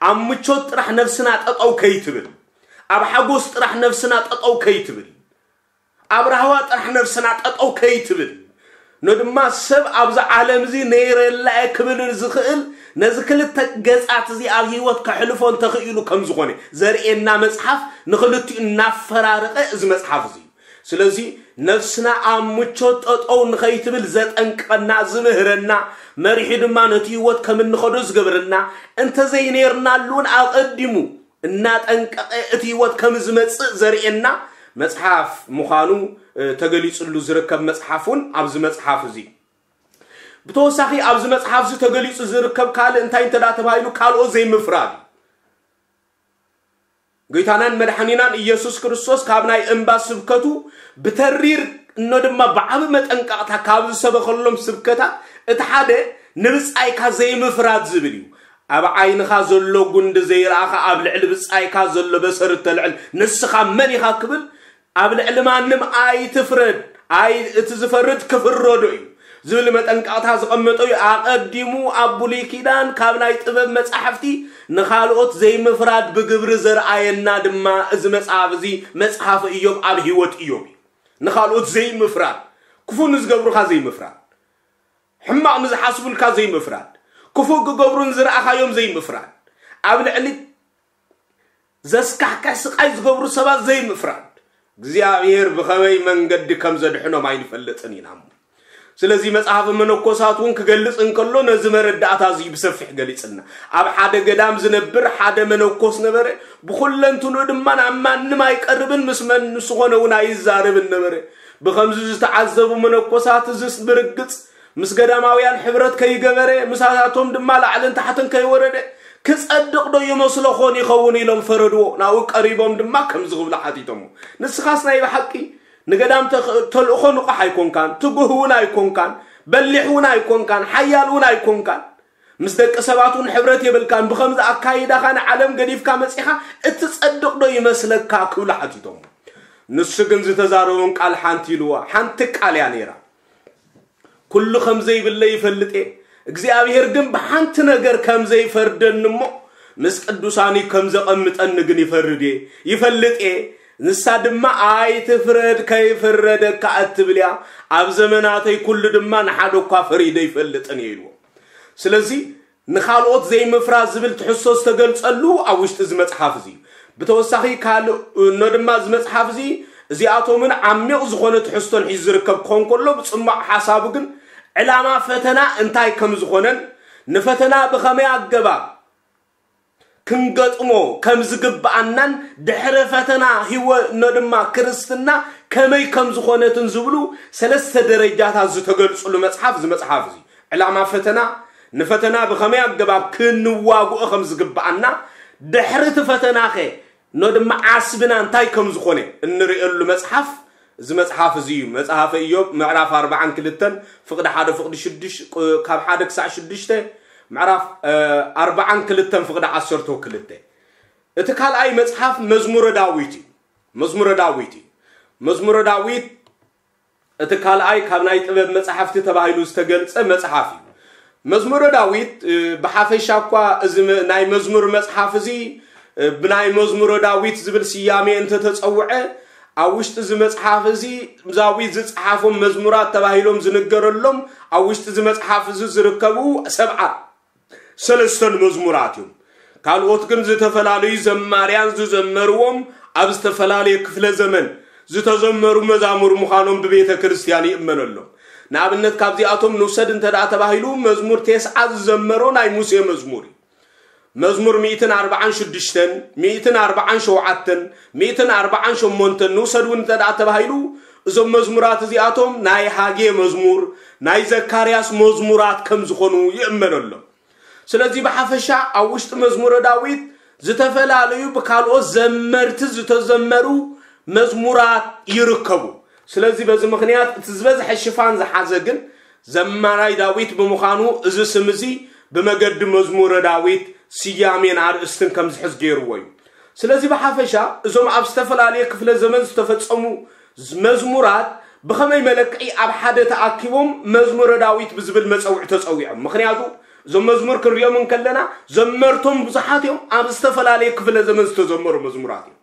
ኣብ ምቾት ጥራሕ ነፍስና ጠጠው ከይትብል፣ ኣብ ሓጎስ ጥራሕ ነፍስና ጠጠው ከይትብል፣ ኣብ ራህዋ ጥራሕ ነፍስና ጠጠው ከይትብል፣ ነድማ ሰብ ኣብዚ ዓለም እዚ ነይረላ እየ ክብል ዝኽእል ነዚ ክልተ ገጻት እዚ ኣብ ህይወት ከሕልፎ እንተኽኢሉ ከም ዝኾነ ዘርእየና መጽሓፍ ንኽልቲኡ እናፈራረቐ እዚ መጽሓፍ እዚ እዩ። ስለዚ ነፍስና ኣብ ምቾት ጠጠው ንኸይትብል ዘጠንቅቐና፣ ዝምህረና፣ መሪሑ ድማ ነቲ ህይወት ከም እንኸዶ ዝገብረና፣ እንተዘይነይርናሉ እውን ኣቐዲሙ እናጠንቀቐ እቲ ህይወት ከም ዝመጽእ ዘርእየና መጽሓፍ ምዃኑ፣ እ፣ ተገሊጹሉ ዝርከብ መጽሓፍ እውን ኣብዚ መጽሓፍ እዚ። ብተወሳኺ ኣብዚ መጽሓፍ እዚ ተገሊጹ ዝርከብ ካልእ እንታይ እንተ ደኣ ተባሂሉ ካልኦት ዘይምፍራድ እዩ። ጎይታናን መድሓኒናን ኢየሱስ ክርስቶስ ካብ ናይ እምባ ስብከቱ ብተሪር እኖ ድማ ብዓቢ መጠንቀቕታ ካብ ዝሰበኸሎም ስብከታት እቲ ሓደ ንብጻይካ ዘይምፍራድ ዝብል እዩ። ኣብ ዓይንኻ ዘሎ ጉንዲ ዘይረኣኻ ኣብ ልዕሊ ብጻይካ ዘሎ በሰር እተልዕል ንስኻ መን ኢኻ ክብል ኣብ ልዕሊ ማንም ኣይትፍረድ፣ ኣይ እቲ ዝፈርድ ክፍረዶ እዩ ዝብል መጠንቀቕታ ዝቐመጠ እዩ። ኣቐዲሙ ኣብ ብሉይ ኪዳን ካብ ናይ ጥበብ መጻሕፍቲ ንኻልኦት ዘይምፍራድ ብግብሪ ዘርኣየና ድማ እዚ መጽሓፍ እዚ መጽሓፍ እዮብ ኣብ ህይወት እዮብ እዩ። ንኻልኦት ዘይምፍራድ፣ ክፉ ንዝገብሩኻ ዘይምፍራድ፣ ሕማቕ ንዝሓስቡልካ ዘይምፍራድ፣ ክፉእ ክገብሩ ንዝረኣኻዮም ዘይምፍራድ፣ ኣብ ልዕሊ ዘስካሕክሕ ስቓይ ዝገብሩ ሰባት ዘይምፍራድ። እግዚኣብሔር ብኸመይ መንገዲ ከም ዘድሕኖም ኣይንፈልጥን ኢና እሞ። ስለዚ መጽሓፍ መነኮሳት እውን ክገልጽ እንከሎ ነዚ መረዳእታ እዚ ብሰፊሕ ገሊጽና። ኣብ ሓደ ገዳም ዝነብር ሓደ መነኮስ ነበረ። ብኹለንትንኡ ድማ ናብ ማንም ኣይቀርብን፣ ምስ መን ምስ ዝኾነ እውን ኣይዛረብን ነበረ። ብኸምዚ ዝተዓዘቡ መነኮሳት እዝስ ብርግጽ ምስ ገዳማውያን ሕብረት ከይገበረ፣ ምሳታቶም ድማ ላዕልን ታሕትን ከይወረደ ክጸድቕ ዶ ይመስለኾን ይኸውን ኢሎም ፈረድዎ። ናብኡ ቀሪቦም ድማ ከምዚ ክብሉ ሓቲቶሞ፣ ንስኻስ ናይ ብሓቂ ንገዳም ተኽ- ተልእኾ ንቑሕ ኣይኮንካን፣ ትጉህ እውን ኣይኮንካን፣ በሊሕ እውን ኣይኮንካን፣ ሓያል እውን ኣይኮንካን፣ ምስ ደቂ ሰባት እውን ሕብረት የብልካን። ብኸምዚ ኣካይዳኻ ንዓለም ገዲፍካ መጺኻ እትጸድቕ ዶ ይመስለካ ክብሉ ሓቲቶሞ። ንሱ ግን ዝተዛረቦም ቃል ሓንቲ ኢልዋ፣ ሓንቲ ቃል እያ ነይራ። ኩሉ ከም ዘይብለይ ይፈልጥ እየ። እግዚኣብሔር ግን ብሓንቲ ነገር ከም ዘይፈርደኒ እሞ ምስ ቅዱሳን ከም ዘቐምጠኒ ግን ይፈርድ እየ፣ ይፈልጥ እየ። ንሳ ድማ ኣይትፍረድ ከይፍረደካ እትብል እያ። ኣብ ዘመናተይ ኩሉ ድማ ንሓደ እኳ ፈሪደ ይፈልጥን እየ ኢልዎ። ስለዚ ንኻልኦት ዘይምፍራድ ዝብል ትሕዝቶ ዝተገልጸሉ ኣብ ውሽጢ እዚ መጽሓፍ እዚ እዩ። ብተወሳኺ ካልእ እኖ ድማ እዚ መጽሓፍ እዚ እዚኣቶምን ዓሚቕ ዝኾነ ትሕዝቶን ሒዙ ዝርከብ ክኾን ከሎ ብጽማቕ ሓሳቡ ግን ዕላማ ፈተና እንታይ ከም ዝኾነን ንፈተና ብኸመይ ኣገባብ ክንገጥሞ ከም ዝግብኣናን ድሕሪ ፈተና ህይወ እኖ ድማ ክርስትና ከመይ ከም ዝኾነትን ዝብሉ ሰለስተ ደረጃታት ዝተገልጽሉ መጽሓፍ እዚ መጽሓፍ እዚ። ዕላማ ፈተና፣ ንፈተና ብኸመይ ኣገባብ ክንዋግኦ ከም ዝግብኣና፣ ድሕሪ እቲ ፈተናኸ እኖ ድማ ዓስብና እንታይ ከም ዝኾነ እንርእየሉ መጽሓፍ እዚ መጽሓፍ እዚ እዩ። መጽሓፈ ኢዮብ ምዕራፍ ኣርባዓን ክልተን ፍቕዲ ሓደ ፍቕዲ ሽዱሽተ፣ ካብ ሓደ ክሳዕ ሽዱሽተ፣ ምዕራፍ፣ እ፣ ኣርባዓን ክልተን ፍቕዲ ዓሰርተ ክልተ። እቲ ካልኣይ መጽሓፍ መዝሙረ ዳዊት እዩ። መዝሙረ ዳዊት እዩ። መዝሙረ ዳዊት እቲ ካልኣይ ካብ ናይ ጥበብ መጽሓፍቲ ተባሂሉ ዝተገልጸ መጽሓፍ እዩ። መዝሙረ ዳዊት፣ እ፣ ብሓፈሻ እኳ እዚ መ-፣ ናይ መዝሙር መጽሓፍ እዚ፣ እ፣ ብናይ መዝሙረ ዳዊት ዝብል ስያሜ እንተተጸውዐ፣ ኣብ ውሽጢ እዚ መጽሓፍ እዚ ዳዊት ዝጸሓፎም መዝሙራት ተባሂሎም ዝንገረሎም፣ ኣብ ውሽጢ እዚ መጽሓፍ እዚ ዝርከቡ ሰብዓ ሰለስተን መዝሙራት እዮም። ካልኦት ግን ዝተፈላለዩ ዘማርያን ዝዘመርዎም ኣብ ዝተፈላለየ ክፍለ ዘመን ዝተዘመሩ መዛሙር ምዃኖም ብቤተ ክርስቲያን ይእመነሎም። ንኣብነት ካብዚኣቶም ንውሰድ እንተ ደኣ ተባሂሉ መዝሙር ቴስዓ ዝዘመሮ ናይ ሙሴ መዝሙር እዩ። መዝሙር ሚእትን ኣርባዓን ሽዱሽተን፣ ሚእትን ኣርባዓን ሸውዓተን፣ ሚእትን ኣርባዓን ሸሞንተን ንውሰድ እውን እንተ ደኣ ተባሂሉ እዞም መዝሙራት እዚኣቶም ናይ ሃጌ መዝሙር፣ ናይ ዘካርያስ መዝሙራት ከም ዝኾኑ ይእመነሎም። ስለዚ ብሓፈሻ ኣብ ውሽጢ መዝሙረ ዳዊት ዝተፈላለዩ ብካልኦት ዘመርቲ ዝተዘመሩ መዝሙራት ይርከቡ። ስለዚ በዚ ምኽንያት እቲ ዝበዝሐ ሽፋን ዝሓዘ ግን ዘማራይ ዳዊት ብምዃኑ፣ እዚ ስም እዚ ብመገዲ መዝሙረ ዳዊት ስያሜን ኣርእስትን ከም ዝሕዝ ገይርዎ እዩ። ስለዚ ብሓፈሻ እዞም ኣብ ዝተፈላለየ ክፍለ ዘመን ዝተፈጸሙ መዝሙራት ብኸመይ መለክዒ ኣብ ሓደ ተኣኪቦም መዝሙረ ዳዊት ብዝብል መጸውዒ ተጸዊዖም? ምኽንያቱ እዞም መዝሙር ክንሪኦም እንከለና ዘመርቶም ብዙሓት እዮም፣ ኣብ ዝተፈላለየ ክፍለ ዘመን ዝተዘመሩ መዝሙራት እዮም።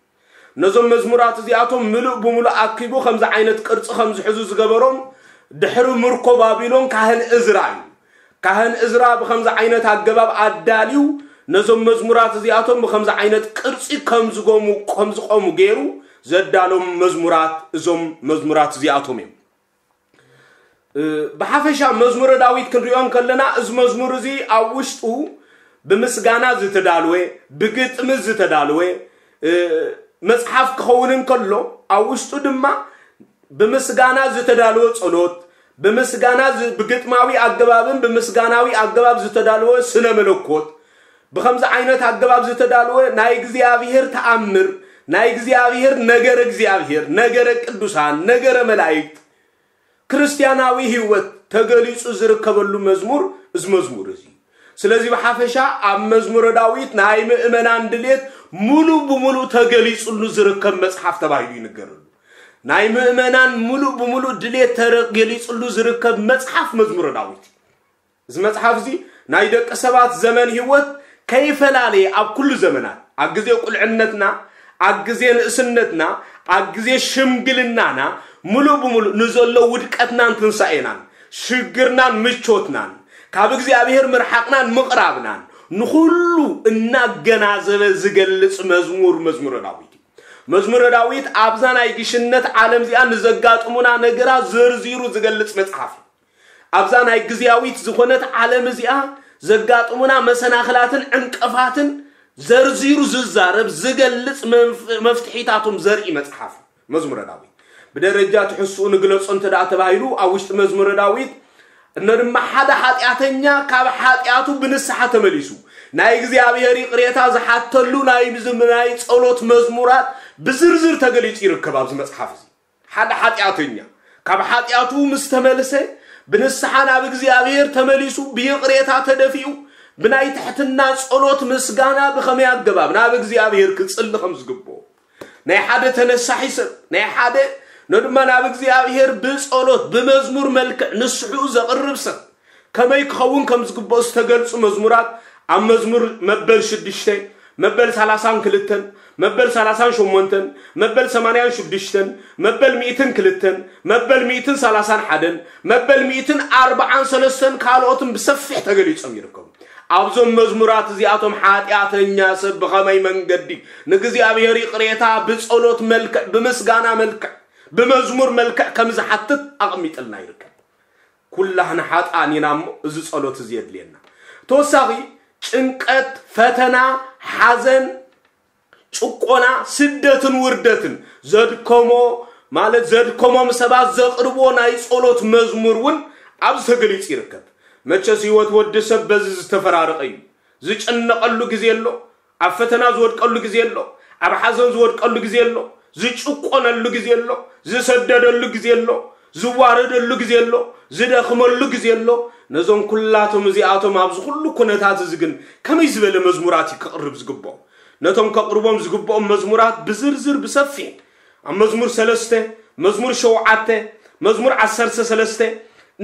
ነዞም መዝሙራት እዚኣቶም ምሉእ ብምሉእ ኣኪቡ ከምዚ ዓይነት ቅርጺ ከም ዝሕዙ ዝገበሮም ድሕሪ ምርኮ ባቢሎን ካህን እዝራ እዩ። ካህን እዝራ ብኸምዚ ዓይነት ኣገባብ ኣዳልዩ ነዞም መዝሙራት እዚኣቶም ብኸምዚ ዓይነት ቅርጺ ከም ዝጎሙ ከም ዝቆሙ ገይሩ ዘዳሎም መዝሙራት እዞም መዝሙራት እዚኣቶም እዮም። ብሓፈሻ መዝሙረ ዳዊት ክንሪኦ እንከለና እዚ መዝሙር እዚ ኣብ ውሽጡ ብምስጋና ዝተዳለወ፣ ብግጥሚ ዝተዳለወ መፅሓፍ ክኸውን እንከሎ ኣብ ውሽጡ ድማ ብምስጋና ዝተዳለወ ፀሎት፣ ብምስጋና ብግጥማዊ ኣገባብን ብምስጋናዊ ኣገባብ ዝተዳለወ ስነ መለኮት፣ ብኸምዚ ዓይነት ኣገባብ ዝተዳለወ ናይ እግዚኣብሔር ተኣምር፣ ናይ እግዚኣብሔር ነገረ እግዚኣብሔር፣ ነገረ ቅዱሳን፣ ነገረ መላእክት፣ ክርስቲያናዊ ህይወት ተገሊጹ ዝርከበሉ መዝሙር እዚ መዝሙር እዚ። ስለዚ ብሓፈሻ ኣብ መዝሙረ ዳዊት ናይ ምእመናን ድሌት ሙሉ ብሙሉ ተገሊጹሉ ዝርከብ መጽሓፍ ተባሂሉ ይንገረሉ። ናይ ምእመናን ሙሉ ብሙሉ ድሌት ተገሊጹሉ ዝርከብ መጽሓፍ መዝሙረ ዳዊት። እዚ መጽሓፍ እዚ ናይ ደቂ ሰባት ዘመን ህይወት ከይፈላለየ ኣብ ኩሉ ዘመናት፣ ኣብ ግዜ ቁልዕነትና፣ ኣብ ግዜ ንእስነትና፣ ኣብ ግዜ ሽምግልናና፣ ሙሉእ ብሙሉእ ንዘሎ ውድቀትናን ትንሳኤናን፣ ሽግርናን ምቾትናን፣ ካብ እግዚኣብሔር ምርሓቕናን ምቕራብናን፣ ንኹሉ እናገናዘበ ዝገልጽ መዝሙር መዝሙረ ዳዊት እዩ። መዝሙረ ዳዊት ኣብዛ ናይ ግሽነት ዓለም እዚኣ ንዘጋጥሙና ነገራት ዘርዚሩ ዝገልጽ መጽሓፍ እዩ። ኣብዛ ናይ ግዝያዊት ዝኾነት ዓለም እዚኣ ዘጋጥሙና መሰናኽላትን ዕንቅፋትን ዘርዚሩ ዝዛረብ ዝገልጽ መፍትሒታቶም ዘርኢ መጽሓፍ እዩ መዝሙረ ዳዊት። ብደረጃ ትሕስኡ ንግለጾ እንተ ደኣ ተባሂሉ ኣብ ውሽጢ መዝሙረ ዳዊት እነ ድማ ሓደ ሓጢኣተኛ ካብ ሓጢኣቱ ብንስሓ ተመሊሱ ናይ እግዚኣብሔር ይቕሬታ ዝሓተሉ ናይ ናይ ጸሎት መዝሙራት ብዝርዝር ተገሊጹ ይርከብ ኣብዚ መጽሓፍ እዚ። ሓደ ሓጢኣተኛ ካብ ሓጢኣቱ ምስ ተመልሰ ብንስሓ ናብ እግዚኣብሔር ተመሊሱ ብይቕሬታ ተደፊኡ ብናይ ትሕትና ጸሎት ምስጋና ብኸመይ ኣገባብ ናብ እግዚኣብሔር ክጽሊ ከም ዝግብኦ ናይ ሓደ ተነሳሒ ሰብ ናይ ሓደ ነድማ ናብ እግዚኣብሔር ብጸሎት ብመዝሙር መልክዕ ንስሑ ዘቕርብ ሰብ ከመይ ክኸውን ከም ዝግብኦ ዝተገልጹ መዝሙራት ኣብ መዝሙር መበል ሽዱሽተ መበል ሰላሳን ክልተን መበል ሰላሳን ሸሞንተን መበል ሰማንያን ሽዱሽተን መበል ሚእትን ክልተን መበል ሚእትን ሰላሳን ሓደን መበል ሚእትን ኣርባዓን ሰለስተን ካልኦትን ብሰፊሕ ተገሊጾም ይርከቡ። ኣብዞም መዝሙራት እዚኣቶም ሓጢኣተኛ ሰብ ብኸመይ መንገዲ ንእግዚኣብሔር ይቕሬታ ብጸሎት መልክዕ፣ ብምስጋና መልክዕ፣ ብመዝሙር መልክዕ ከም ዝሓትት ኣቐሚጥልና ይርከብ። ኩላህና ሓጥኣን ኢና እሞ እዚ ጸሎት እዚ የድልየና። ተወሳኺ ጭንቀት፣ ፈተና፣ ሓዘን፣ ጭቆና፣ ስደትን ውርደትን ዘድከሞ ማለት ዘድከሞም ሰባት ዘቕርብዎ ናይ ጸሎት መዝሙር እውን ኣብዚ ተገሊጹ ይርከብ። መቸስ ህይወት ወዲ ሰብ በዚ ዝተፈራረቐ እዩ። ዝጭነቐሉ ግዜ ኣሎ፣ ኣብ ፈተና ዝወድቀሉ ግዜ ኣሎ፣ ኣብ ሓዘን ዝወድቀሉ ግዜ ኣሎ፣ ዝጭቆነሉ ግዜ ኣሎ፣ ዝሰደደሉ ግዜ ኣሎ፣ ዝዋረደሉ ግዜ ኣሎ፣ ዝደኽመሉ ግዜ ኣሎ። ነዞም ኩላቶም እዚኣቶም ኣብዚ ኩሉ ኩነታት እዚ ግን ከመይ ዝበለ መዝሙራት እዩ ክቕርብ ዝግብኦ? ነቶም ከቕርቦም ዝግብኦም መዝሙራት ብዝርዝር ብሰፊሕ ኣብ መዝሙር ሰለስተ፣ መዝሙር ሸውዓተ፣ መዝሙር ዓሰርተ ሰለስተ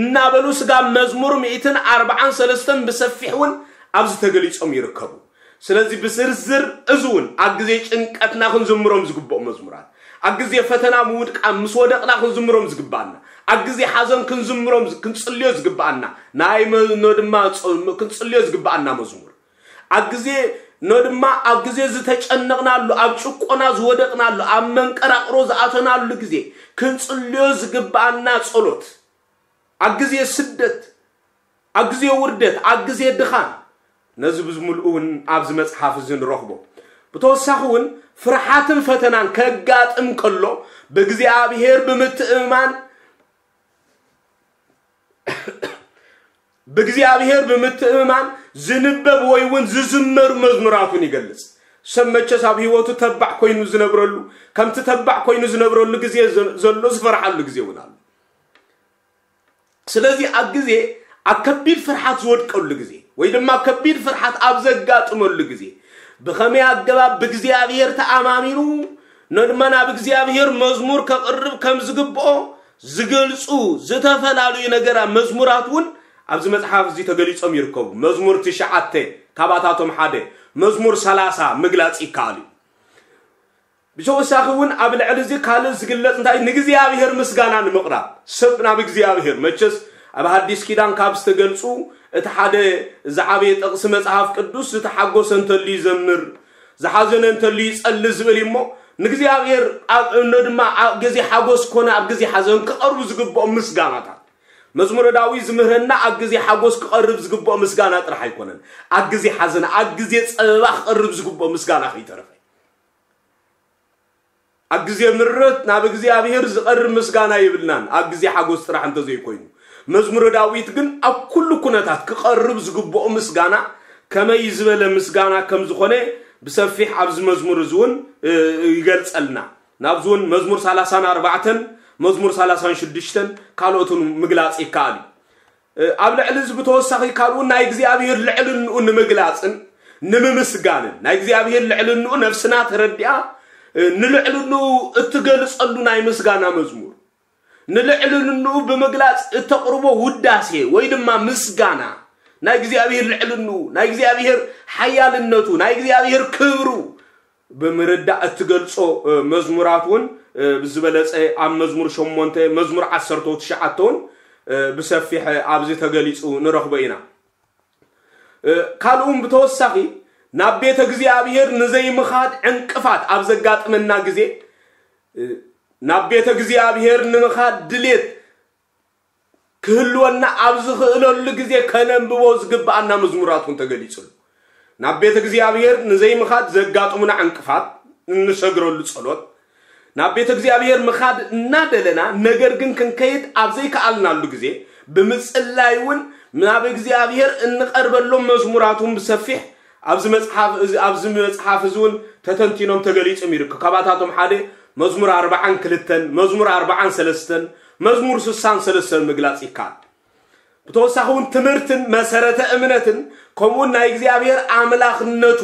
እናበሉ ስጋብ መዝሙር ሚእትን ኣርባዓን ሰለስተን ብሰፊሕ እውን ኣብዚ ተገሊጾም ይርከቡ። ስለዚ ብዝርዝር እዚ እውን ኣብ ግዜ ጭንቀትና ክንዝምሮም ዝግብኦም መዝሙራት፣ ኣብ ግዜ ፈተና ምውድቃ ምስ ወደቕና ክንዝምሮም ዝግብኣና፣ ኣብ ግዜ ሓዘን ክንዝምሮም ክንጽልዮ ዝግብኣና ናይ መ- ኖ ድማ ጾ- ክንጽልዮ ዝግብኣና መዝሙር ኣብ ግዜ ኖ ድማ ኣብ ግዜ ዝተጨነቕናሉ ኣብ ጭቆና ዝወደቕናሉ ኣብ መንቀራቕሮ ዝኣተናሉ ግዜ ክንጽልዮ ዝግብኣና ጸሎት ኣብ ግዜ ስደት ኣብ ግዜ ውርደት ኣብ ግዜ ድኻም ነዚ ብዝምልኡ እውን ኣብዚ መጽሓፍ እዚ ንረኽቦ። ብተወሳኺ እውን ፍርሓትን ፈተናን ከጋጥም ከሎ ብእግዚኣብሔር ብምትእምማን ብእግዚኣብሔር ብምትእምማን ዝንበብ ወይ እውን ዝዝመሩ መዝሙራት እውን ይገልጽ። ሰብ መቸስ ኣብ ህይወቱ ተባዕ ኮይኑ ዝነብረሉ፣ ከምቲ ተባዕ ኮይኑ ዝነብረሉ ግዜ ዘ- ዘሎ ዝፈርሓሉ ግዜ እውን ኣሎ። ስለዚ ኣብ ግዜ ኣብ ከቢድ ፍርሓት ዝወድቀሉ ግዜ ወይ ድማ ከቢድ ፍርሓት ኣብ ዘጋጥመሉ ግዜ ብኸመይ ኣገባብ ብእግዚኣብሔር ተኣማሚኑ ነድማ ናብ እግዚኣብሔር መዝሙር ከቕርብ ከም ዝግብኦ ዝገልጹ ዝተፈላለዩ ነገራት መዝሙራት እውን ኣብዚ መጽሓፍ እዚ ተገሊጾም ይርከቡ። መዝሙር ትሽዓተ ካብኣታቶም ሓደ፣ መዝሙር ሰላሳ ምግላጽ ይከኣል እዩ። ብተወሳኺ እውን ኣብ ልዕሊ እዚ ካልእ ዝግለጽ እንታይ ንእግዚኣብሔር ምስጋና ንምቕራብ ሰብ ናብ እግዚኣብሔር መቸስ ኣብ ሓዲስ ኪዳን ካብ ዝተገልጹ እቲ ሓደ ዝዓበየ ጥቕሲ መጽሓፍ ቅዱስ ዝተሓጎሰ እንተሉ ይዘምር ዝሓዘነ እንተሉ ይጸሊ ዝብል እሞ ንእግዚኣብሔር ኣብ እኖ ድማ ኣብ ግዜ ሓጎስ ኮነ ኣብ ግዜ ሓዘን ክቐርቡ ዝግብኦም ምስጋናታት መዝሙረ ዳዊት ዝምህረና ኣብ ግዜ ሓጎስ ክቐርብ ዝግብኦ ምስጋና ጥራሕ ኣይኮነን። ኣብ ግዜ ሓዘን ኣብ ግዜ ጸበባ ክቐርብ ዝግብኦ ምስጋና ከይተረፈ ኣብ ግዜ ምረት ናብ እግዚኣብሔር ዝቐርብ ምስጋና የብልናን ኣብ ግዜ ሓጎስ ጥራሕ እንተዘይኮይኑ። መዝሙረ ዳዊት ግን ኣብ ኩሉ ኩነታት ክቐርብ ዝግብኦ ምስጋና ከመይ ዝበለ ምስጋና ከም ዝኾነ ብሰፊሕ ኣብዚ መዝሙር እዚ እውን ይገልጸልና። ናብዚ እውን መዝሙር ሰላሳን ኣርባዕተን መዝሙር ሰላሳን ሽዱሽተን ካልኦትን ምግላጽ ይከኣል እዩ። ኣብ ልዕሊ እዚ ብተወሳኺ ካልኡ ናይ እግዚኣብሔር ልዕልንኡ ንምግላጽን ንምምስጋንን ናይ እግዚኣብሔር ልዕልንኡ ነፍስና ተረዲኣ ንልዕልንኡ እትገልጸሉ ናይ ምስጋና መዝሙር ንልዕልንኡ ብምግላጽ እተቕርቦ ውዳሴ ወይ ድማ ምስጋና ናይ እግዚኣብሔር ልዕልንኡ ናይ እግዚኣብሔር ሓያልነቱ ናይ እግዚኣብሔር ክብሩ ብምርዳእ እትገልጾ መዝሙራት እውን ብዝበለጸ ኣብ መዝሙር ሸሞንተ መዝሙር ዓሰርተ ትሽዓተ እውን ብሰፊሕ ኣብዚ ተገሊጹ ንረኽቦ ኢና። ካልኡን ብተወሳኺ ናብ ቤተ እግዚኣብሔር ንዘይምኻድ ዕንቅፋት ኣብ ዘጋጥመና ግዜ ናብ ቤተ እግዚኣብሔር ንምኻድ ድሌት ክህልወና ኣብ ዝኽእለሉ ግዜ ከነንብቦ ዝግብኣና መዝሙራት እውን ተገሊጹ ኣሎ። ናብ ቤተ እግዚኣብሔር ንዘይምኻድ ዘጋጥሙና ዕንቅፋት እንሰግረሉ ጸሎት ናብ ቤተ እግዚኣብሔር ምኻድ እናደለና ነገር ግን ክንከይድ ኣብ ዘይከኣልናሉ ግዜ ብምጽላይ እውን ናብ እግዚኣብሔር እንቐርበሎም መዝሙራት እውን ብሰፊሕ ኣብዚ መጽሓፍ እዚ ኣብዚ መጽሓፍ እዚ እውን ተተንቲኖም ተገሊጾም ይርከቡ። ካባታቶም ሓደ መዝሙር ኣርባዓን ክልተን መዝሙር ኣርባዓን ሰለስተን መዝሙር ስሳን ሰለስተን ምግላጽ ይከኣል። ብተወሳኺ እውን ትምህርትን መሰረተ እምነትን ከምኡውን ናይ እግዚኣብሔር ኣምላኽነቱ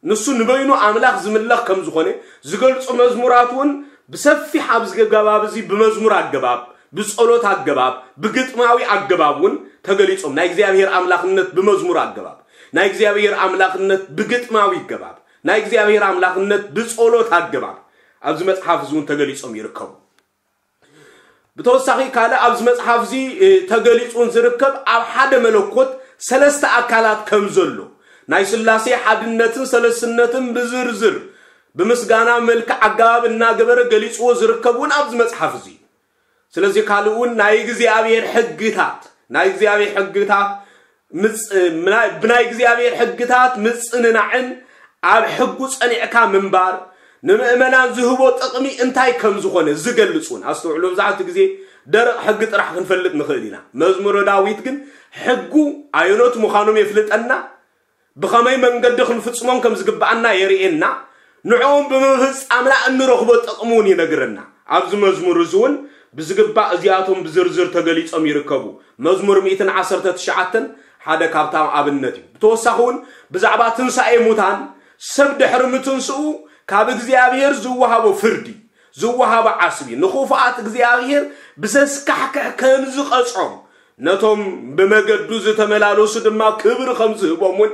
ንሱ ንበይኑ ኣምላኽ ዝምለኽ ከም ዝኾነ ዝገልጹ መዝሙራት እውን ብሰፊሕ ኣብዚ ገባብ እዚ ብመዝሙር ኣገባብ ብጸሎት ኣገባብ ብግጥማዊ ኣገባብ እውን ተገሊጾም ናይ እግዚኣብሔር ኣምላኽነት ብመዝሙር ኣገባብ ናይ እግዚኣብሔር ኣምላኽነት ብግጥማዊ ኣገባብ ናይ እግዚኣብሔር ኣምላኽነት ብጸሎት ኣገባብ ኣብዚ መጽሓፍ እዚ እውን ተገሊጾም ይርከቡ። ብተወሳኺ ካልእ ኣብዚ መጽሓፍ እዚ ተገሊጹን ዝርከብ ኣብ ሓደ መለኮት ሰለስተ ኣካላት ከም ዘሎ ናይ ስላሴ ሓድነትን ሰለስነትን ብዝርዝር ብምስጋና መልክዕ ኣገባብ እናገበረ ገሊጽዎ ዝርከብ እውን ኣብዚ መጽሓፍ እዚ። ስለዚ ካልእ እውን ናይ እግዚኣብሔር ሕግታት ናይ እግዚኣብሔር ሕግታት ብናይ እግዚኣብሔር ሕግታት ምጽንናዕን ኣብ ሕጉ ጸኒዕካ ምንባር ንምእመናን ዝህቦ ጥቕሚ እንታይ ከም ዝኾነ ዝገልጽ እውን ኣስተውዕሎ። ብዛዕቲ ግዜ ደረቕ ሕጊ ጥራሕ ክንፈልጥ ንኽእል ኢና። መዝሙረ ዳዊት ግን ሕጉ ኣየኖት ምዃኖም የፍልጠና፣ ብኸመይ መንገዲ ክንፍጽሞም ከም ዝግብኣና የርእየና፣ ንዕኦም ብምፍጻምና እንረኽቦ ጥቕሚ እውን ይነግረና። ኣብዚ መዝሙር እዚ እውን ብዝግባእ እዚኣቶም ብዝርዝር ተገሊጾም ይርከቡ። መዝሙር ሚእትን ዓሰርተ ትሽዓተን ሓደ ካብታም ኣብነት እዩ። ብተወሳኺ እውን ብዛዕባ ትንሳኤ ሙታን ሰብ ድሕሪ ምትንስኡ ካብ እግዚኣብሔር ዝወሃቦ ፍርዲ ዝወሃቦ ዓስቢ ንኽፉኣት እግዚኣብሔር ብዘስካሕክሕ ከም ዝቐጾም ነቶም ብመገዱ ዝተመላለሱ ድማ ክብሪ ከም ዝህቦም እውን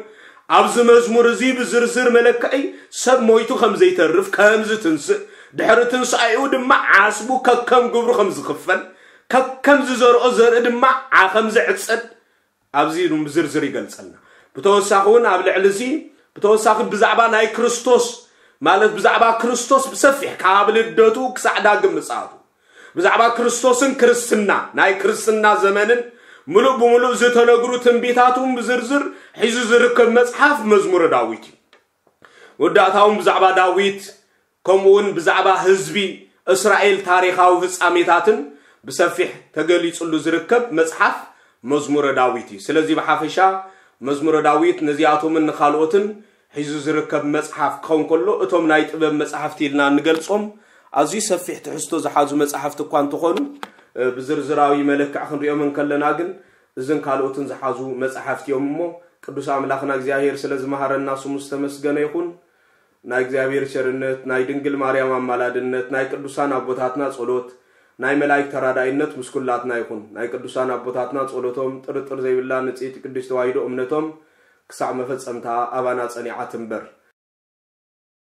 ኣብዚ መዝሙር እዚ ብዝርዝር መለክዒ ሰብ ሞይቱ ከም ዘይተርፍ ከም ዝትንስእ ድሕሪ ትንሳኤኡ ድማ ዓስቡ ከከም ግብሩ ከም ዝኽፈል ከከም ዝዘርኦ ዘርኢ ድማ ዓ ከም ዝዕጸድ ኣብዚ ብዝርዝር ይገልጸልና። ብተወሳኺ እውን ኣብ ልዕሊ እዚ ብተወሳኺ ብዛዕባ ናይ ክርስቶስ ማለት ብዛዕባ ክርስቶስ ብሰፊሕ ካብ ልደቱ ክሳዕ ዳግም ምጽኣቱ ብዛዕባ ክርስቶስን ክርስትና ናይ ክርስትና ዘመንን ምሉእ ብምሉእ ዝተነግሩ ትንቢታት እውን ብዝርዝር ሒዙ ዝርከብ መጽሓፍ መዝሙረ ዳዊት እዩ። መወዳእታውን ብዛዕባ ዳዊት ከምኡ እውን ብዛዕባ ህዝቢ እስራኤል ታሪኻዊ ፍጻሜታትን ብሰፊሕ ተገሊጹሉ ዝርከብ መጽሓፍ መዝሙረ ዳዊት እዩ። ስለዚ ብሓፈሻ መዝሙረ ዳዊት ነዚኣቶምን ንኻልኦትን ሒዙ ዝርከብ መጽሓፍ ክኸውን ከሎ፣ እቶም ናይ ጥበብ መጻሕፍቲ ኢልና እንገልጾም ኣዝዩ ሰፊሕ ትሕዝቶ ዝሓዙ መጻሕፍቲ እኳ እንተኾኑ፣ ብዝርዝራዊ መለክዕ ክንሪኦም እንከለና ግን እዝን ካልኦትን ዝሓዙ መጻሕፍቲ እዮም። እሞ ቅዱስ ኣምላኽና እግዚኣብሔር ስለ ዝመሃረና ስሙ ዝተመስገነ ይኹን። ናይ እግዚኣብሔር ቸርነት፣ ናይ ድንግል ማርያም ኣማላድነት፣ ናይ ቅዱሳን ኣቦታትና ጸሎት፣ ናይ መላእክት ተራዳኢነት ምስ ኩላትና ይኹን። ናይ ቅዱሳን ኣቦታትና ጸሎቶም ጥርጥር ዘይብላ ንጽሕቲ ቅድስት ተዋሕዶ እምነቶም ክሳዕ መፈጸምታ ኣባና ጸኒዓ ትንበር።